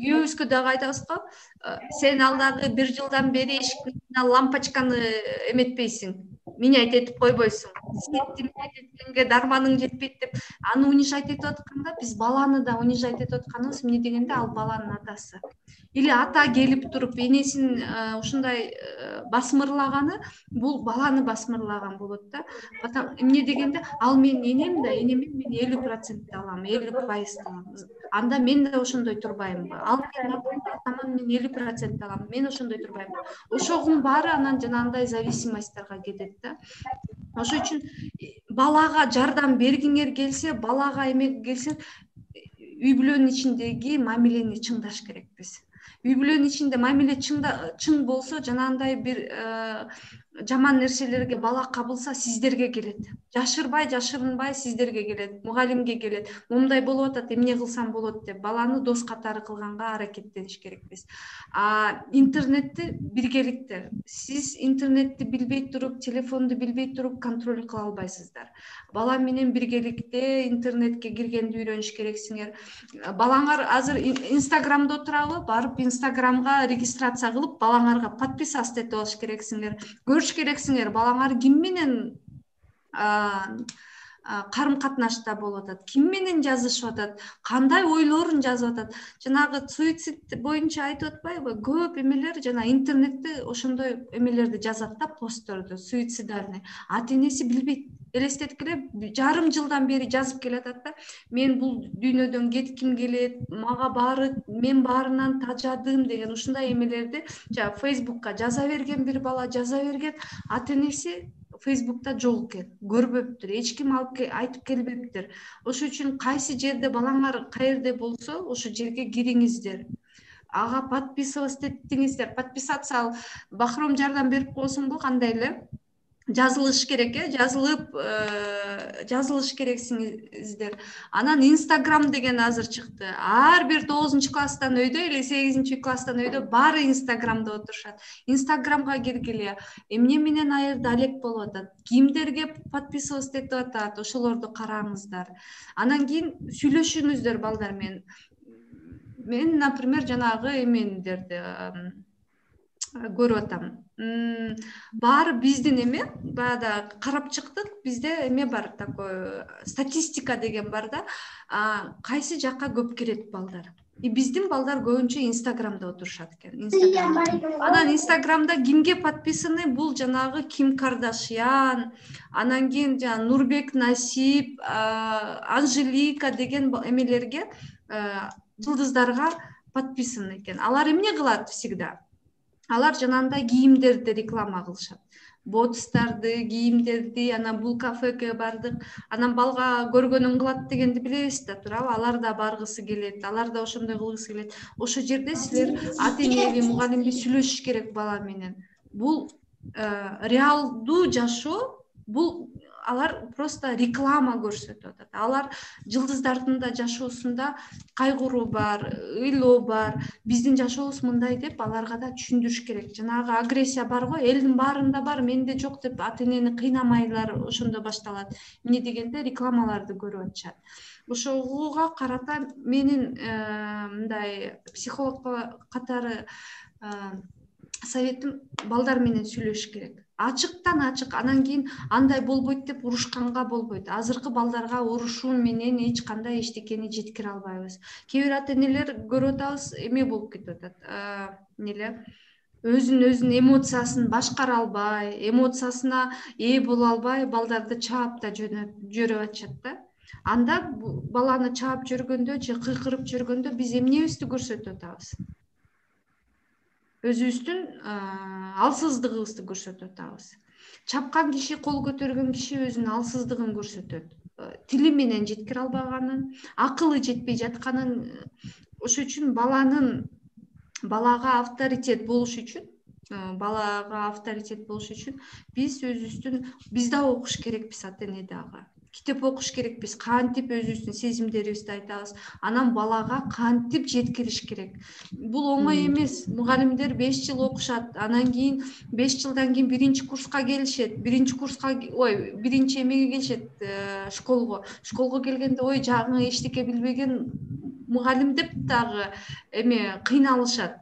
күйөөбүзгө дагы айтабыз го, сен ал дагы 1 жылдан бери эшиктин лампочканы эметпейсиң, менять этип койбойсуң, светти менять эткенге дарманың жетпейт деп аны унижать этип атканда, биз баланы да унижать этип атканыбыз, эмне дегенде ал баланын атасы. Или ата келип туруп энесин ушундай басмырлаганы, бул баланы басмырлаган болот да. Эмне дегенде ал менин энем да, энемден мен 50% алам, 50% алам. Анда мен да ошондой турбаймынбы? Ал менин атаман мен 50% алам, мен ошондой турбаймынбы? Ошогунун баары анан жанагындай зависимостьтарга кетет да. Ошол үчүн балага жардам бергиңер келсе, балага эме келсе, үй бүлөнүн ичиндеги мамилени чыңдаш керекпиз. Үй бүлөнүн ичинде мамиле чың болсо, жанагындай бир жаман нерселерге бала кабылса, сиздерге келет. Жашырынбай сиздерге келет, мугалимге келет. Момундай болуп атат, эмне кылсам болот деп баланы дос катары кылганга аракеттениш керекпиз. Интернетти биргеликте, сиз интернетти билбей туруп, телефонду билбей туруп контроль кыла албайсыздар. Бала менен биргеликте интернетке киргенди үйрөнүш керексиңер. Балаңар азыр Инстаграмда отурабы, барып Инстаграмга регистрация кылып, балаңарга подписаться этип алыш керексиңер. Көрүш керексиңер, балаңар ким менен карым катнашта болуп атат, ким менен жазышып атат, кандай ойлорун жазып атат. Жанагы суицид боюнча айтып атпайбы? Көп эмелер жана интернетте ошондой эмелерди жазат да, постторду, суицидальный. Ата-энеси билбейт. Элестеткиле, жарым жылдан бери жазып келатат да. Мен бул дүйнөдөн кетким келет, мага баары, мен баарынан тажадым деген ушундай эмелерди Фейсбукка жаза берген бир бала, жаза берген. Ата-энеси Фейсбукта жок экен, көрбөптүр, эч ким алып айтып келбептир. Ошол үчүн кайсы жерде балаңар каерде болсо, ошол жерге кириңиздер. Ага подписываться этиңиздер. Подписаться ал Бахром жардам берип койсуңбу, кандай эле? Жазылыш керек, жазылыш керексиңиздер. Анан Instagram деген азыр чыкты. Ар бир 9-класстан өйдө или 8-класстан өйдө баары Instagramда отурушат. Instagramга киргиле, эмне менен айырда алек болуп атат, кимдерге подписываться этип атат, ошолорду караңыздар. Анан кийин сүйлөшүңүздөр балдар менен. Мен, например, жанагы эмендерди көрүп атам. Баары биздин эме, баягы карап чыктык, бизде эме бар, такой статистика деген бар да, кайсы жакка көп кирет балдар. И биздин балдар көбүнчө Инстаграмда отурушат экен. Анан Инстаграмда кимге подписаны? Бул жанагы Ким Кардашьян, анан кийин жана Нурбек Насип, Анжелика деген эмелерге, жылдыздарга подписаны экен. Алар эмне кылат всегда? Алар жанагындай кийимдерди реклама кылышат. Ботстарды, кийимдерди, анан бул кафеге бардык, анан балга көргөнүн кылат дегенди билебиз да, туурабы? Алар да баргысы келет, алар да ошондой кылгысы келет. Ошол жерде силер ата-энеби, мугалимби сүйлөшүш керек бала менен. Бул реалдуу жашоо, бул алар просто реклама көрсөтүп атат. Алар жылдыздардын да жашоосунда кайгыруу бар, ыйлоо бар. Биздин жашообуз мындай деп аларга да түшүндүрүш керек. Жанагы агрессия бар го, элдин баарында бар, менде жок деп ата-энени кыйнамайлар, ошондо башталат. Эмне дегенде рекламаларды көрүп атышат. Ошого карата менин мындай психолог катары советим балдар менен сүйлөшүш керек. Ачыктан ачык, анан кийин андай болбойт деп урушканга болбойт. Азыркы балдарга урушуу менен эч кандай эчтекени жеткире албайбыз. Кээ бир ата-энелер көрүп атабыз, эме болуп кетип атат. Эмне эле? өзүнүн эмоциясын башкара албай, эмоциясына ээ боло албай балдарды чаап да жөрөп атышат да. Анда баланы чаап жүргөндө же кыйкырып жүргөндө биз эмнебизди көрсөтүп атабыз? Өзүбүздүн алсыздыгыбызды көрсөтүп атабыз. Чапкан киши, кол көтөргөн киши өзүнүн алсыздыгын көрсөтөт. Тили менен жеткире албаганын, акылы жетпей жатканын. Ошол үчүн балага авторитет болуш үчүн, биз да окуш керекпиз, ата-эне дагы. Китеп окуш керекпиз, кантип өзүбүздүн сезимдерибизди айтабыз, анан балага кантип жеткириш керек. Бул оңой эмес. Мугалимдер 5 жыл окушат, анан кийин 5 жылдан кийин биринчи курска келишет, биринчи эмеге келишет, школго келгенде жаңы эчтеке билбеген мугалим деп дагы кыйналышат.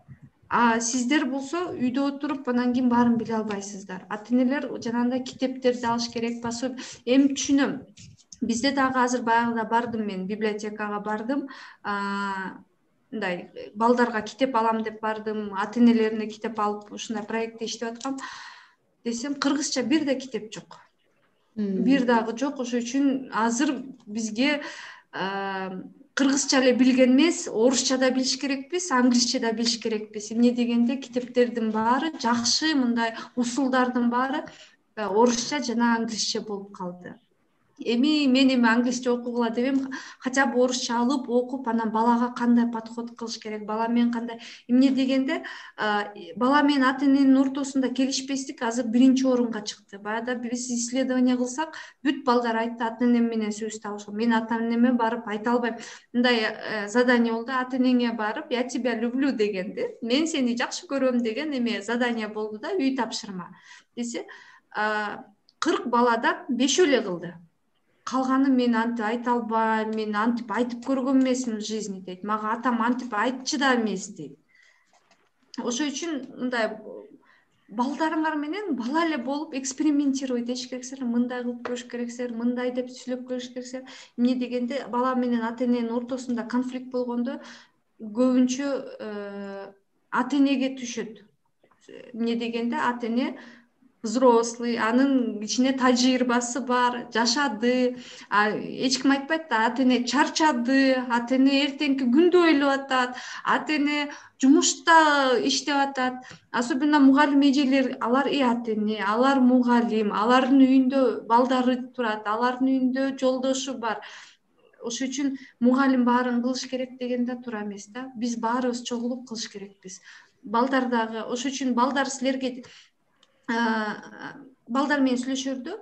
Сиздер болсо үйдө отуруп анан кийин баарын биле албайсыздар. Ата-энелер жанагындай китептерди алыш керек, пособие. Эми түшүнөм. Бизде дагы азыр баягыда бардым, мен библиотекага бардым. Мындай балдарга китеп алам деп бардым, ата-энелерине китеп алып ушундай проектте иштеп аткам. Десем, кыргызча бир да китеп жок. Бир дагы жок. Ошол үчүн азыр бизге кыргызча эле билген эмес, орусча да билиш керекпиз, англисче да билиш керекпиз. Эмне дегенде китептердин баары жакшы, мындай усулдардын баары орусча жана англисче болуп калды. Мен англисче окугула дебем, хотя бы орусча алып окуп, анан балага кандай подход кылыш керек, бала менен кандай. Эмне дегенде бала менен ата-эненин ортосунда келишпестик азыр биринчи орунга чыкты. Баягыда биз исследование кылсак, бүт балдар айтты, ата-энем менен сөз табышкан. Мен ата-энеме барып айта албайм. Мындай задание болду, ата-энеңе барып, я тебя люблю дегенди. Мен сени жакшы көрөм деген задание болду да, үй тапшырма. Десе, 40 баладан 5 эле кылды. Калганы мен антип айта албайм, мен антип айтып көргөн эмесмин в жизни дейт. Мага атам антип айтчу да эмес дейт. Ошол үчүн мындай балдарыңар менен бала эле болуп экспериментировать этиш керексиңер, мындай кылып көрүш керексиңер, мындай деп сүйлөп көрүш керексиңер. Эмне дегенде бала менен ата-эненин ортосунда конфликт болгондо көбүнчө ата-энеге түшөт. Эмне дегенде ата-эне взрослый, анын ичине тажрыйбасы бар, жашады. Эч ким айтпайт да, ата-эне чарчады, ата-эне эртеңки күндү ойлоп атат, ата-эне жумушта иштеп атат. Особенно мугалим эжелер, алар ата-эне, алар мугалим, алардын үйүндө балдары турат, алардын үйүндө жолдошу бар. Ошол үчүн мугалим баарын кылыш керек деген да туура эмес да. Биз баарыбыз чогулуп кылыш керекпиз. Балдар дагы, ошол үчүн балдар силерге балдар менен сүйлөшөрдө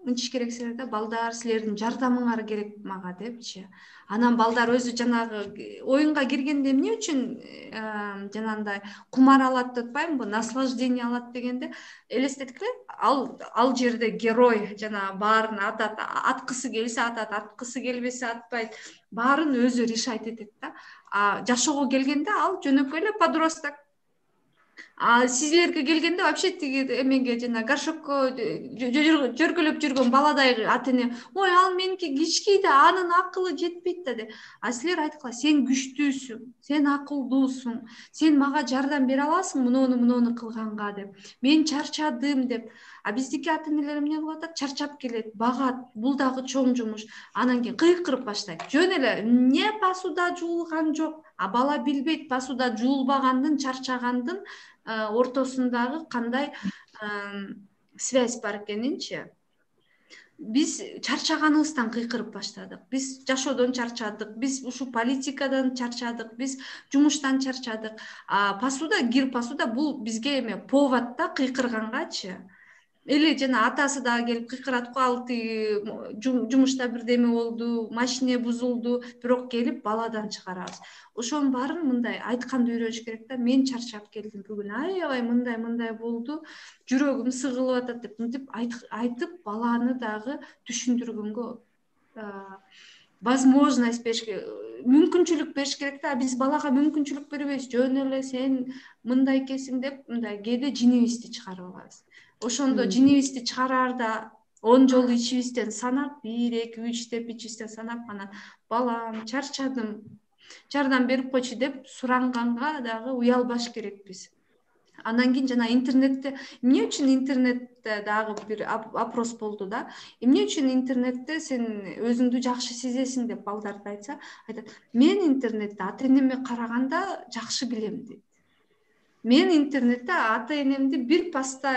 мынтиш керексиңер да, балдар силердин жардамыңар керек мага депчи. Анан балдар өзү жанагы оюнга киргенде эмне үчүн жанагындай кумар алат деп атпаймынбы, наслаждение алат дегенде элестеткиле, ал жерде герой жанагы баарын атат, аткысы келсе атат, аткысы келбесе атпайт, баарын өзү решать этет да. Жашоого келгенде ал жөнөкөй эле подросток. Сизлерге келгенде вообще тиги эмеге жана горшокко жөргөлөп жүргөн баладай ата-эне, ой, ал меники кичкей да, анын акылы жетпейт да деп. Силер айткыла, сен күчтүүсүң, сен акылдуусуң, сен мага жардам бере аласың муну кылганга деп. Мен чарчадым деп. Биздики ата-энелер эмне кылып атат? Чарчап келет, багат, бул дагы чоң жумуш. Анан кийин кыйкырып баштайт. Жөн эле, эмне посуда жуулган жок. Бала билбейт посуда жуулбагандын, чарчагандын ортосундагы кандай связь бар экенинчи. Биз чарчаганыбыздан кыйкырып баштадык. Биз жашоодон чарчадык, биз ушу политикадан чарчадык, биз жумуштан чарчадык. Посуда бул бизге повод да кыйкыргангачы. Или жана атасы дагы келип кыйкырат го, ал тиги жумушта бирдеме болду, машине бузулду, бирок келип баладан чыгарабыз. Ошонун баарын мындай айтканды үйрөнүш керек да. Мен чарчап келдим бүгүн, аябай мындай болду, жүрөгүм сыгылып атат деп мынтип айтып баланы дагы түшүндүргөнгө возможность бериш керек, мүмкүнчүлүк бериш керек да. Биз балага мүмкүнчүлүк бербейбиз. Жөн эле сен мындай экенсиң деп мындай кээде жинибизди чыгарып алабыз. Ошондо жинибизди чыгараарда 10 жолу ичибизден санап, 1, 2, 3 деп ичибизден санап, анан балам, чарчадым, жардам берип койчу деп суранганга дагы уялбаш керекпиз. Андан кийин жана интернетте эмне үчүн интернетте дагы бир опрос болду да. Эмне үчүн интернетте сен өзүңдү жакшы сезесиң деп балдарды айтса, айтат, мен интернетте ата энеме караганда жакшы билем дейт. Мен интернетте ата энемди бир паста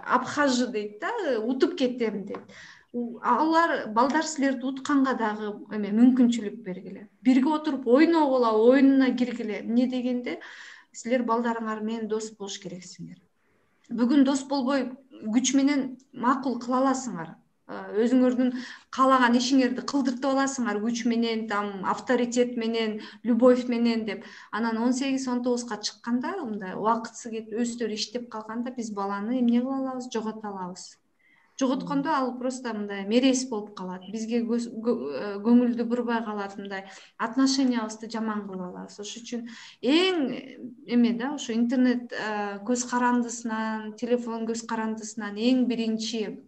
обхожу дейт да, утуп кетем дейт. Алар балдар силерди утканга дагы мүмкүнчүлүк бергиле. Бирге отуруп ойногула, оюнуна киргиле. Эмне дегенде силер балдарыңар менен дос болуш керексиңер. Бүгүн дос болбой күч менен макул кыла аласыңар. Өзүңөрдүн каалаган ишиңерди кылдыртып аласыңар күч менен, авторитет менен, любовь менен деп. Анан 18-19 чыкканда, мындай убакытсы кетип, өздөрү иштеп калганда биз баланы эмне кыла алабыз? Жогото алабыз. Жоготкондо ал просто мындай мерез болуп калат. Бизге көңүлдү бурбай калат, мындай отношениябызды жаман кылып алабыз. Ошон үчүн эң да, ошо интернет көз карандысынан, телефон көз карандысынан эң биринчи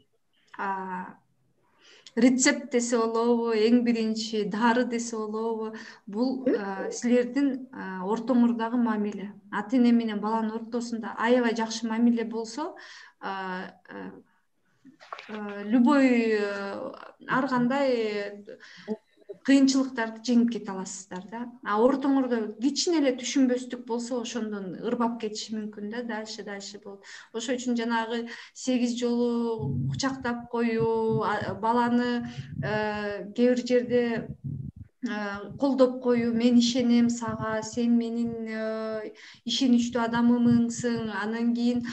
рецепт десе болобу, эң биринчи дары десе болобу, бул силердин ортоңордогу мамиле. Ата эне менен баланын ортосунда аябай жакшы мамиле болсо, любой ар кандай кыйынчылыктарды жеңип кете аласыздар да. Ортоңордо кичине эле түшүнбөстүк болсо, ошондон ырбап кетиши мүмкүн да, дальше болот. Ошон үчүн жанагы 8 жолу кучактап коюу, баланы кээ бир жерде колдоп коюу, мен ишенем сага, сен менин ишеничтүү адамымсың. Анан кийин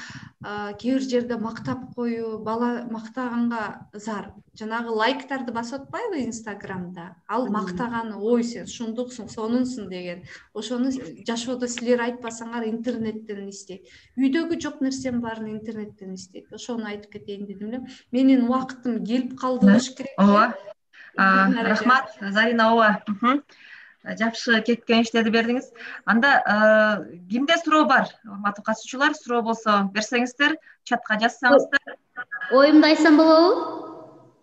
кээ бир жерде мактап коюу, бала мактаганга зар. Жанагы лайктарды басып атпайбы Инстаграмда? Ал мактаганы, ой, сен ушундуксуң, сонунсуң деген. Ошону жашоодо силер айтпасаңар интернеттен издейт. Үйдөгү жок нерсенин баарын интернеттен издейт. Ошону айтып кетейин дедим эле. Менин убактым келип калды болуш керек. Ооба. Рахмат, Зарина ооба. Жакшы кеңештерди бердиңиз. Анда кимде суроо бар? Урматтуу катышуучулар, суроо болсо берсеңиздер, чатка жазсаңыздар. Оюмду айтсам болобу?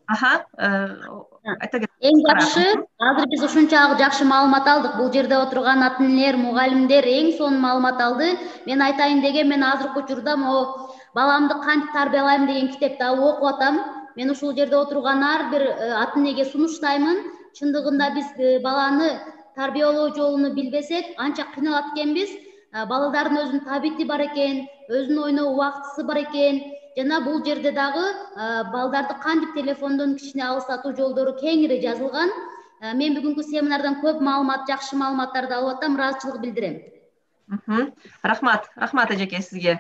Айта кет. Эң жакшы, азыр биз ушунчалык жакшы маалымат алдык. Бул жерде отурган ата энелер, мугалимдер эң сонун маалымат алды. Мен айтайын деген, мен азыркы учурда могу баламды кантип тарбиялайм деген китепти алып окуп атам. Мен ушул жерде отурган ар бир ата энеге сунуштаймын. Чындыгында биз баланы тарбиялоо жолуну билбесек, анча кыйналат экенбиз. Балдардын өзүнүн табити бар экен, өзүнүн ойноо убактысы бар экен. Жана бул жерде дагы балдарды кантип телефондон кичине алыстатуу жолдору кеңири жазылган. Мен бүгүнкү семинардан көп маалымат, жакшы маалыматтарды алып атам, ыраазычылык билдирем. Рахмат эжеке сизге.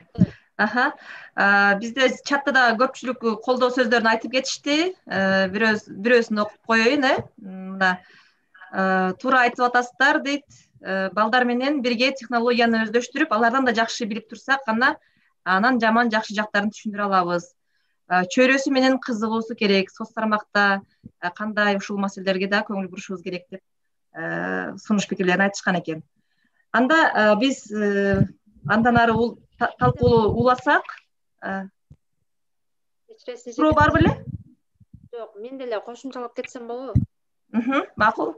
Бизде чатта да көпчүлүк колдоо сөздөрүн айтып кетишти. Бирөөсүн окуп коеюн, мына туура айтып атасыздар дейт. Балдар менен бирге технологияны өздөштүрүп, алардан да жакшы билип турсак, анан жаман жакшы жактарын түшүндүрө алабыз. Чөйрөсү менен кызыгуусу керек, соц тармакта кандай ушул маселелерге да көңүл бурушубуз керек деп сунуш пикирлерин айтышкан экен. Анда биз андан ары талкуулуу уласак, суроо бар беле? Жок, мен деле кошумчалап кетсем болобу? Макул.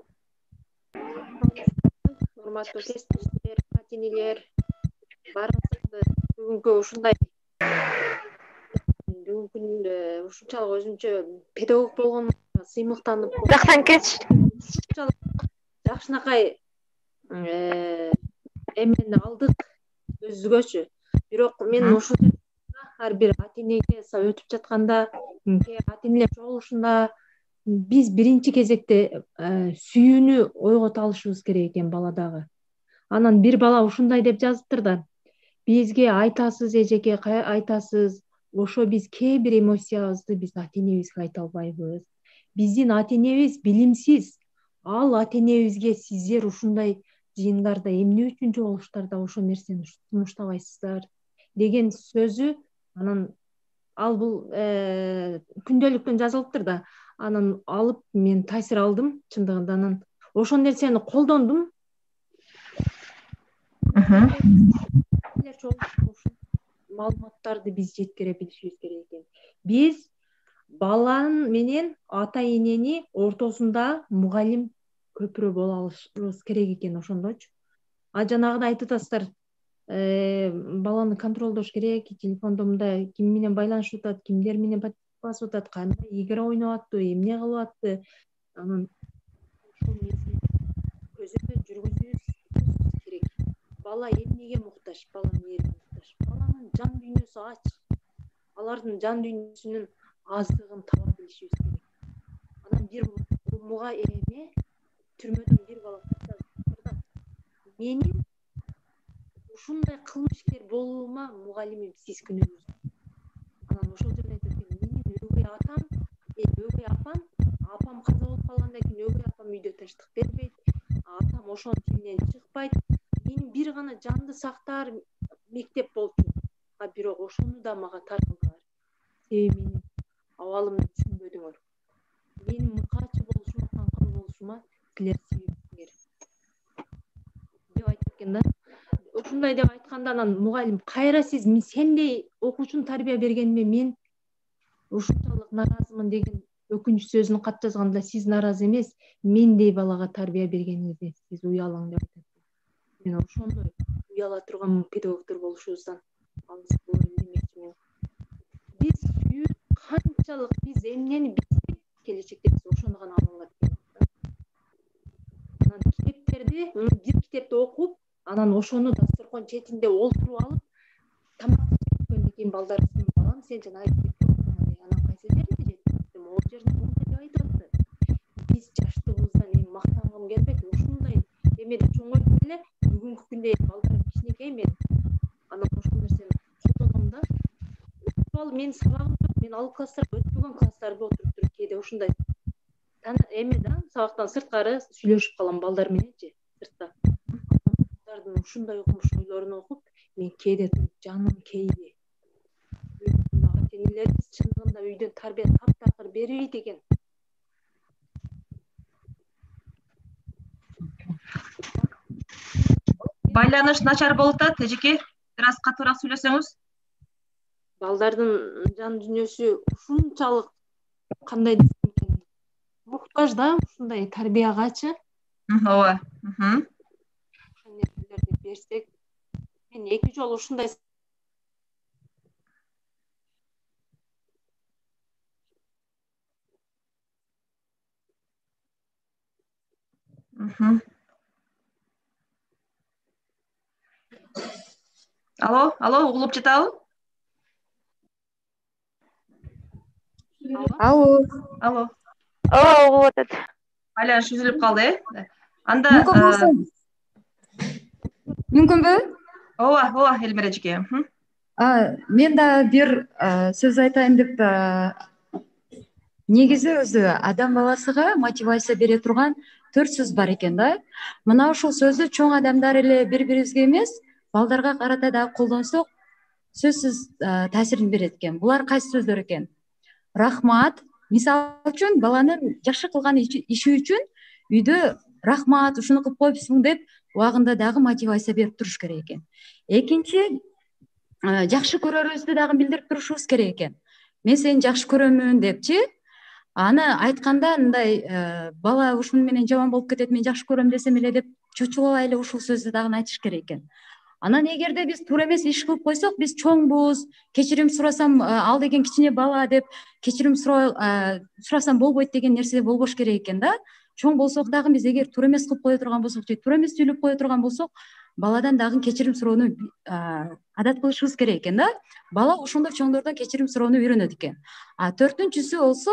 Урматтуу кесиптештер, ата энелер, баарыңызды бүгүнкү ушундай ушунчалык өзүнчө педагог болгонго сыймыктанып жактан кетиш. Жакшынакай эмени алдык өзгөчө. Бирок мен ушул ар бир ата энеге өтүп жатканда, ата энелер чогулушунда биз биринчи кезекте сүйүүнү ойгото алышыбыз керек экен баладагы. Анан бир бала ушундай деп жазыптыр да: бизге айтасыз эжеке, айтасыз, ошо биз кээ бир эмоциябызды биз ата энебизге айта албайбыз. Биздин ата энебиз билимсиз. Ал ата энебизге сиздер ушундай жыйындарда эмне үчүн жолугуштарда ошол нерсени сунуштабайсыздар деген сөзү. Анан ал бул күндөлүктөн жазылыптыр да. Анан алып мен таасир алдым чындыгында. Анан ошол нерсени колдондум. Маалыматтарды биз жеткире билишибиз керек экен. Биз баланын менен ата энени ортосунда мугалим көпүрө боло алышыбыз керек экен, ошондочу. Жанагыда айтып атасыздар, баланы контролдош керек. Телефондо мындай ким менен байланышып атат, кимдер менен басып атат, кандай игра ойноп атты, эмне кылып атты. Анан ушул көзөмөл жүргүзүүбүз керек. Бала эмнеге муктаж? Бала эмнеге муктаж? Баланын жан дүйнөсү ач. Алардын жан дүйнөсүнүн аздыгын таба билишибиз керек. Анан бир муга эме түрмөдөн бир бала кайтат. Менин ушундай кылмышкер болуума мугалимим сиз күнөөсүз. Анан ошол жерде айтат экен, менин өгөй атам, өгөй апам каза болуп калгандан кийин өгөй апам үйдө тынчтык бербейт, атам ошонун тилинен чыкпайт. Менин бир гана жанды сактаар мектеп болчу. Бирок ошону да мага таркалдылар. Себеби менин абалымды түшүнбөдүңөр. Менин мыкаачы болушума, каңкал болушума силер себепсиңер деп айтып экен да. Ушундай деп айтканда анан мугалим, кайра сиз сендей окуучуну тарбия бергениме мен ушунчалык нааразымын деген өкүнүч сөзүн кат жазганда, сиз нааразы эмес, мендей балага тарбия бергениңизде сиз уялаң деп айтат. Мен ошондой уяла турган педагогдор болушубуздан алыс болоюн демекчимин. Биз канчалык биз эмнени билсек, келечекте биз ошону гана ала алат. Анан китептерди, бир китепти окуп, анан ошону дасторкон четинде олтуруп алып, тамак жегөндөн кийин балдар балам, сен жана анан кайсы жериңде жетиптим, ол жерин мындай деп айтып атты. Биз жаштыгыбыздан эми мактангым келбейт, ушундай эмеде чоңойтуп эле бүгүнкү күндө балдар кичинекей мен. Анан ошол нерсени колдоном да. Ал менин сабагым жок, мен ал класстарга өтпөгөн класстарда отуруп туруп кээде ушундай эме да, сабактан сырткары сүйлөшүп калам балдар мененчи, сыртта. Балдардын ушундай окумуш ойлорун окуп, мен кээде жаным кейди. Ата-энелерибиз чындыгында үйдөн тарбия таптакыр бербейт экен. Байланыш начар болуп атат, эжеке. Бир аз катуураак сүйлөсөңүз. Балдардын жан дүйнөсү ушунчалык кандай десем экен, муктаж да ушундай тарбиягачы. Ооба. Ошол нерселерди берсек, мен эки жолу ушундай Алло, угулуп жатабы? Алло. Ооба, угулуп атат. Байланыш үзүлүп калды, Анда мүмкүнбү? Ооба, Элмира эжеке. Мен да бир сөз айтайын деп, негизи өзү адам баласыга мотивация бере турган 4 сөз бар экен да. Мына ушул сөздү чоң адамдар эле бири-бирибизге эмес, балдарга карата да колдонсок, сөзсүз таасирин берет экен. Булар кайсы сөздөр экен? Рахмат. Мисалы үчүн баланын жакшы кылган иши үчүн үйдө рахмат, ушуну кылып коюпсуң деп убагында дагы мотивация берип туруш керек экен. Экинчи, жакшы көрөрүбүздү дагы билдирип турушубуз керек экен. Мен сени жакшы көрөмүн депчи. Аны айтканда мындай бала ушуну менен жаман болуп кетет, мен жакшы көрөм десем эле деп чочулабай эле ушул сөздү дагы айтыш керек экен. Анан эгерде биз туура эмес иш кылып койсок, биз чоңбуз, кечирим сурасам ал деген кичине бала деп кечирим сурасам болбойт деген нерсе болбош керек экен да. Чоң болсок дагы биз эгер туура эмес кылып кое турган болсок, же туура эмес сүйлөп кое турган болсок, баладан дагы кечирим суроону адат кылышыбыз керек экен да. Бала ошондой чоңдордон кечирим суроону үйрөнөт экен. Төртүнчүсү болсо,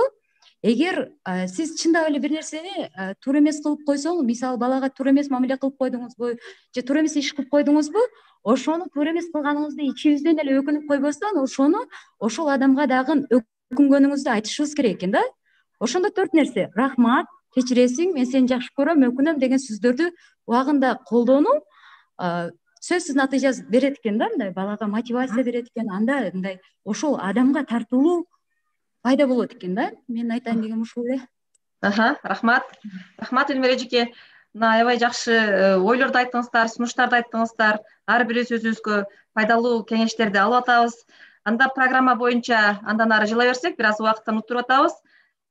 эгер сиз чындап эле бир нерсени туура эмес кылып койсоң, мисалы балага туура эмес мамиле кылып койдуңузбу, же туура эмес иш кылып койдуңузбу, ошону туура эмес кылганыңызды ичибизден эле өкүнүп койбостон, ошол адамга дагы өкүнгөнүңүздү айтышыбыз керек экен да. Ошондо 4 нерсе: рахмат, кечиресиң, мен сени жакшы көрөм, өкүнөм деген сөздөрдү убагында колдонуу сөзсүз натыйжа берет экен да, мындай балага мотивация берет экен. Анда мындай ошол адамга тартылуу пайда болот экен да. Мен айтайын дегеним ушул эле. Рахмат. Рахмат Элмира эжеке. Мына аябай жакшы ойлорду айттыңыздар, сунуштарды айттыңыздар. Ар бир сөзүбүзгө пайдалуу кеңештерди алып атабыз. Анда программа боюнча андан ары жыла берсек, бир аз убакыттан утуруп атабыз.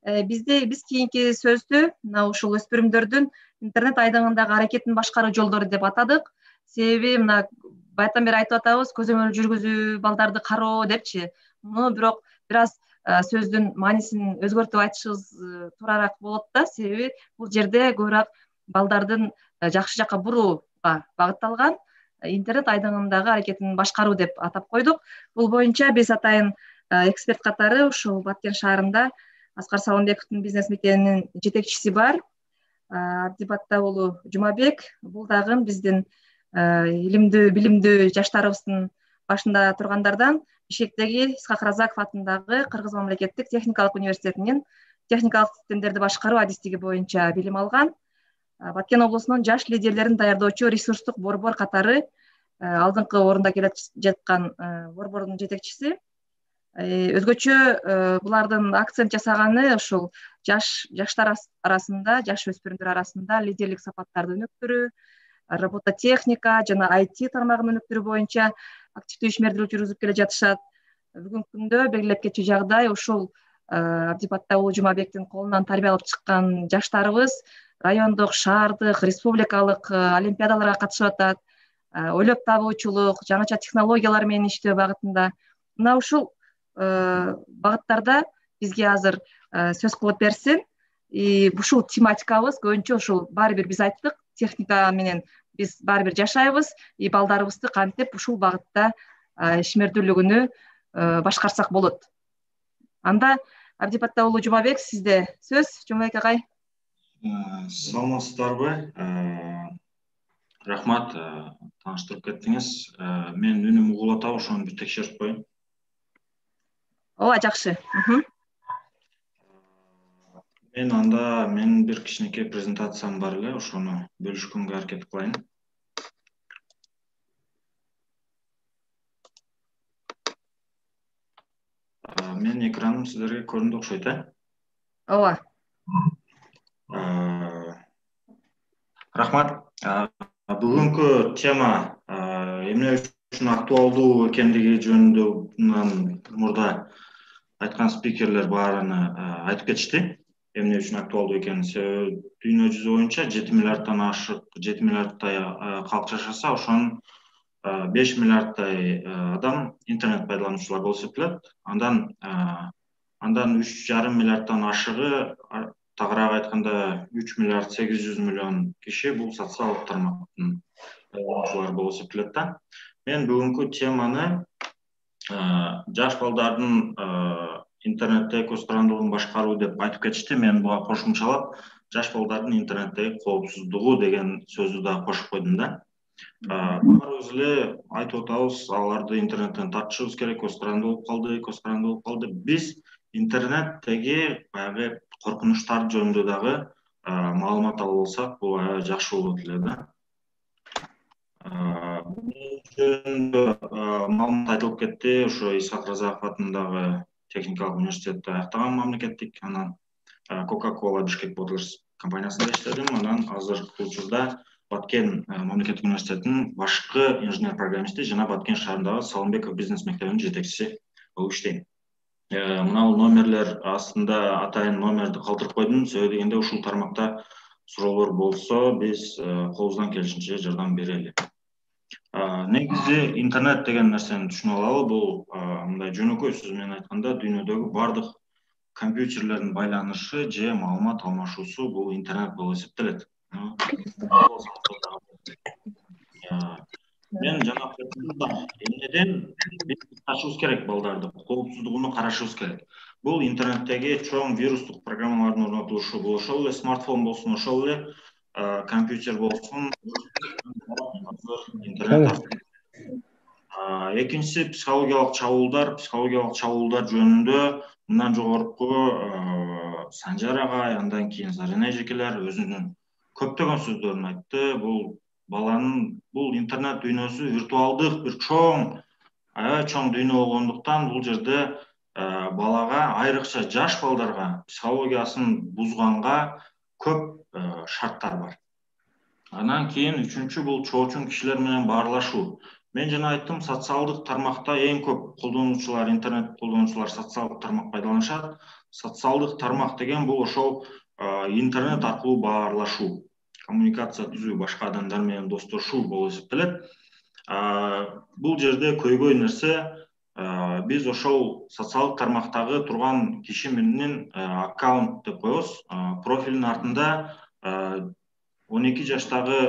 Биз кийинки сөздү мына ушул өспүрүмдөрдүн интернет айдыңындагы аракетин башкаруу жолдору деп атадык. себеби мына баятан бери айтып атабыз, көзөмөл жүргүзүү, балдарды кароо депчи. Муну бирок бир аз сөздүн маанисин өзгөртүп айтышыбыз туурараак болот да, себеби бул жерде көбүрөөк балдардын жакшы жакка бурууга багытталган интернет айдыңындагы аракетин башкаруу деп атап койдук. Бул боюнча биз атайын эксперт катары ушул Баткен шаарында Аскар Салымбековдун бизнес мектебинин жетекчиси бар, Абдибатта уулу Жумабек. Бул дагы биздин илимдүү, билимдүү жаштарыбыздын башында тургандардан, Бишкектеги Исхак Разаков атындагы Кыргыз мамлекеттик техникалык университетинин техникалык системдерди башкаруу адистиги боюнча билим алган. Баткен облусунун жаш лидерлерин даярдоочу ресурстук борбор катары алдыңкы орунда келе жаткан борбордун жетекчиси. Өзгөчө булардын акцент жасаганы ушул жаштар арасында, жаш өспүрүмдөр арасында лидерлик сапаттарды өнүктүрүү, робототехника жана IT тармагынын өнүктүрүү боюнча активдүү ишмердүүлүк жүргүзүп келе жатышат. Бүгүнкү күндө белгилеп кетчү жагдай ушул Абдибатта уулу Жумабектин колунан тарбия алып чыккан жаштарыбыз райондук, шаардык, республикалык олимпиадаларга катышып атат. Ойлоп табуучулук, жаңыча технологиялар менен иштөө багытында. Мына ушул багыттарда бизге азыр сөз кылып берсин. Ушул тематикабыз көбүнчө ушул баары бир биз айттык, техника менен биз баары бир жашайбыз, балдарыбызды кантип ушул багытта ишмердүүлүгүнү башкарсак болот. Анда Абдибатта уулу Жумабек, сизде сөз. Жумабек агай. Саламатсыздарбы? Рахмат, тааныштырып кеттиңиз. Мен үнүм угулуп атабы, ошону бир текшерип коеюн. Ооба, жакшы. Менин бир кичинекей презентациям бар эле, ошону бөлүшкөнгө аракет кылайын. Менин экраным сиздерге көрүндү окшойт, Ооба. Рахмат. Бүгүнкү тема эмне үчүн актуалдуу экендиги жөнүндө мурда айткан спикерлер баарыны айтып кетишти. Эмне үчүн актуалдуу экенин. Себеби дүйнө жүзү боюнча 7 миллиарддан ашык, 7 миллиардтай калк жашаса, ошонун 5 миллиардтай адам интернет пайдалануучулар болуп эсептелет. Андан 3,5 миллиарддан ашыгы, тагыраак айтканда 3 миллиард 800 миллион киши бул социалдык тармактын пайдалануучулары болуп эсептелет да. Мен бүгүнкү теманы жаш балдардын интернетте көз карандылыгын башкаруу деп айтып кетишти. Мен буга кошумчалап жаш балдардын интернеттеги коопсуздугу деген сөздү да кошуп койдум да. Баарыбыз эле айтып атабыз, аларды интернеттен тартышыбыз керек, көз каранды болуп калды. Биз интернеттеги баягы коркунучтар жөнүндө дагы маалымат алып алсак, бул аябай жакшы болот эле да. Маалымат айтылып кетти. Ошо Исхак Разаков атындагы техникалык университетти аяктаган мамлекеттик, анан Coca-Cola Бишкек Bottles компаниясында иштедим. Анан азыркы учурда Баткен мамлекеттик университетинин башкы инженер-программисти жана Баткен шаарындагы Салымбеков бизнес мектебинин жетекчиси болуп иштейм. Мына бул номерлер астында атайын номерди калтырып койдум. Себеби дегенде ушул тармакта суроолор болсо, биз колубуздан келишинче жардам берели. Негизи интернет деген нерсени түшүнүп алалы. Бул мындай жөнөкөй сөз менен айтканда дүйнөдөгү бардык компьютерлердин байланышы же маалымат алмашуусу бул интернет болуп эсептелет. Мен жана эмнеден биз качышыбыз керек балдарды, коопсуздугуну карашыбыз керек. Бул интернеттеги чоң вирустук программалардын орнотулушу, бул ошол эле смартфон болсун, ошол эле компьютер болсун, интернет. Экинчиси психологиялык чабуулдар жөнүндө мындан жогорку Санжар агай, андан кийин Зарина эжекелер өзүнүн көптөгөн сөздөрүн айтты. Бул интернет дүйнөсү виртуалдык бир чоң, аябай чоң дүйнө болгондуктан бул жерде балага, айрыкча жаш балдарга психологиясын бузганга көп шарттар бар. Анан кийин үчүнчү бул чоочун кишилер менен баарлашуу. Мен жана айттым, социалдык тармакта эң көп колдонуучулар, интернет колдонуучулар социалдык тармак пайдаланышат. Социалдык тармак деген бул ошол интернет аркылуу баарлашуу. коммуникация түзүү, башка адамдар менен достошуу болуп эсептелет. Бул жерде көйгөй нерсе биз ошол социалдык тармактагы турган киши менен аккаунт деп коебуз. Профилдин артында 12 жаштагы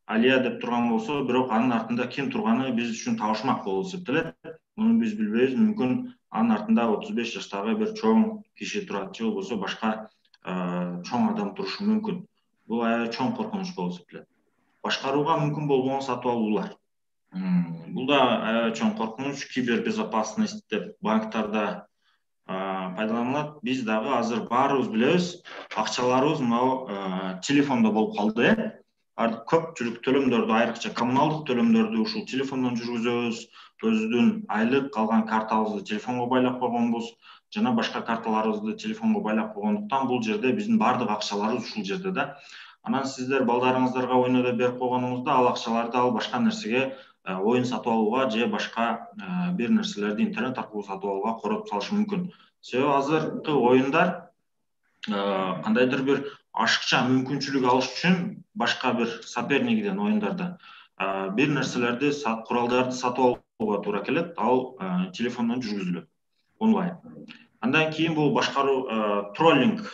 Алия деп турган болсо, бирок анын артында ким турганы биз үчүн табышмак болуп эсептелет. Муну биз билбейбиз. Мүмкүн анын артында 35 жаштагы бир чоң киши турат, же болбосо башка чоң адам турушу мүмкүн. Бул аябай чоң коркунуч болуп эсептелет. Башкарууга мүмкүн болбогон сатып алуулар. Бул да аябай чоң коркунуч. Кибербезопасность деп банктарда пайдаланылат. Биз дагы азыр баарыбыз билебиз, акчаларыбыз мынау телефондо болуп калды. Көпчүлүк төлөмдөрдү, айрыкча коммуналдык төлөмдөрдү ушул телефондон жүргүзөбүз. Өзүбүздүн айлык калган картабызды телефонго байлап койгонбуз, жана башка карталарыбызды телефонго байлап койгондуктан бул жерде биздин баардык акчаларыбыз ушул жерде да. Анан сиздер балдарыңыздарга ойноо берип койгонуңузда ал акчаларды ал башка нерсеге, оюн сатып алууга же башка бир нерселерди интернет аркылуу сатып алууга коротуп салышы мүмкүн. Себеби азыркы оюндар кандайдыр бир ашыкча мүмкүнчүлүк алыш үчүн башка бир сопернигиден оюндарда бир нерселерди, куралдарды сатып алууга туура келет. Ал телефондон жүргүзүлөт онлайн. Андан кийин бул башкаруу троллинг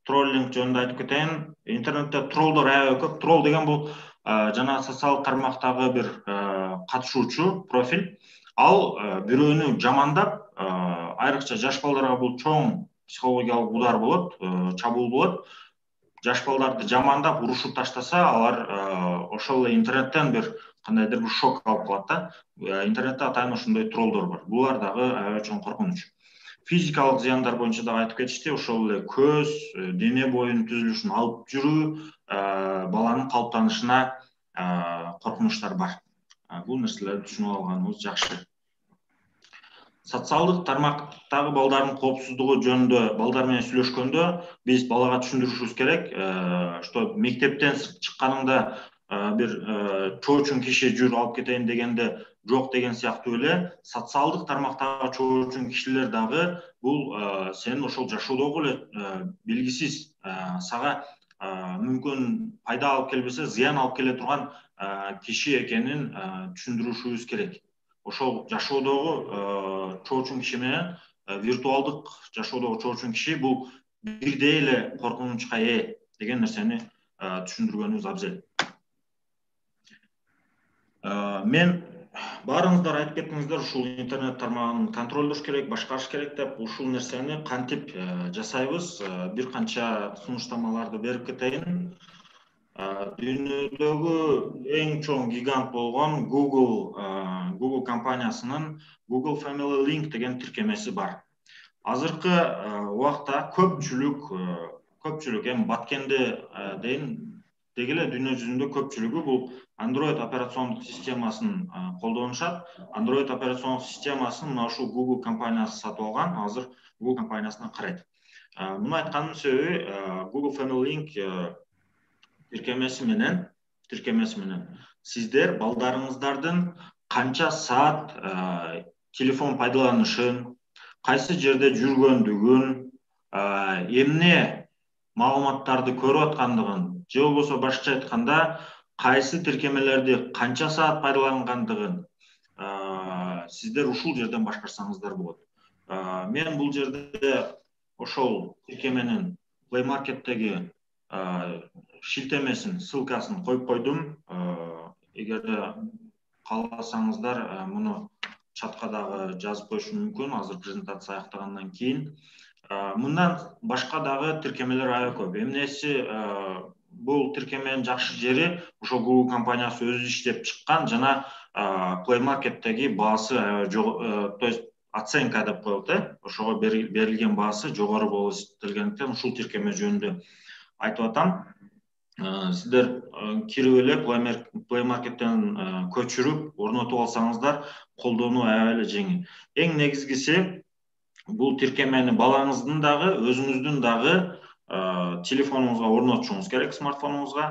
жөнүндө айтып кетейин. Интернетте троллдор аябай көп. Тролл деген бул жана социалдык тармактагы бир катышуучу профиль. Ал бирөөнү жамандап, айрыкча жаш балдарга бул чоң психологиялык удар болот, чабуул болот. Жаш балдарды жамандап, урушуп таштаса, алар ошол эле интернеттен бир кандайдыр бир шок алып калат да. Интернетте атайын ошондой троллдор бар. Булар дагы аябай чоң коркунуч. Физикалык зыяндар боюнча дагы айтып кетишти. Ошол эле көз, дене боюнун түзүлүшүн алып жүрүү, баланын калыптанышына коркунучтар бар. Бул нерселерди түшүнүп алганыбыз жакшы. Социалдык тармактагы балдардын коопсуздугу жөнүндө балдар менен сүйлөшкөндө биз балага түшүндүрүшүбүз керек, что мектептен чыкканыңда бир чоочун киши жүр алып кетейин дегенде жок деген сыяктуу эле социалдык тармактагы чоочун кишилер дагы бул сенин ошол жашоодогу эле белгисиз сага мүмкүн пайда алып келбесе, зыян алып келе турган киши экенин түшүндүрүшүбүз керек. Ошол жашоодогу чоочун киши менен виртуалдык жашоодогу чоочун киши бул бирдей эле коркунучка ээ деген нерсени түшүндүргөнүбүз абзел. Мен баарыңыздар айтып кеттиңиздер, ушул интернет тармагын контролдош керек, башкарыш керек деп. Ушул нерсени кантип жасайбыз? Бир канча сунуштамаларды берип кетейин. Дүйнөдөгү эң чоң гигант болгон Google компаниясынын Google Family Link деген тиркемеси бар. Азыркы убакта көпчүлүк эми баткенде дейин деги эле дүйнө жүзүндө көпчүлүгү бул Android операциондук системасын колдонушат. Android операциондук системасын мына ушул Google компаниясы сатып алган, азыр Google компаниясына карайт. Муну айтканымдын себеби Google Family Link тиркемеси менен сиздер балдарыңыздардын канча саат телефон пайдаланышын, кайсы жерде жүргөндүгүн, эмне маалыматтарды көрүп аткандыгын, же болбосо башкача айтканда кайсы тиркемелерди канча саат пайдалангандыгын сиздер ушул жерден башкарсаңыздар болот. Мен бул жерде ошол тиркеменин Play Market'теги шилтемесин, ссылкасын коюп койдум. Эгерде кааласаңыздар муну чатка дагы жазып коюшум мүмкүн азыр презентация аяктагандан кийин. Мындан башка дагы тиркемелер аябай көп. Эмнеси бул тиркеменин жакшы жери ошол Google компаниясы өзү иштеп чыккан жана Play Market'теги баасы аябай жогору, то есть оценка деп коет, ошого берилген баасы жогору болуп эсептелгендиктен ушул тиркеме жөнүндө айтып атам. Сиздер кирип эле Play Market'тен көчүрүп, орнотуп алсаңыздар, колдонуу аябай эле жеңил. Эң негизгиси бул тиркемени балаңыздын дагы, өзүңүздүн дагы телефонуңузга орнотушуңуз керек, смартфонуңузга.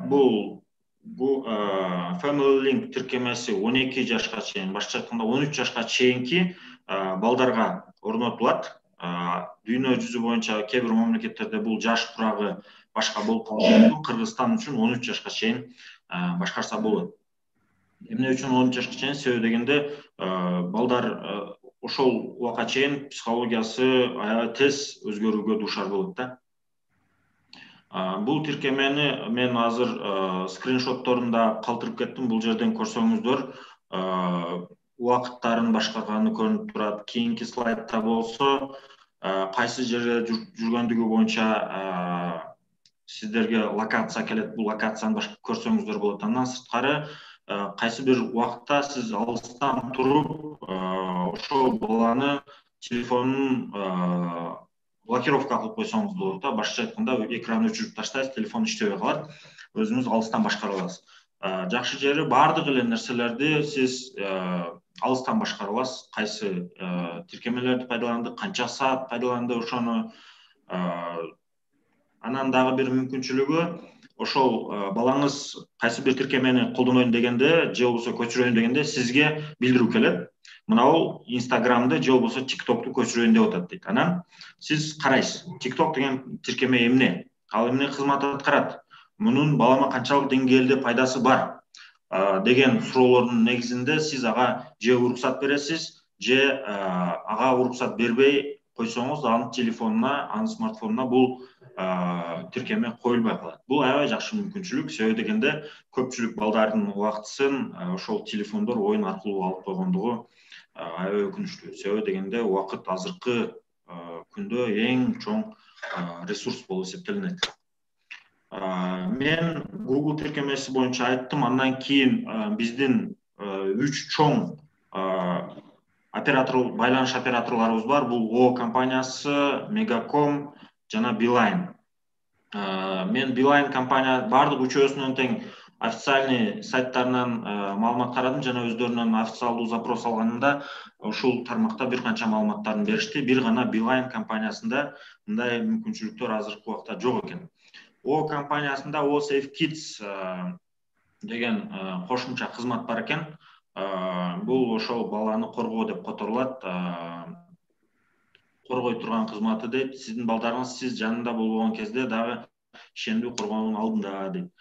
Бул Family Link тиркемеси 12 жашка чейин, башкача айтканда 13 жашка чейинки балдарга орнотулат. дүйнө жүзү боюнча кээ бир мамлекеттерде бул жаш турагы башка болуп калышы мүмкүн. Кыргызстан үчүн 13 жашка чейин башкарса болот. Эмне үчүн 13 жашка чейин? Себеби дегенде балдар ошол убакка чейин психологиясы аябай тез өзгөрүүгө дуушар болот да. Бул тиркемени мен азыр скриншотторунда калтырып кеттим. Бул жерден көрсөңүздөр убакыттарын башкарганы көрүнүп турат. Кийинки слайдта болсо кайсы жерде жүргөндүгү боюнча сиздерге локация келет. Бул локацияны көрсөңүздөр болот. Андан сырткары кайсы бир убакытта сиз алыстан туруп ошол баланы телефонун блокировка кылып койсоңуз болот да. Башкача айтканда экранды өчүрүп таштайсыз, телефон иштебей калат. Өзүңүз алыстан башкара аласыз. Жакшы жери баардык эле нерселерди сиз алыстан башкара аласыз. Кайсы тиркемелерди пайдаланды, канча саат пайдаланды ошону. Анан дагы бир мүмкүнчүлүгү ошол балаңыз кайсы бир тиркемени колдонойм дегенде же болбосо көчүрөйүн дегенде сизге билдирүү келет. Мынабул Инстаграмды же болбосо TikTok'ту көчүрөйүн деп атат дейт. Анан сиз карайсыз. TikTok деген тиркеме эмне? Ал эмне кызмат аткарат? Мунун балама канчалык деңгээлде пайдасы бар деген суроолордун негизинде сиз ага же уруксат бересиз, же ага уруксат бербей койсоңуз, анын телефонуна, анын смартфонуна бул тиркеме коюлбай калат. Бул аябай жакшы мүмкүнчүлүк. Себеби дегенде көпчүлүк балдардын убактысын ошол телефондор оюн аркылуу алып койгондугу аябай өкүнүчтүү. Себеби дегенде убакыт азыркы күндө эң чоң ресурс болуп эсептелинет. Мен Google тиркемеси боюнча айттым. Андан кийин биздин 3 чоң байланыш операторлорубуз бар. Бул О компаниясы, Мегаком жана Билайн. Мен Билайн компания бардык үчөөсүнөн тең официальный сайттарынан маалымат карадым жана өздөрүнөн официалдуу запрос алганымда ушул тармакта бир канча маалыматтарын беришти. Бир гана Билайн компаниясында мындай мүмкүнчүлүктөр азыркы убакта жок экен. О компаниясында О Safe Kids деген кошумча кызмат бар экен. Бул ошол баланы коргоо деп которулат. Коргой турган кызматы дейт. Сиздин балдарыңыз сиз жанында болбогон кезде дагы ишендүү коргоонун алдында дейт.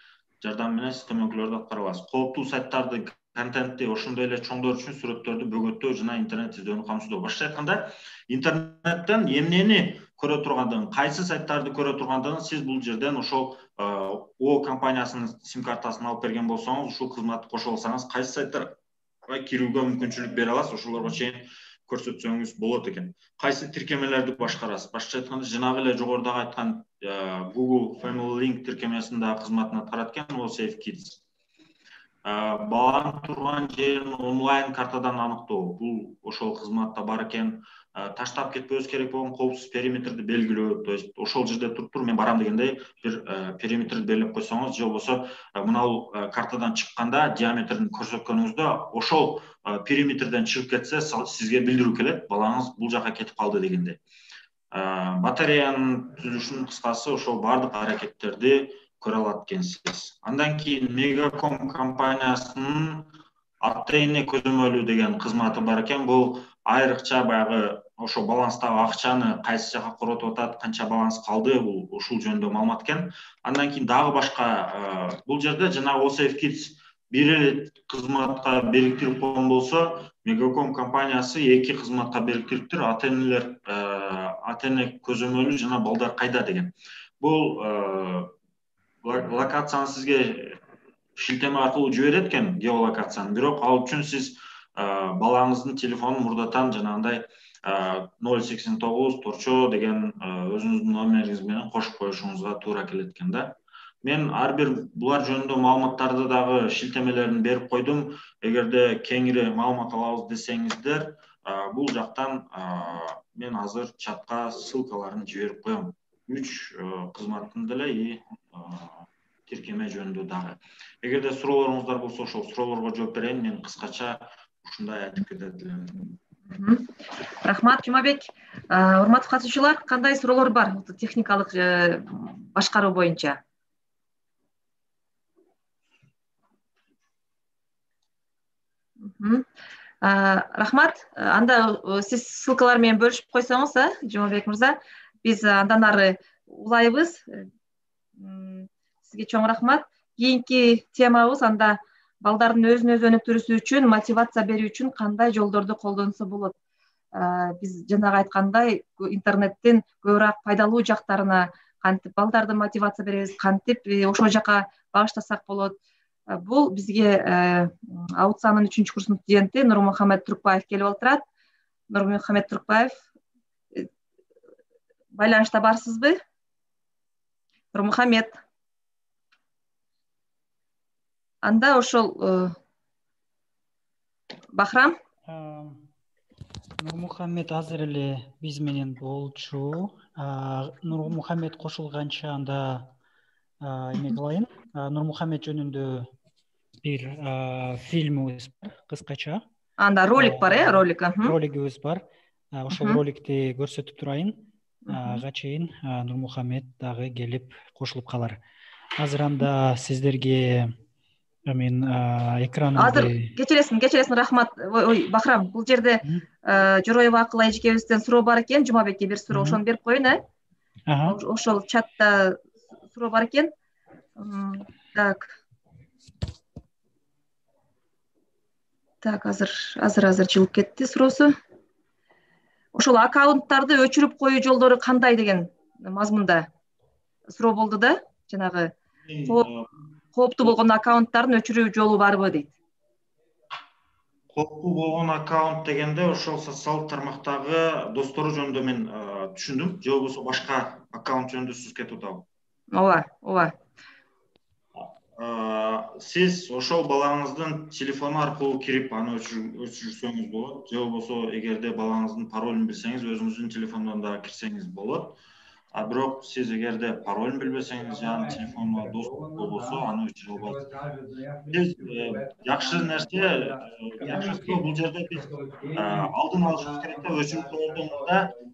Жардам менен сиз көмөкүлөрдү аткара аласыз. Кооптуу сайттарды, контентти, ошондой эле чоңдор үчүн сүрөттөрдү бөгөттөө жана интернет издөөнү камсыздоо. Башкача айтканда, интернеттен эмнени көрө тургандыгын, кайсы сайттарды көрө тургандыгын сиз бул жерден ошол О компаниясынын сим картасын алып берген болсоңуз, ушул кызматты кошо алсаңыз, кайсы сайттарга кирүүгө мүмкүнчүлүк бере аласыз, ошолорго чейин көрсөтсөңүз болот экен. Кайсы тиркемелерди башкарасыз? Башкача айтканда, жанагы эле жогорудагы айткан Google Family Link тиркемесинде кызматын аткарат экен О Safe Kids. Баланын турган жерин онлайн картадан аныктоо. Бул ошол кызматта бар экен. Таштап кетпөбүз керек болгон коопсуз периметрди белгилөө. То есть ошол жерде туруп мен барам дегенде бир периметрди белгилеп койсоңуз, же болбосо мынабул картадан чыкканда диаметрин көрсөткөнүңүздө ошол периметрден чыгып кетсе, сизге билдирүү келет. Балаңыз бул жака кетип калды дегенде. Батареянын түзүлүшүнүн кыскасы ошол бардык аракеттерди көрө алат экенсиз. Андан кийин Мегаком компаниясынын ата-эне көзөмөлү деген кызматы бар экен. Бул айрыкча баягы ошо баланстагы акчаны кайсы жака коротуп атат, канча баланс калды, бул ушул жөнүндө маалымат экен. Андан кийин дагы башка бул жерде жана О Safe Kids бир эле кызматка бириктирип койгон болсо, Мегаком компаниясы 2 кызматка бириктириптир. Ата-эне көзөмөлү жана балдар кайда деген. Бул локацияны сизге шилтеме аркылуу жиберет экен, геолокацияны. Бирок ал үчүн сиз балаңыздын телефонун мурдатан жанагындай 089 торчо деген өзүңүздүн номериңиз менен кошуп коюшуңузга туура келет экен да. Мен ар бир булар жөнүндө маалыматтарды дагы шилтемелерин берип койдум. Эгерде кеңири маалымат алабыз десеңиздер, бул жактан мен азыр чатка ссылкаларын жиберип коем. 3 кызматтын деле и тиркеме жөнүндө дагы. Эгерде суроолоруңуздар болсо, ошол суроолорго жооп берейин. Мен кыскача ушундай айтып кетет элем. Рахмат, Жумабек. Урматтуу катышуучулар, кандай суроолор бар техникалык башкаруу боюнча? Рахмат. Анда сиз ссылкалар менен бөлүшүп койсоңуз, Жомабек мырза, биз андан ары улайбыз. Сизге чоң рахмат. Кийинки темабыз анда балдардын өзүн өзү өнүктүрүүсү үчүн, мотивация берүү үчүн кандай жолдорду колдонсо болот. Биз жанагы айткандай интернеттин көбүрөөк пайдалуу жактарына кантип балдарды мотивация беребиз, кантип ошол жака багыштасак болот. Бул бизге аутсанын 3-курс студенти Нурмухамед Туркбаев келип отурат. Нурмухамед Туркбаев, байланышта барсызбы? Нурмухамед. Анда ошол Бахрам. Нурмухамед азыр эле биз менен болчу. Нурмухамед кошулганча анда эме кылайын. Нурмухамед жөнүндө бир фильмибиз бар, кыскача. Анда ролик бар, ролик. Ролигибиз бар. Ошол роликти көрсөтүп турайын. Ага чейин Нурмухамед дагы келип кошулуп калар. Азыр анда сиздерге мен экранымды азыр кечиресиң, рахмат. Ой, Бахрам, бул жерде Жороева Акыл эжекебизден суроо бар экен. Жумабекке бир суроо, ошону берип коеюн, Ошол чатта суроо бар экен. Так, азыр жылып кетти суроосу. Ошол аккаунттарды өчүрүп коюу жолдору кандай деген мазмунда суроо болду да, жанагы кооптуу болгон аккаунттардын өчүрүү жолу барбы дейт. Кооптуу болгон аккаунт дегенде ошол социалдык тармактагы достору жөнүндө мен түшүндүм. Же болбосо башка аккаунт жөнүндө сөз кетип атабы? Ооба. Сиз ошол балаңыздын телефону аркылуу кирип аны өчүрсөңүз болот. Же болбосо эгерде балаңыздын паролун билсеңиз, өзүңүздүн телефондон дагы кирсеңиз болот. Бирок сиз эгерде паролун билбесеңиз, жана телефонуна доступ болбосо, аны өчүрө албайсыз. Биз жакшы нерсе, жакшысы бул жерде биз алдын алышыбыз керек да, өчүрүп коерден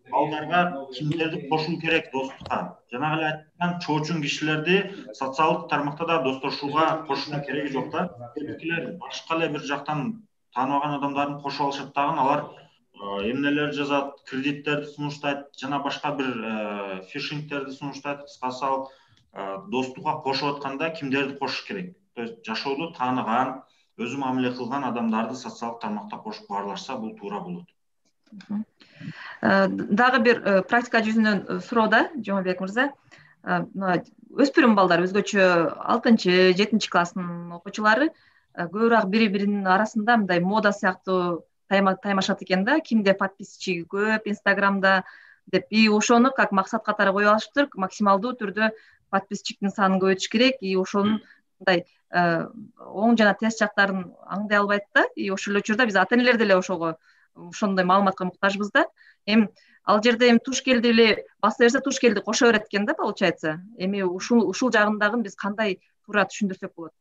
балдарга кимдерди кошуу керек достукка. Жанагы эле айткан чоочун кишилерди социалдык тармакта да достошууга кошуунун кереги жок да. Кээбиркилер башка эле бир жактан тааныбаган адамдарын кошуп алышат дагы, алар эмнелер жазат, кредиттерди сунуштайт, жана башка бир фишингтерди сунуштайт. Кыскасы ал достукка кошуп атканда кимдерди кошуш керек? То есть жашоодо тааныган, өзү мамиле кылган адамдарды социалдык тармакта кошуп баарлашса, бул туура болот. Дагы бир практика жүзүнөн суроо да, Жомабек мырза. Өспүрүм балдар, өзгөчө 6-7 класстын окуучулары көбүрөөк бири-биринин арасында мындай мода сыяктуу таймашат экен да, кимде подписчиги көп Инстаграмда деп, и ошону как максат катары коюп алышыптыр, максималдуу түрдө подписчиктин санын көбөйтүш керек, и ошонун мындай оң жана терс жактарын аңдай албайт да, и ошол эле учурда биз ата энелер деле ошондой маалыматка муктажбыз да. Эми ал жерде туш келди эле баса берсе, туш келди кошо берет экен да, получается. Эми ушул жагындагы биз кандай туура түшүндүрсөк болот?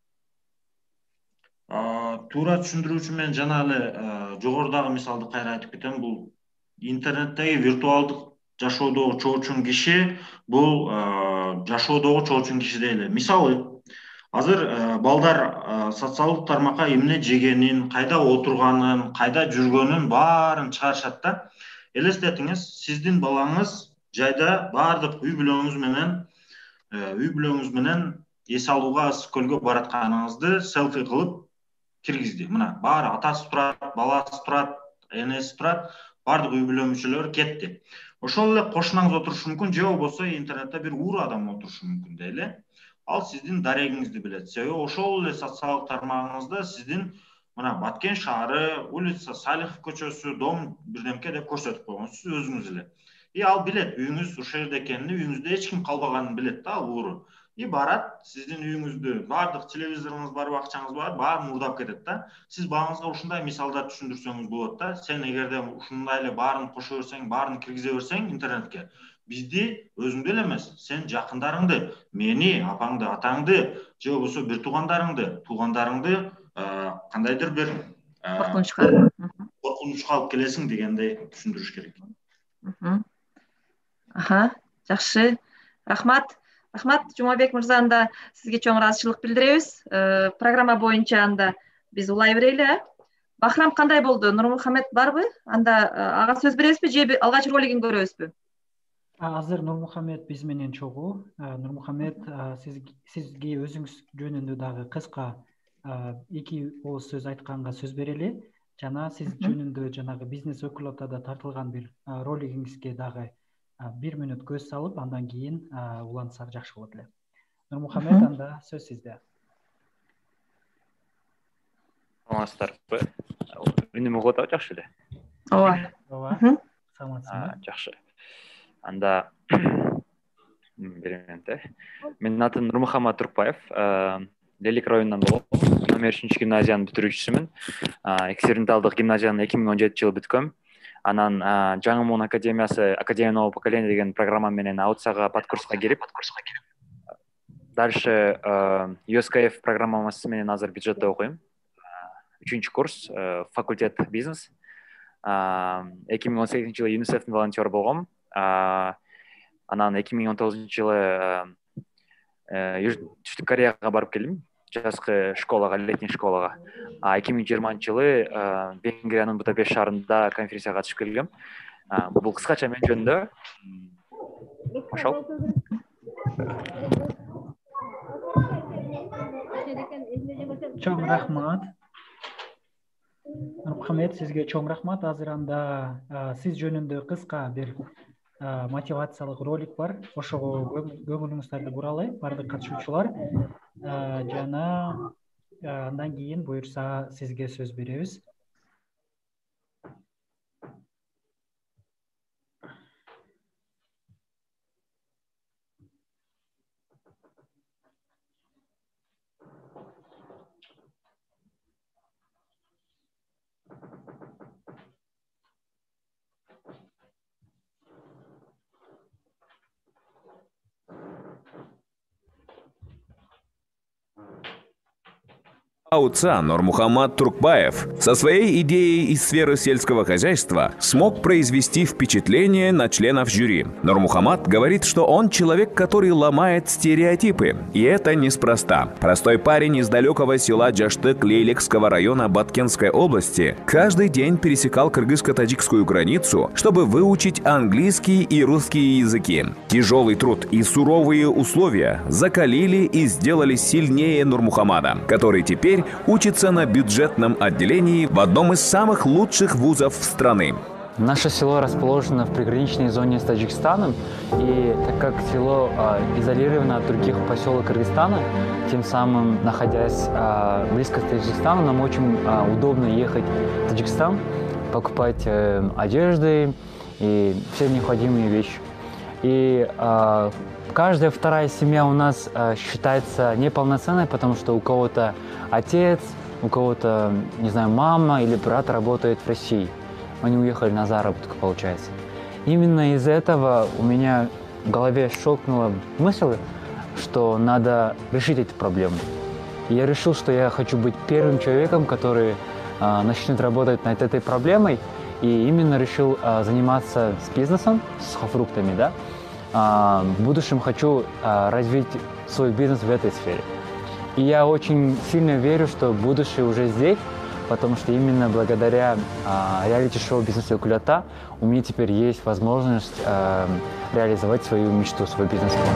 Туура түшүндүрүү үчүн мен жана эле жогорудагы мисалды кайра айтып кетем. Бул интернеттеги виртуалдык жашоодогу чоочун киши, бул жашоодогу чоочун киши дейли. Мисалы, азыр балдар социалдык тармакка эмне жегенин, кайда отурганын, кайда жүргөнүн баарын чыгарышат да. Элестетиңиз, сиздин балаңыз жайда баардык үй бүлөңүз менен эс алууга ысык көлгө баратканыңызды селфи кылып киргизди. Мына баары атасы турат, баласы турат, энеси турат, баардык үй бүлө мүчөлөрү кетти. Ошол эле кошунаңыз отурушу мүмкүн, же болбосо интернетте бир ууру адам отурушу мүмкүн дейли. Ал сиздин дарегиңизди билет. Себеби ошол эле социалдык тармагыңызда сиздин мына Баткен шаары, улица Салихов көчөсү, дом бирдемке деп көрсөтүп койгонсуз өзүңүз эле. И ал билет, үйүңүз ушул жерде экенин, үйүңүздө эч ким калбаганын билет да, ал ууру. И барат, сиздин үйүңүздү, баардык телевизоруңуз бар, бакчаңыз бар, баарын уурдап кетет да. Сиз балаңызга ушундай мисалдар түшүндүрсөңүз болот да. Сен эгерде ушундай эле баарын кошо берсең, баарын киргизе берсең интернетке, бизди өзүңдү эле эмес, сен жакындарыңды, мени, апаңды, атаңды, же болбосо бир туугандарыңды кандайдыр бир коркунучка алып келесиң дегендей түшүндүрүш керек. Жакшы. Рахмат. Жумабек мырза, анда сизге чоң ыраазычылык билдиребиз. Программа боюнча анда биз улай берели. Бахрам кандай болду? Нурмухамед барбы? Анда ага сөз бересизби же алгач ролигин көрөбүзбү? Азыр Нурмухамед биз менен чогуу. Нурмухамед, сизге өзүңүз жөнүндө дагы кыска 2 ооз сөз айтканга сөз берели. Жана сиз жөнүндө жанагы бизнес өкүлөтада тартылган бир ролигиңизге дагы 1 мүнөт көз салып, андан кийин улантсак жакшы болот эле. Нурмухамед, анда сөз сизде. Саламатсыздарбы? Үнүм угуп атабы жакшы эле? Ооба. Саламатсызбы? Жакшы. Анда берем да. Менин атым Нурмухамед Туркбаев. Лелик районунан болом. Номер 3 гимназиянын бүтүрүүчүсүмүн. Эксперименталдык гимназияны 2017 жылы бүткөм. Анан Жаңы Муун академиясы Академия нового поколения деген программа менен аутсага подкурска кирип, дальше USKF программасы менен азыр бюджетте окуйм. 3 курс, факультет бизнес. 2018 жылы ЮНИСЕФтин волонтеру болгом. Анан 2019 жылы Түштүк Кореяга барып келдим, жазгы школага, летний школага. 2020 жылы Венгриянын Будапешт шаарында конференцияга катышып келгем. Бул кыскача мен жөнүндө. Ошол. Чоң рахмат. Нурмухамед, сизге чоң рахмат. Азыр анда сиз жөнүндө кыска бир мотивациялык ролик бар. Ошого көңүлүңүздөрдү буралы, бардык катышуучулар. Жана андан кийин буюрса сизге сөз беребиз. АУЦА Нурмухамед Туркбаев со своей идеей из сферы сельского хозяйства смог произвести впечатление на членов жюри. Нурмухамед говорит, что он человек, который ломает стереотипы. И это неспроста. Простой парень из далекого села Жаштык Лейлекского района Баткенской области каждый день пересекал кыргызско-таджикскую границу, чтобы выучить английский и русский языки. Тяжелый труд и суровые условия закалили и сделали сильнее Нурмухамеда, который теперь учится на бюджетном отделении в одном из самых лучших вузов страны. Наше село расположено в приграничной зоне с Таджикистаном, и так как село изолировано от других поселок Кыргызстана, тем самым, находясь близко к Таджикистану, нам очень удобно ехать в Таджикистан, покупать одежды и все необходимые вещи. И каждая вторая семья у нас считается неполноценной, потому что у кого-то отец, у кого-то, не знаю, мама или брат работает в России. Они уехали на заработок, получается. Именно из-за этого у меня в голове щелкнула мысль, что надо решить эти проблемы. И я решил, что я хочу быть первым человеком, который начнет работать над этой проблемой. И именно решил заниматься с бизнесом, с сухофруктами, да. В будущем хочу развить свой бизнес в этой сфере. И я очень сильно верю, что будущее уже здесь, потому что именно благодаря реалити-шоу «Бизнес Өкүлөтө» у меня теперь есть возможность реализовать свою мечту, свой бизнес-план.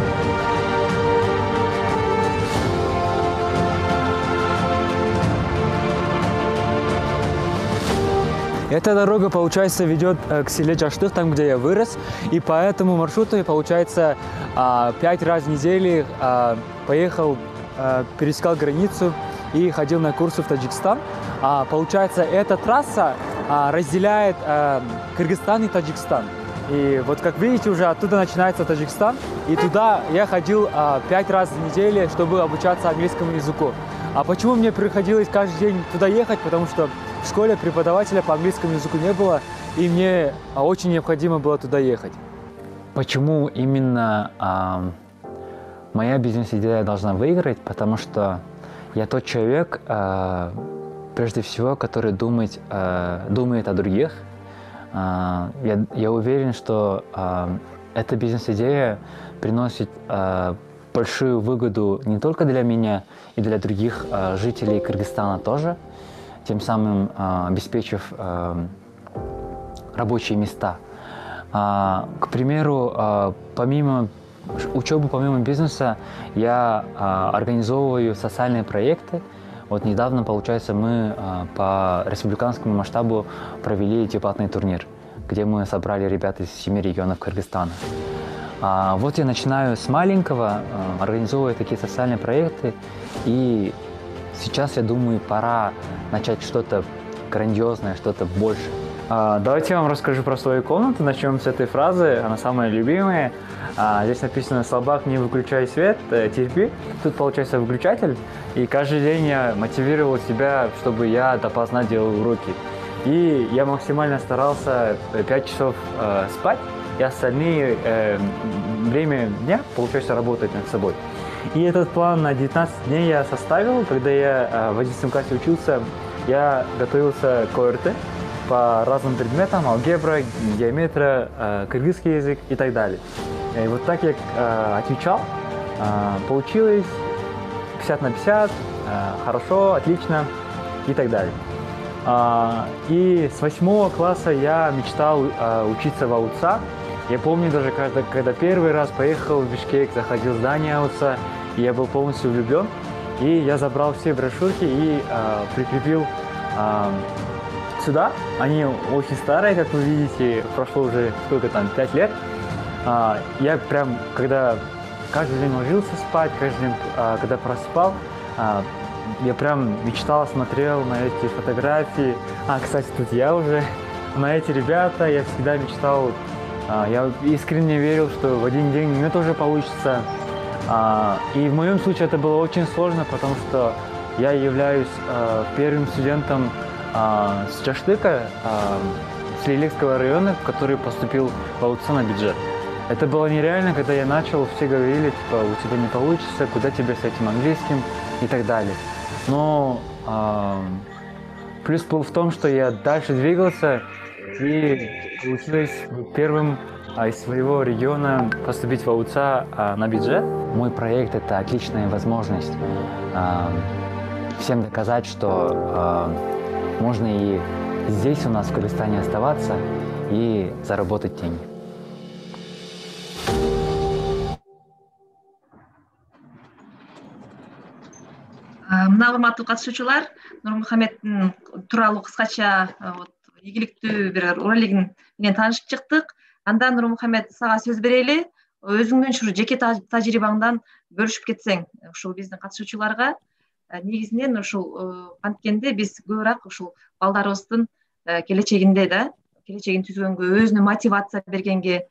Эта дорога, получается, ведет к селе Жаштык, там, где я вырос, и по этому маршруту я, получается, 5 раз в неделю поехал, пересекал границу и ходил на курсы в Таджикистан. Получается, эта трасса разделяет Кыргызстан и Таджикистан. И вот, как видите, уже оттуда начинается Таджикистан, и туда я ходил 5 раз в неделю, чтобы обучаться английскому языку. А почему мне приходилось каждый день туда ехать? Потому что в школе преподавателя по английскому языку не было, и мне очень необходимо было туда ехать. Почему именно моя бизнес-идея должна выиграть? Потому что я тот человек, прежде всего, который думает о других. Я уверен, что эта бизнес-идея приносит большую выгоду не только для меня и для других жителей Кыргызстана тоже. тем самым обеспечив рабочие места. К примеру, помимо учебы, помимо бизнеса, я организовываю социальные проекты. Вот недавно, получается, мы по республиканскому масштабу провели дебатный турнир, где мы собрали ребят из 7 регионов Кыргызстана. Вот я начинаю с маленького, организовывая такие социальные проекты, и сейчас, я думаю, пора начать что-то грандиозное, что-то больше. Давайте я вам расскажу про свою комнату. Начнем с этой фразы, она самая любимая. Здесь написано: «Слабак, не выключай свет, терпи». Тут получается выключатель, и каждый день я мотивировал себя, чтобы я допоздна делал уроки. И я максимально старался 5 часов спать, и остальные время дня, получается, работать над собой. И этот план на 19 дней я составил, когда я в 11 классе учился. Я готовился к ОРТ по разным предметам: алгебра, геометрия, кыргызский язык и так далее. И вот так я отвечал, получилось 50 на 50, хорошо, отлично и так далее. И с 8 класса я мечтал учиться в АУЦА. Я помню даже, когда первый раз поехал в Бишкек, заходил в здание АУЦА, и я был полностью влюблен. И я забрал все брошюрки и прикрепил сюда. Они очень старые, как вы видите, прошло уже сколько там, 5 лет. Я прям, когда каждый день ложился спать, каждый день, когда просыпал, я прям мечтал, смотрел на эти фотографии. Кстати, тут я уже, на эти ребята, я всегда мечтал. Я искренне верил, что в один день у меня тоже получится. И в моем случае это было очень сложно, потому что я являюсь первым студентом с Чаштыка, с Лиликского района, который поступил в АУЦА на бюджет. Это было нереально, когда я начал, все говорили, типа, у тебя не получится, куда тебе с этим английским и так далее. Но плюс был в том, что я дальше двигался и получилось первым из своего региона поступить в АУЦА на бюджет. Мой проект – это отличная возможность всем доказать, что можно и здесь у нас в Кыргызстане оставаться и заработать деньги. Мына урматтуу катышуучулар, Нурмухаммеддин тууралуу кыскача ийгиликтүү бир ролигин менен таанышып чыктык. Андан Нурмухаммед, сага сөз берели. Өзүңдүн ушул жеке тажрыйбаңдан бөлүшүп кетсең ушул биздин катышуучуларга. Негизинен ушул анткенде биз көбүрөөк ушул балдарыбыздын келечегинде келечегин түзгөнгө, өзүнө мотивация бергенге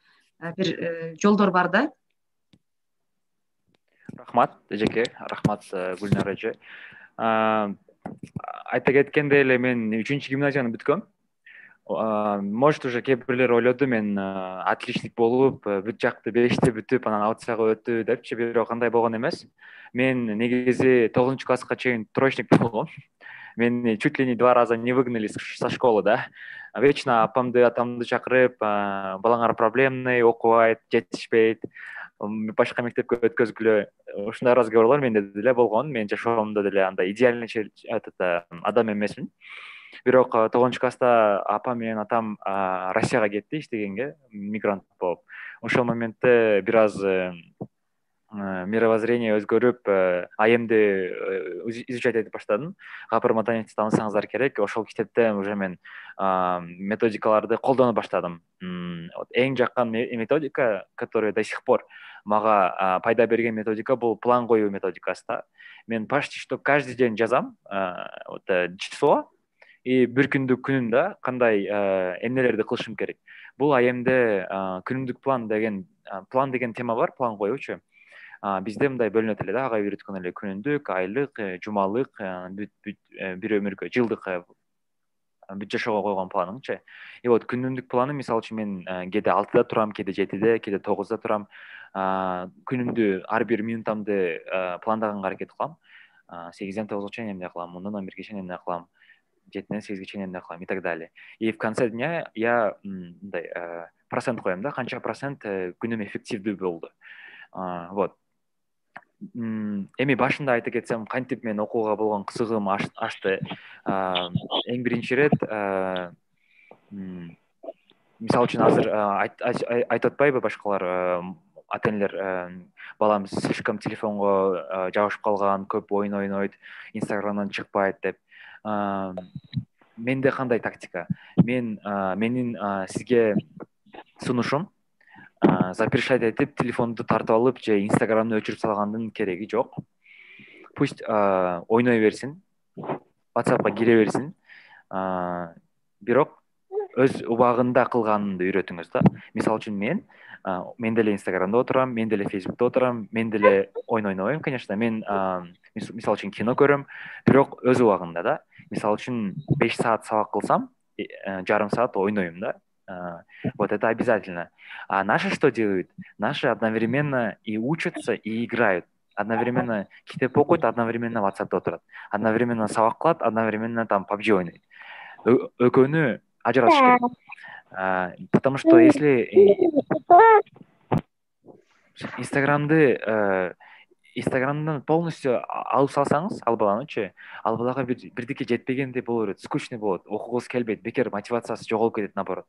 бир жолдор бар да. Рахмат эжеке, рахмат Гүлнар эже. Айта кеткендей эле мен 3-гимназияны бүткөм. Может, уже кээ бирлер ойлоду мен отличник болуп, бүт жакты 5-те бүтүп, анан АУЦАга өттү депчи, бирок андай болгон эмес. Мен негизи 9-класска чейин троечник болгом. Мен чуть ли не 2 раза не выгнали со школы, да. Вечно апамды, атамды чакырып, балаңар проблемный, окубайт, жетишпейт, башка мектепке өткөзгүлө. Ушундай разговорлор менде деле болгон. Мен жашоомдо деле андай идеальный адам эмесмин. Бирок 9-класста апам менен атам Россияга кетти иштегенге, мигрант болуп. Ошол моментте бир аз мировоззрение өзгөрүп, АМди изучать этип баштадым. Гапыр Матаевди таанысаңыздар керек. Ошол китепте уже мен методикаларды колдоно баштадым. Эң жаккан методика, которая до сих пор мага пайда берген методика, бул план коюу методикасы да. Мен почти что каждый день жазам число и бир күндүк күнүмдө кандай эмнелерди кылышым керек. Бул АМде күнүмдүк план деген тема бар, план коюучу. Бизде мындай бөлүнөт эле да, ага үйрөткөн эле күнүндүк, айлык, жумалык, бир өмүргө, жылдык бүт жашоого койгон планыңчы. И вот күнүмдүк планым, мисалы үчүн мен кээде 6-да турам, кээде 7-де, кээде 9-да турам. Күнүмдү ар бир минутамды пландаганга аракет кылам. 8-ден 9-га чейин эмне кылам, 10-дон 11-ге чейин эмне кылам, 7-ден 8-ге чейин эмне кылам и так далее. И в конце дня я мындай процент коем да, канча процент күнүм эффективдүү болду. Вот. эми башында айта кетсем, кантип мен окууга болгон кызыгым ачты. Эң биринчи ирет мисалы үчүн азыр айтып атпайбы башкалар ата энелер, балам слишком телефонго жабышып калган, көп оюн ойнойт, инстаграмдан чыкпайт деп. Менде кандай тактика? Менин сизге сунушум запрещать этип телефонду тартып алып же инстаграмды өчүрүп салгандын кереги жок. Пусть ойной берсин, WhatsAppка кире берсин, бирок өз убагында кылганды үйрөтүңүз да. Мисалы үчүн мен деле инстаграмда отурам, мен деле фейсбукта отурам, мен деле оюн ойнобойм, конечно. Мен мисалы үчүн кино көрөм, бирок өз убагында да. Мисалы үчүн 5 саат сабак кылсам, жарым саат ойнойм да. Вот это обязательно. А наши что делают? Наши одновременно и учатся, и играют. Одновременно китеп окуйт, одновременно WhatsApp'та отурат. Одновременно сабак кылат, одновременно там PUBG ойнойт. Экөөнү ажыратыш керек. Потому что если Инстаграмдан полностью алып салсаңыз, ал баланычы, ал балага бирдике жетпегендей боло берет, скучный болот, окугусу келбейт, бекер мотивациясы жоголуп кетет, наоборот.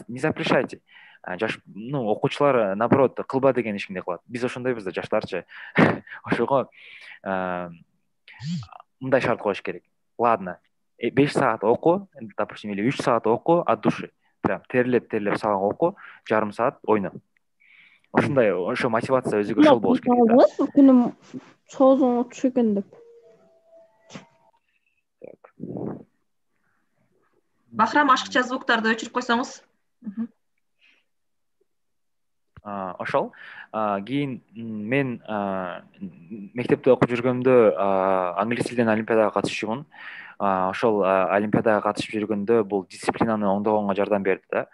Не запрещайте. Окуучулар, наоборот, кылба деген ишкимде кылат. Биз ошондойбуз да, жаштарчы. Ошого мындай шарт коюш керек. Ладно, 5 саат оку, допустим, или 3 саат оку от души. Прям терлеп сабак оку, жарым саат ойно. Ошондой, ошо мотивация өзүгө ошол болуш керек да. Күнүм соозуң отуш экен деп. Бахрам, ашыкча звуктарды өчүрүп койсоңуз. Ошол. Кийин мен мектепте окуп жүргөндө англис тилден олимпиадага катышчумун. Ошол олимпиадага катышып жүргөндө бул дисциплинаны оңдогонго жардам берди да.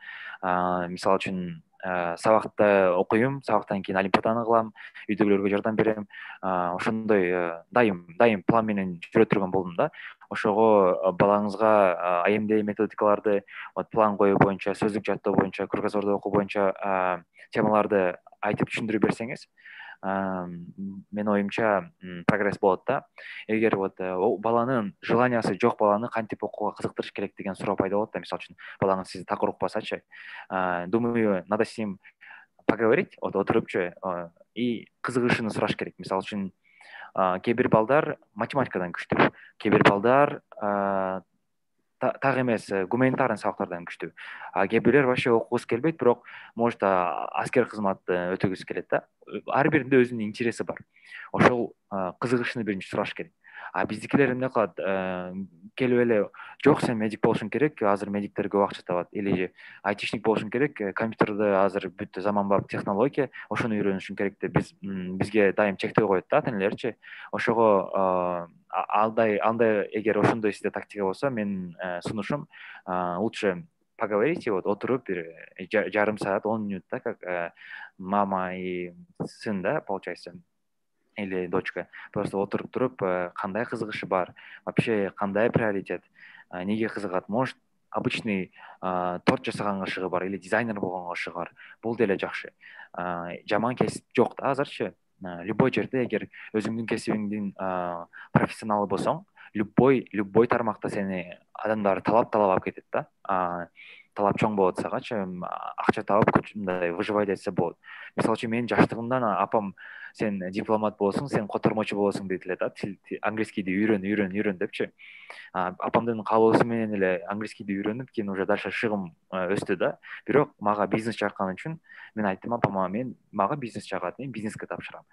Мисалы үчүн сабакты окуйм, сабактан кийин олимпиаданы кылам, үйдөгүлөргө жардам берем. Ошондой дайым план менен жүрө турган болдум да. Ошого балаңызга АМД методикаларды, план коюу боюнча, сөздүк жаттоо боюнча, кругозорду окуу боюнча темаларды айтып түшүндүрө берсеңиз, мен оюмча прогресс болот да. Эгер баланын желаниясы жок баланы кантип окууга кызыктырыш керек деген суроо пайда болот да. Мисалы үчүн балаңыз сизди так укпасачы, думаю, надо с ним поговорить, отурупчу и кызыгышын сураш керек. Мисалы үчүн кээ бир балдар математикадан күчтүү, кээ бир балдар так эмес гуманитарный сабактардан күчтүү. Кээ бирлер вообще окугусу келбейт, бирок может аскер кызматты өтөгүсү келет да. Ар биринде өзүнүн интереси бар. Ошол кызыгышын биринчи сураш керек. Биздикилер эмне кылат? Келип эле, жок, сен медик болушуң керек, азыр медиктер көп акча табат, или айтишник болушуң керек, компьютерде азыр бүт заманбап технология, ошону үйрөнүшүң керек деп бизге дайым чектөө коет да ата-энелерчи. Ошого андай эгер ошондой сизде тактика болсо, менин сунушум лучше поговорить, отуруп бир жарым саат, 10 минут, да, как мама и сын, да, получается, или дочка. Просто отуруп туруп, кандай кызыгышы бар, вообще кандай приоритет, неге кызыгат, может обычный торт жасаганга ышыгы бар, или дизайнер болгонго ышыгы бар. Бул деле жакшы. Жаман кесип жок да азырчы. Любой жерде эгер өзүңдүн кесибиңдин профессионалы болсоң, любой тармакта сени адамдар талап алып кетет да. Талап чоң болот сагачы, акча табып мындай выживать этсе болот. Мисалы үчүн менин жаштыгымдан апам сен дипломат болосуң, сен котормочу болосуң дейт эле да. Английскийди үйрөн депчи. Апамдын каалоосу менен эле английскийди үйрөнүп, кийин уже дальше шыгым өстү да. Бирок мага бизнес жаккан үчүн мен айттым апама, мага бизнес жагат, мен бизнеске тапшырам.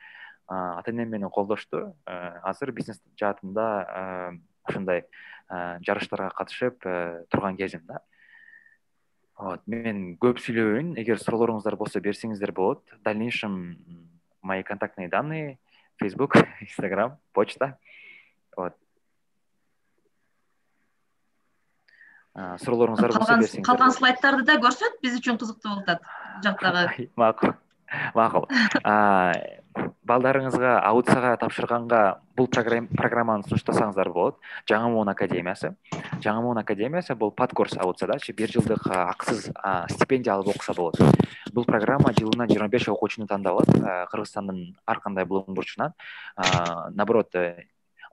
Ата-энем мени колдошту. Азыр бизнес жаатында ушундай жарыштарга катышып турган кезим да. Мен көп сүйлөбөйүн, эгер суроолоруңуздар болсо берсеңиздер болот. В дальнейшем мои контактные данные, Facebook, Instagram, почта. Суроолоруңуздар болсо берсеңиздер. Калган слайдтарды да көрсөт, биз үчүн кызыктуу болуп атат жактагы. Макул. балдарыңызга аудицияга тапшырганга бул программаны сунуштасаңыздар болот. Жаңы Муун академиясы. Жаңы Муун академиясы бул подкурс аудициядачы 1 жылдык акысыз стипендия алып окуса болот. Бул программа жылына 25 окуучуну тандап алат Кыргызстандын ар кандай булуң бурчунан. Наоборот,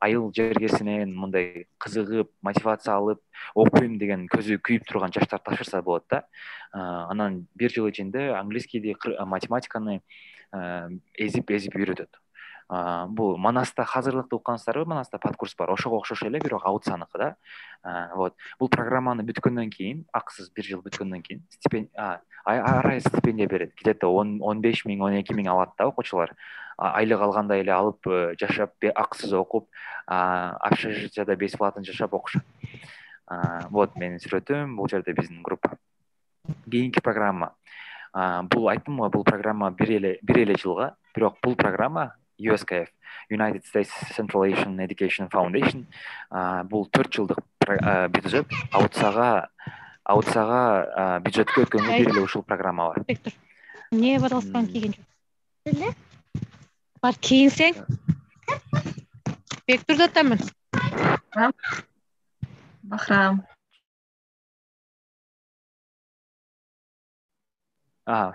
айыл жергесинен мындай кызыгып, мотивация алып, окуйм деген көзү күйүп турган жаштар тапшырса болот да. Анан 1 жыл ичинде английскийди, математиканы эзип үйрөтөт. Бул Манаста азырлыкты уккансыздарбы? Манаста подкурс бар. Ошого окшош эле, бирок аудицияныкы да. Вот. Бул программаны бүткөндөн кийин, акысыз 1 жыл бүткөндөн кийин ар ай стипендия берет. Где-то 15 миң, 12 миң алат да окуучулар. Айлык алгандай эле алып, жашап, акысыз окуп, общежитияда бесплатно жашап окушат. Вот менин сүрөтүм, бул жерде биздин группа. Кийинки программа. Бул айттым го, бул программа 1 эле жылга, бирок бул программа USKF, United States Central Asian Education Foundation, бул 4 жылдык бюджет. Аудицияга бюджетке өткөнгө 1 эле ушул программа бар. Эмне баталган кийген жок? Бар кийинсең. Бектурда тамын. Бахрам.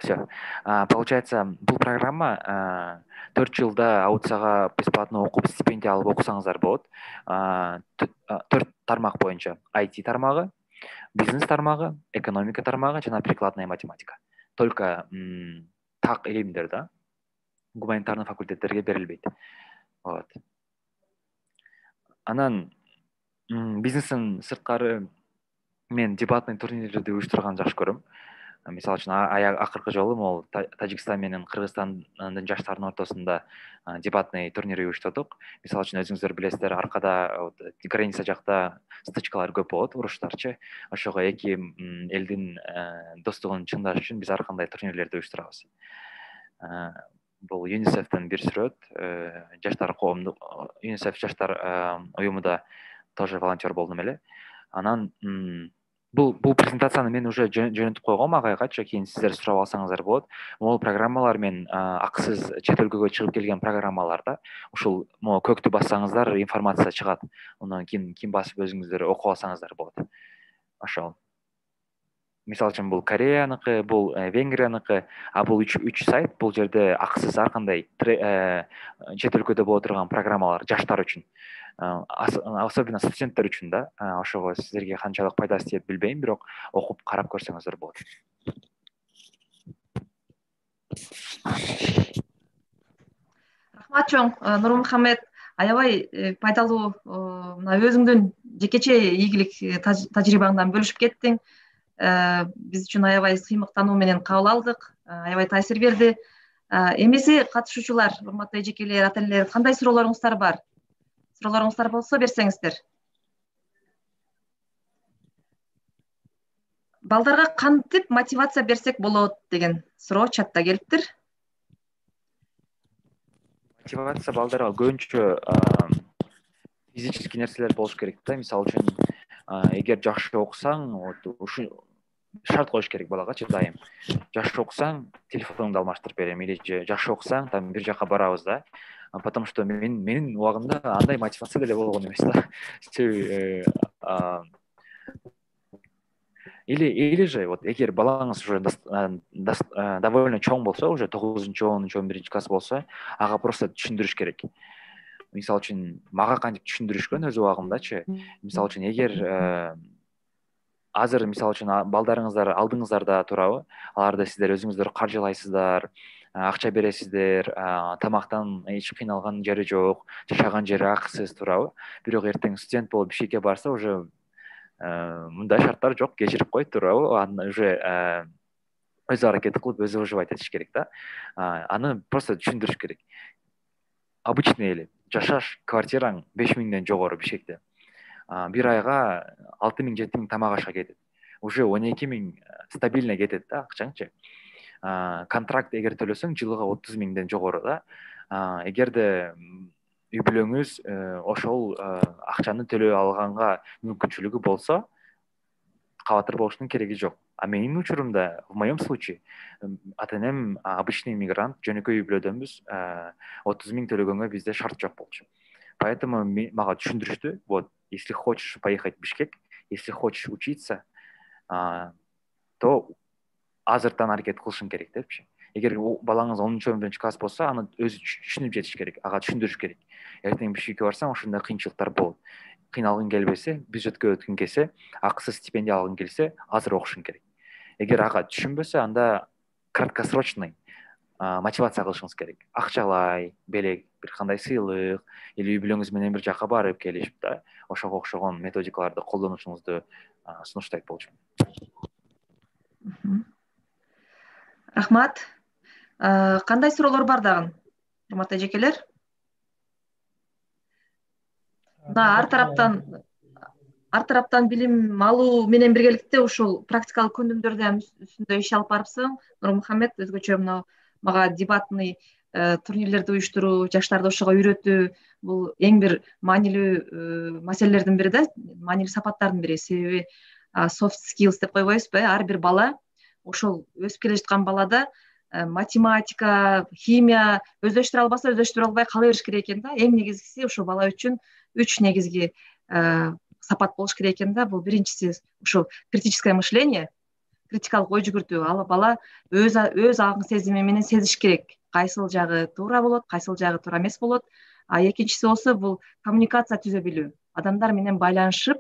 Все. Получается, бул программа 4 жылда аудицияга бесплатно окуп, стипендия алып окусаңыздар болот. 4 тармак боюнча: IT тармагы, бизнес тармагы, экономика тармагы жана прикладная математика. Только так илимдер да, гуманитарный факультеттерге берилбейт. Вот. Анан бизнестин сырткары мен дебатный турнирлерди уюштурганды жакшы көрөм. Мисалы үчүн акыркы жолу могул Тажикстан менен Кыргызстандын жаштарынын ортосунда дебатный турнир уюштурдук. Мисалы үчүн өзүңүздөр билесиздер, аркада граница жакта стычкалар көп болот, уруштарчы. Ошого эки элдин достугун чыңдаш үчүн биз ар кандай турнирлерди уюштурабыз. Бул ЮНИСЕФтен бир сүрөт, жаштар коомдук ЮНИСЕФ жаштар уюмунда тоже волонтер болдум эле. Анан бул презентацияны мен уже жөнөтүп койгом агайгачы, кийин сиздер сурап алсаңыздар болот. Могул программалар мен акысыз чет өлкөгө чыгып келген программаларда ушул көктү бассаңыздар информация чыгат. Андан кийин басып өзүңүздөр окуп алсаңыздар болот. Ошол. Мисалы үчүн бул Кореяныкы, бул Венгрияныкы, бул 3 сайт. Бул жерде акысыз ар кандай чет өлкөдө боло турган программалар жаштар үчүн, особенно студенттер үчүн да. Ошого сиздерге канчалык пайдасы тиет билбейм, бирок окуп карап көрсөңүздөр болот. Рахмат чоң, Нурмухамед. Аябай пайдалуу, мына өзүңдүн жекече ийгилик тажрыйбаңдан бөлүшүп кеттиң. Биз үчүн аябай сыймыктануу менен кабыл алдык, аябай таасир берди. Эмеси катышуучулар, урматтуу эжекелер, ата-энелер, кандай суроолоруңуздар бар? Суроолоруңуздар болсо берсеңиздер. Балдарга кантип мотивация берсек болот деген суроо чатта келиптир. Мотивация балдарга көбүнчө физический нерселер болуш керек да. Мисалы үчүн, эгер жакшы окусаң, ушу шарт коюш керек балагачы дайым. Жакшы окусаң, телефонуңду алмаштырып берем, или жакшы окусаң, там бир жака барабыз да. Потому что менин убагымда андай мотивация деле болгон эмес да. Или же вот эгер балаңыз уже довольно чоң болсо, уже 9-10, 11 класс болсо, ага просто түшүндүрүш керек. Мисалы үчүн мага кантип түшүндүрүшкөн өз убагымдачы. Мисалы үчүн эгер азыр мисалы үчүн балдарыңыздар алдыңыздарда турабы, аларды сиздер өзүңүздөр каржылайсыздар, акча бересиздер, тамактан эч кыйналган жери жок, жашаган жери акысыз турабы. Бирок эртең студент болуп ишке барса, уже мындай шарттар жок, кечирип кой турабы. Аны уже өз аракети кылып, өзү выживать этиш керек да. Аны просто түшүндүрүш керек. Обычный эле жашаш квартираң 5 миңден жогору Бишкекте. Бир айга 6 миң, 7 миң тамак ашка кетет. Уже 12 миң стабильно кетет да акчаңчы. Контракт эгер төлөсөң жылга 30 миңден жогору да. Эгерде үй бүлөңүз ошол акчаны төлөй алганга мүмкүнчүлүгү болсо, кабатыр болуштун кереги жок. А менин учурумда, в моем случае, ата энем обычный иммигрант, жөнөкөй үй бүлөдөнбүз, 30 000 төлөгөнгө бизде шарт жок болчу. Поэтому мага түшүндүрүштү, вот, если хочешь поехать в Бишкек, если хочешь учиться, то азыртан аракет кылышың керек депчи. Эгер балаңыз 10-11 класс болсо, аны өзү түшүнүп жетиш керек, ага түшүндүрүш керек. Эртең Бишкекке барсаң, ошондой кыйынчылыктар болот. Кыйналгың келбесе, бюджетке өткүң келсе, акысыз стипендия алгың келсе, азыр окушуң керек. Эгер ага түшүнбөсө, анда краткосрочный мотивация кылышыңыз керек. Акчалай, белек, бир кандай сыйлык, или үй бүлөңүз менен бир жака барып келип, да, ошого окшогон методикаларды колдонушуңузду сунуштайт болчумун. Рахмат. Кандай суроолор бар дагы, урматтуу эжекелер? Ар тараптан билим алуу менен биргеликте ушул практикалык көндүмдөрдү үстүндө иш алып барыпсың. Нурмухаммед өзгөчө мына мага дебатный турнирлерди уюштуруу, жаштарды ошого үйрөтүү бул эң бир маанилүү маселелердин бири да, маанилүү сапаттардын бири. Себеби soft skills деп койбойбузбу? Ар бир бала ошол өсүп келе жаткан балада математика, химия өздөштүрө албаса, өздөштүрө албай кала бериш керек экен да. Эң негизгиси ошол бала үчүн 3 негизги сапат болуш керек экен да. Бул биринчиси ушул критическое мышление, критикалык ой жүгүртүү. Ал бала өз аң сезими менен сезиш керек. Кайсыл жагы туура болот, кайсыл жагы туура эмес болот. А экинчиси болсо бул коммуникация түзө билүү. Адамдар менен байланышып,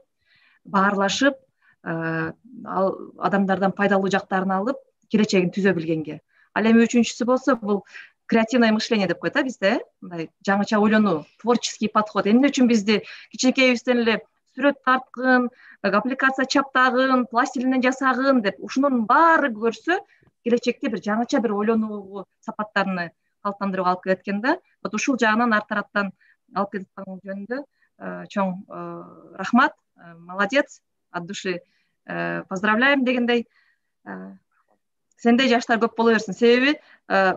баарлашып, адамдардан пайдалуу жактарын алып, келечегин түзө билгенге. Ал эми үчүнчүсү болсо бул креативное мышление деп коет бизде, мындай жаңыча ойлонуу, творческий подход. Эмне үчүн бизди кичинекейибизден эле сүрөт тарткын, аппликация чаптагын, пластилинден жасагын деп ушунун баары көрсө, келечекте бир жаңыча бир ойлонуу сапаттарыны калыптандырууга алып келет экен да. Вот ушул жагынан ар тараптан алып келип аткан жөнүндө чоң рахмат, молодец, от души поздравляем дегендей. Сендей жаштар көп боло берсин. Себеби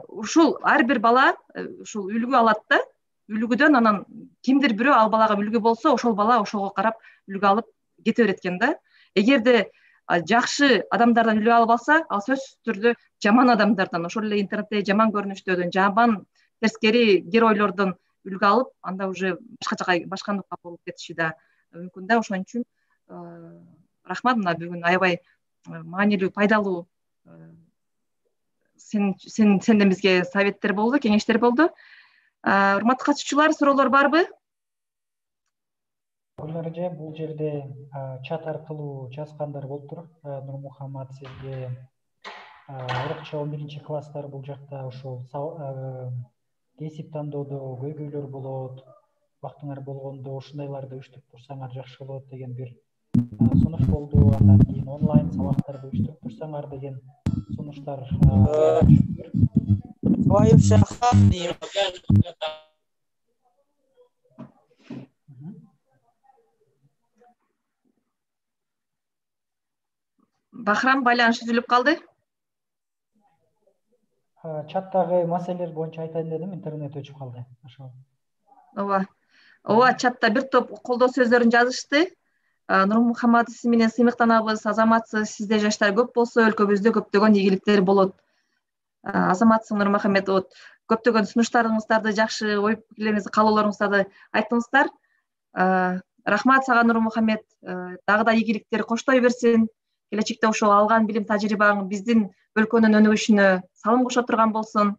ушул ар бир бала ушул үлгү алат да. Үлгүдөн анан кимдир бирөө ал балага үлгү болсо, ошол бала ошого карап үлгү алып кете берет экен да. Эгерде жакшы адамдардан үлгү алып алса, ал сөзсүз түрдө жаман адамдардан, ошол эле интернетте жаман көрүнүштөрдөн, жаман терскери геройлордон үлгү алып, анда уже башка жака башкандыкка болуп кетиши да мүмкүн да. Ошон үчүн рахмат, мына бүгүн аябай маанилүү, пайдалуу сенден бизге советтер болду, кеңештер болду. Урматтуу катышуучулар, суроолор барбы? Гүлнара, бул жерде чат аркылуу жазгандар болуптур. Нурмухаммад, сизге орукча 11-класстар бул жакта ошол кесип тандоодо көйгөйлөр болот, убактыңар болгондо ушундайларды уюштуруп турсаңар жакшы болот деген бир сунуш болду. Андан кийин онлайн сабактарды уюштуруп турсаңар деген сунуштар. Бахрам, байланыш үзүлүп калды. Чаттагы маселелер боюнча айтайын дедим, интернет өчүп калды. Ооба, чатта бир топ колдоо сөздөрүн жазышты. Нурмухаммад, сиз менен сыймыктанабыз, азаматсыз, сизде жаштар көп болсо, өлкөбүздө көптөгөн ийгиликтер болот. Азаматсың Нурмухаммед, көптөгөн сунуштарыңыздарды, жакшы ой пикирлериңизди, каалоолоруңуздарды айттыңыздар. Рахмат сага Нурмухаммед, дагы да ийгиликтер коштой берсин. Келечекте ошол алган билим тажрыйбаң биздин өлкөнүн өнүгүшүнө салым кошо турган болсун.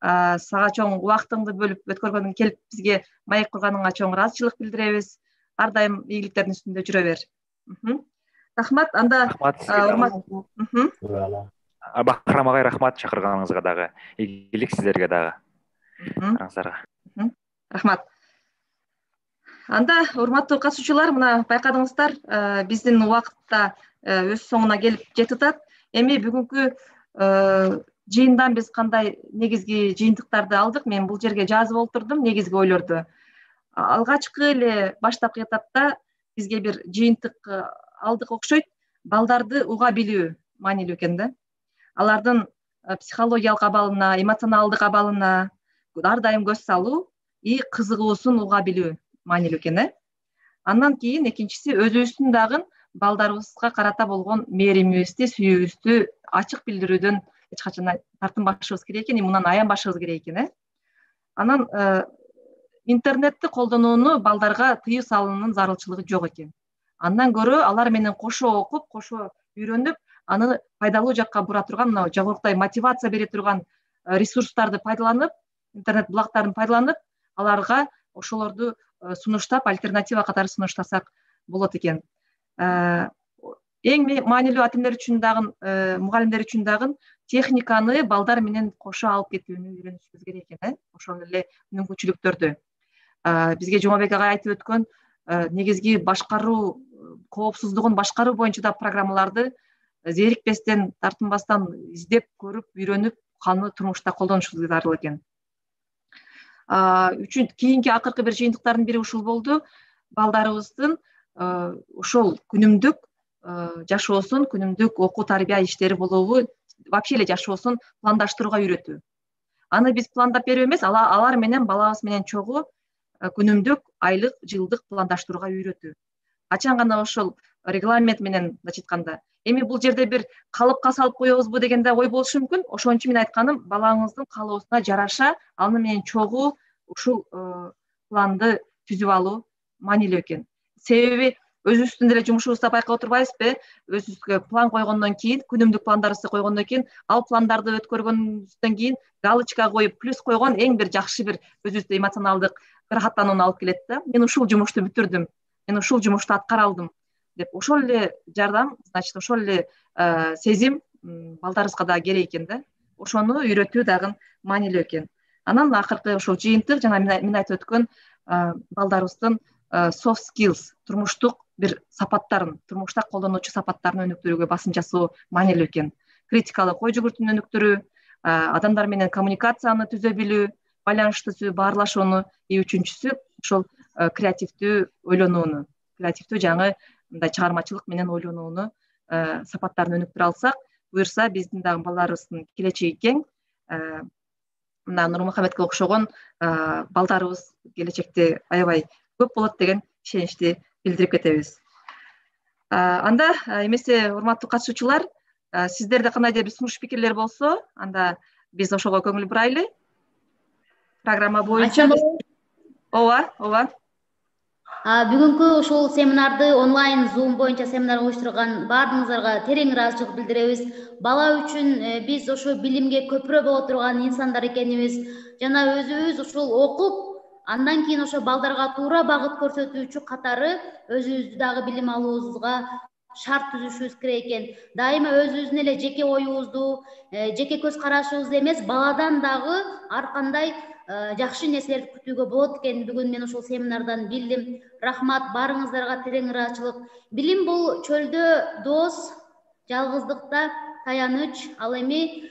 Сага чоң убактыңды бөлүп өткөргөнүң, келип бизге маек курганыңа чоң ыраазычылык билдиребиз. Ар дайым ийгиликтердин үстүндө жүрө бер. Рахмат. Анда Бахрам агай, рахмат чакырганыңызга дагы. Ийгилик сиздерге дагы. Рахмат. Анда урматтуу катышуучулар, мына байкадыңыздар, биздин убакытта өз соңуна келип жетат. Эми бүгүнкү жыйындан биз кандай негизги жыйынтыктарды алдык? Мен бул жерге жазып олтурдум негизги ойлорду. Алгачкы эле баштапкы этапта бизге бир жыйынтык алдык окшойт. Балдарды уга билүү маанилүү экен да. Алардын психологиялык абалына, эмоционалдык абалына ар дайым көз салуу и кызыгуусун уга билүү маанилүү экен. Андан кийин экинчиси өзүбүздүн дагы балдарыбызга карата болгон мээримибизди, сүйүүбүздү ачык билдирүүдөн эч качан тартынбашыбыз керек экен, мындан аянбашыбыз керек экен. Анан интернетти колдонууну балдарга тыюу салуунун зарылчылыгы жок экен. Андан көрө алар менен кошо окуп, кошо үйрөнүп, аны пайдалуу жакка бура турган, мына жогоруктай мотивация бере турган ресурстарды пайдаланып, интернет булактарын пайдаланып, аларга ошолорду сунуштап, альтернатива катары сунуштасак болот экен. Эң маанилүү ата энелер үчүн дагы, мугалимдер үчүн дагы техниканы балдар менен кошо алып кетүүнү үйрөнүшүбүз керек экен, ошол эле мүмкүнчүлүктөрдү. Бизге Жумабек агай айтып өткөн негизги башкаруу, коопсуздугун башкаруу боюнча да программаларды зерикпестен, тартынбастан издеп көрүп, үйрөнүп, аны турмушта колдонушубуз зарыл экен. Кийинки акыркы бир жыйынтыктардын бири ушул болду. Балдарыбыздын ошол күнүмдүк жашоосун, күнүмдүк окуу тарбия иштери болобу, вообще эле жашоосун пландаштырууга үйрөтүү. Аны биз пландап берүү эмес, алар менен, балабыз менен чогуу күнүмдүк, айлык, жылдык пландаштырууга үйрөтүү. Качан гана ошол регламент менен айтканда, эми бул жерде бир калыпка салып коебузбу деген да ой болушу мүмкүн. Ошон үчүн мен айтканым, балаңыздын каалоосуна жараша, аны менен чогуу ушул планды түзүп алуу маанилүү экен. Себеби өзүбүздүн деле жумушубузда байкап отурбайбызбы? Өзүбүзгө план койгондон кийин, күнүмдүк пландарыбызды койгондон кийин, ал пландарды өткөргөндөн кийин галочка коюп, плюс койгон эң бир жакшы бир өзүбүздө эмоционалдык рахаттанууну алып келет да. Мен ушул жумушту бүтүрдүм, мен ушул жумушту аткара алдым деп, ошол эле жардам, значит, ошол эле сезим балдарыбызга да керек экен да. Ошону үйрөтүү дагы маанилүү экен. Анан акыркы ошол жыйынтык, жана мен айтып өткөн балдарыбыздын soft skills, турмуштук бир сапаттарын, турмушта колдонуучу сапаттарын өнүктүрүүгө басым жасоо маанилүү экен. Критикалык ой жүгүртүүнү өнүктүрүү, адамдар менен коммуникацияны түзө билүү, байланышты түзүү, баарлашууну, үчүнчүсү ошол креативдүү ойлонууну, креативдүү жаңы мындай чыгармачылык менен ойлонууну сапаттарын өнүктүрө алсак, буюрса биздин дагы балдарыбыздын келечеги кең. Мына Нурмухаметке окшогон балдарыбыз келечекте аябай көп болот деген ишеничти билдирип кетебиз. Анда эмесе урматтуу катышуучулар, сиздерде кандайдыр бир сунуш пикирлер болсо, анда биз ошого көңүл бурайлы. Программа боюнча ооба. Бүгүнкү ушул семинарды онлайн Zoom боюнча семинар уюштурган баардыгыңыздарга терең ыраазычылык билдиребиз. Бала үчүн биз ошо билимге көпүрө боло турган инсандар экенибиз жана өзүбүз ушул окуп, андан кийин ошо балдарга туура багыт көрсөтүүчү катары өзүбүздү дагы билим алуубузга шарт түзүшүбүз керек экен. Дайыма өзүбүздүн эле жеке оюбузду, жеке көз карашыбызды эмес, баладан дагы ар кандай жакшы нерселерди күтүүгө болот экенин бүгүн мен ушул семинардан билдим. Рахмат, баарыңыздарга терең ыраазычылык. Билим бул чөлдө дос, жалгыздыкта таяныч, ал эми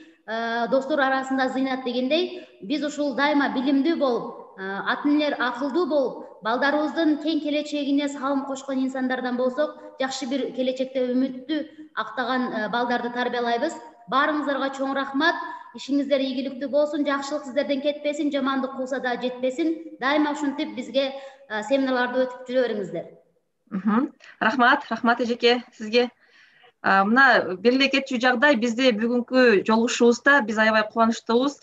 достор арасында зыйнат дегендей, биз ушул дайыма билимдүү болуп, ата энелер акылдуу болуп, балдарыбыздын кең келечегине салым кошкон инсандардан болсок, жакшы бир келечекте үмүттү актаган балдарды тарбиялайбыз. Баарыңыздарга чоң рахмат. Ишиңиздер ийгиликтүү болсун, жакшылык сиздерден кетпесин, жамандык кылса да жетпесин. Дайыма ушинтип бизге семинарларды өтүп жүрө бериңиздер. Рахмат эжеке сизге. Мына белгилей кетчү жагдай, бизде бүгүнкү жолугушуубузда биз аябай кубанычтуубуз.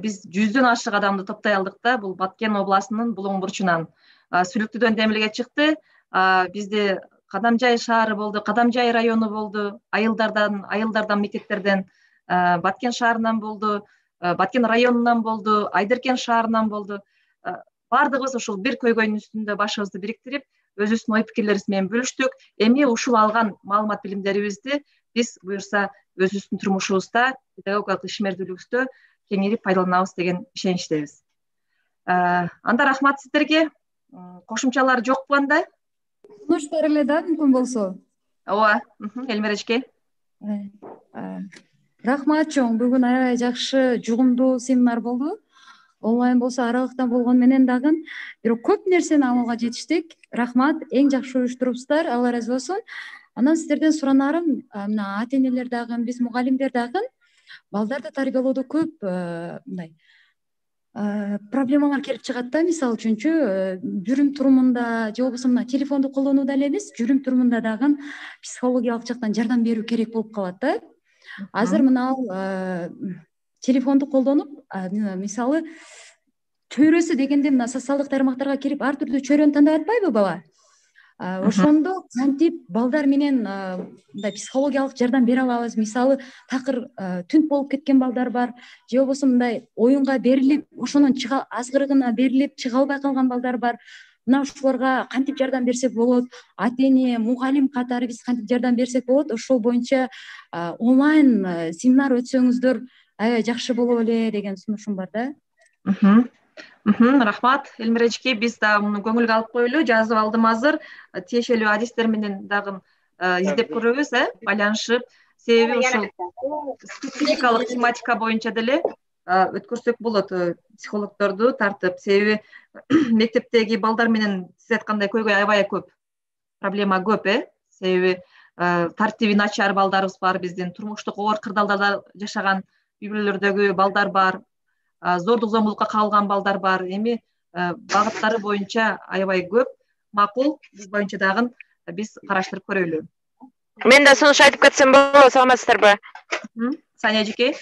Биз 100дөн ашык адамды топтой алдык да, бул Баткен областынын Булуң бурчунан. Сүлүктүүдөн демилге чыкты. Бизде Кадамжай шаары болду, Кадамжай району болду, айылдардан мектептерден, Баткен шаарынан болду, Баткен районунан болду, Айдеркен шаарынан болду. Баардыгыбыз ушул бир көйгөйдүн үстүндө башыбызды бириктирип, өзүбүздүн ой пикирлерибиз менен бөлүштүк. Эми ушул алган маалымат билимдерибизди биз буюрса өзүбүздүн турмушубузда, педагогикалык ишмердүүлүгүбүздө кеңирип пайдаланабыз деген ишеничтебиз. Анда рахмат сиздерге. Кошумчалар жокпу анда? Сунуш берели да, мүмкүн болсо. Ооба, Элмира эжеке. Рахмат чоң. Бүгүн аябай жакшы, жугумдуу семинар болду. Онлайн болсо аралыктан болгон менен дагы бирок көп нерсени амалга жетиштик. Рахмат, эң жакшы уюштурупсуздар, Алла ыраазы болсун. Анан сиздерден суранарым, мына ата энелер дагы, биз мугалимдер дагы балдарды тарбиялоодо көп мындай проблемалар келип чыгат да. Мисалы үчүнчү жүрүм турумунда же болбосо мына телефонду колдонууда эле эмес, жүрүм турумунда дагы психологиялык жактан жардам берүү керек болуп калат да. Азыр мына телефонду колдонуп, мисалы чөйрөсү дегенде мына социалдык тармактарга кирип ар түрдүү чөйрөнү тандап атпайбы бала? Ошондо кантип балдар менен мындай психологиялык жардам бере алабыз? Мисалы такыр түнт болуп кеткен балдар бар, же болбосо мындай оюнга берилип, ошонун азгырыгына берилип чыга албай калган балдар бар. Мына ушуларга кантип жардам берсек болот? Ата-эне, мугалим катары биз кантип жардам берсек болот? Ошол боюнча онлайн семинар өтсөңүздөр аябай жакшы болот эле деген сунушум бар да. Рахмат Элмира эжеке, биз да муну көңүлгө алып коелу, жазып алдым азыр. Тиешелүү адистер менен дагы издеп көрөбүз, байланышып. Себеби ушул спецификалык тематика боюнча деле өткөрсөк болот психологдорду тартып. Себеби мектептеги балдар менен сиз айткандай көйгөй аябай көп, проблема көп, себеби тартиби начар балдарыбыз бар, биздин турмуштук оор кырдаалдарда жашаган үй бүлөлөрдөгү балдар бар, зордук зомбулукка кабылган балдар бар. Эми багыттары боюнча аябай көп. Макул, бул боюнча дагы биз караштырып көрөлү. Мен да сунуш айтып кетсем болобу, саламатсыздарбы? Сания эжеке.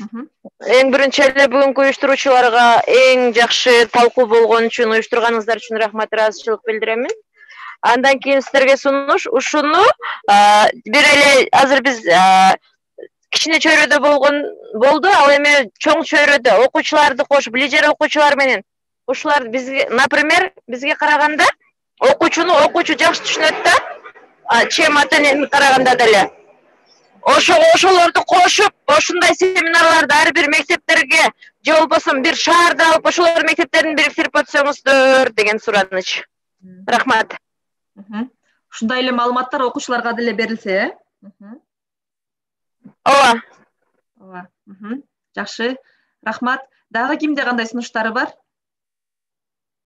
Эң биринчи эле бүгүнкү уюштуруучуларга эң жакшы талкуу болгон үчүн, уюштурганыңыздар үчүн рахмат, ыраазычылык билдиремин. Андан кийин сиздерге сунуш ушуну бир эле азыр биз кичине чөйрөдө болду, ал эми чоң чөйрөдө окуучуларды кошуп, лижер окуучулар менен ушулар бизге, например, бизге караганда окуучу жакшы түшүнөт да, чем ата-энени караганда деле. Ошолорду кошуп, ошундай семинарларды ар бир мектептерге же болбосо бир шаарда алып, ошолор мектептерин бириктирип өтсөңүздөр деген сураныч. Рахмат. Ушундай эле маалыматтар окуучуларга деле берилсе, ооба. Жакшы. Рахмат. Дагы кимде кандай сунуштары бар?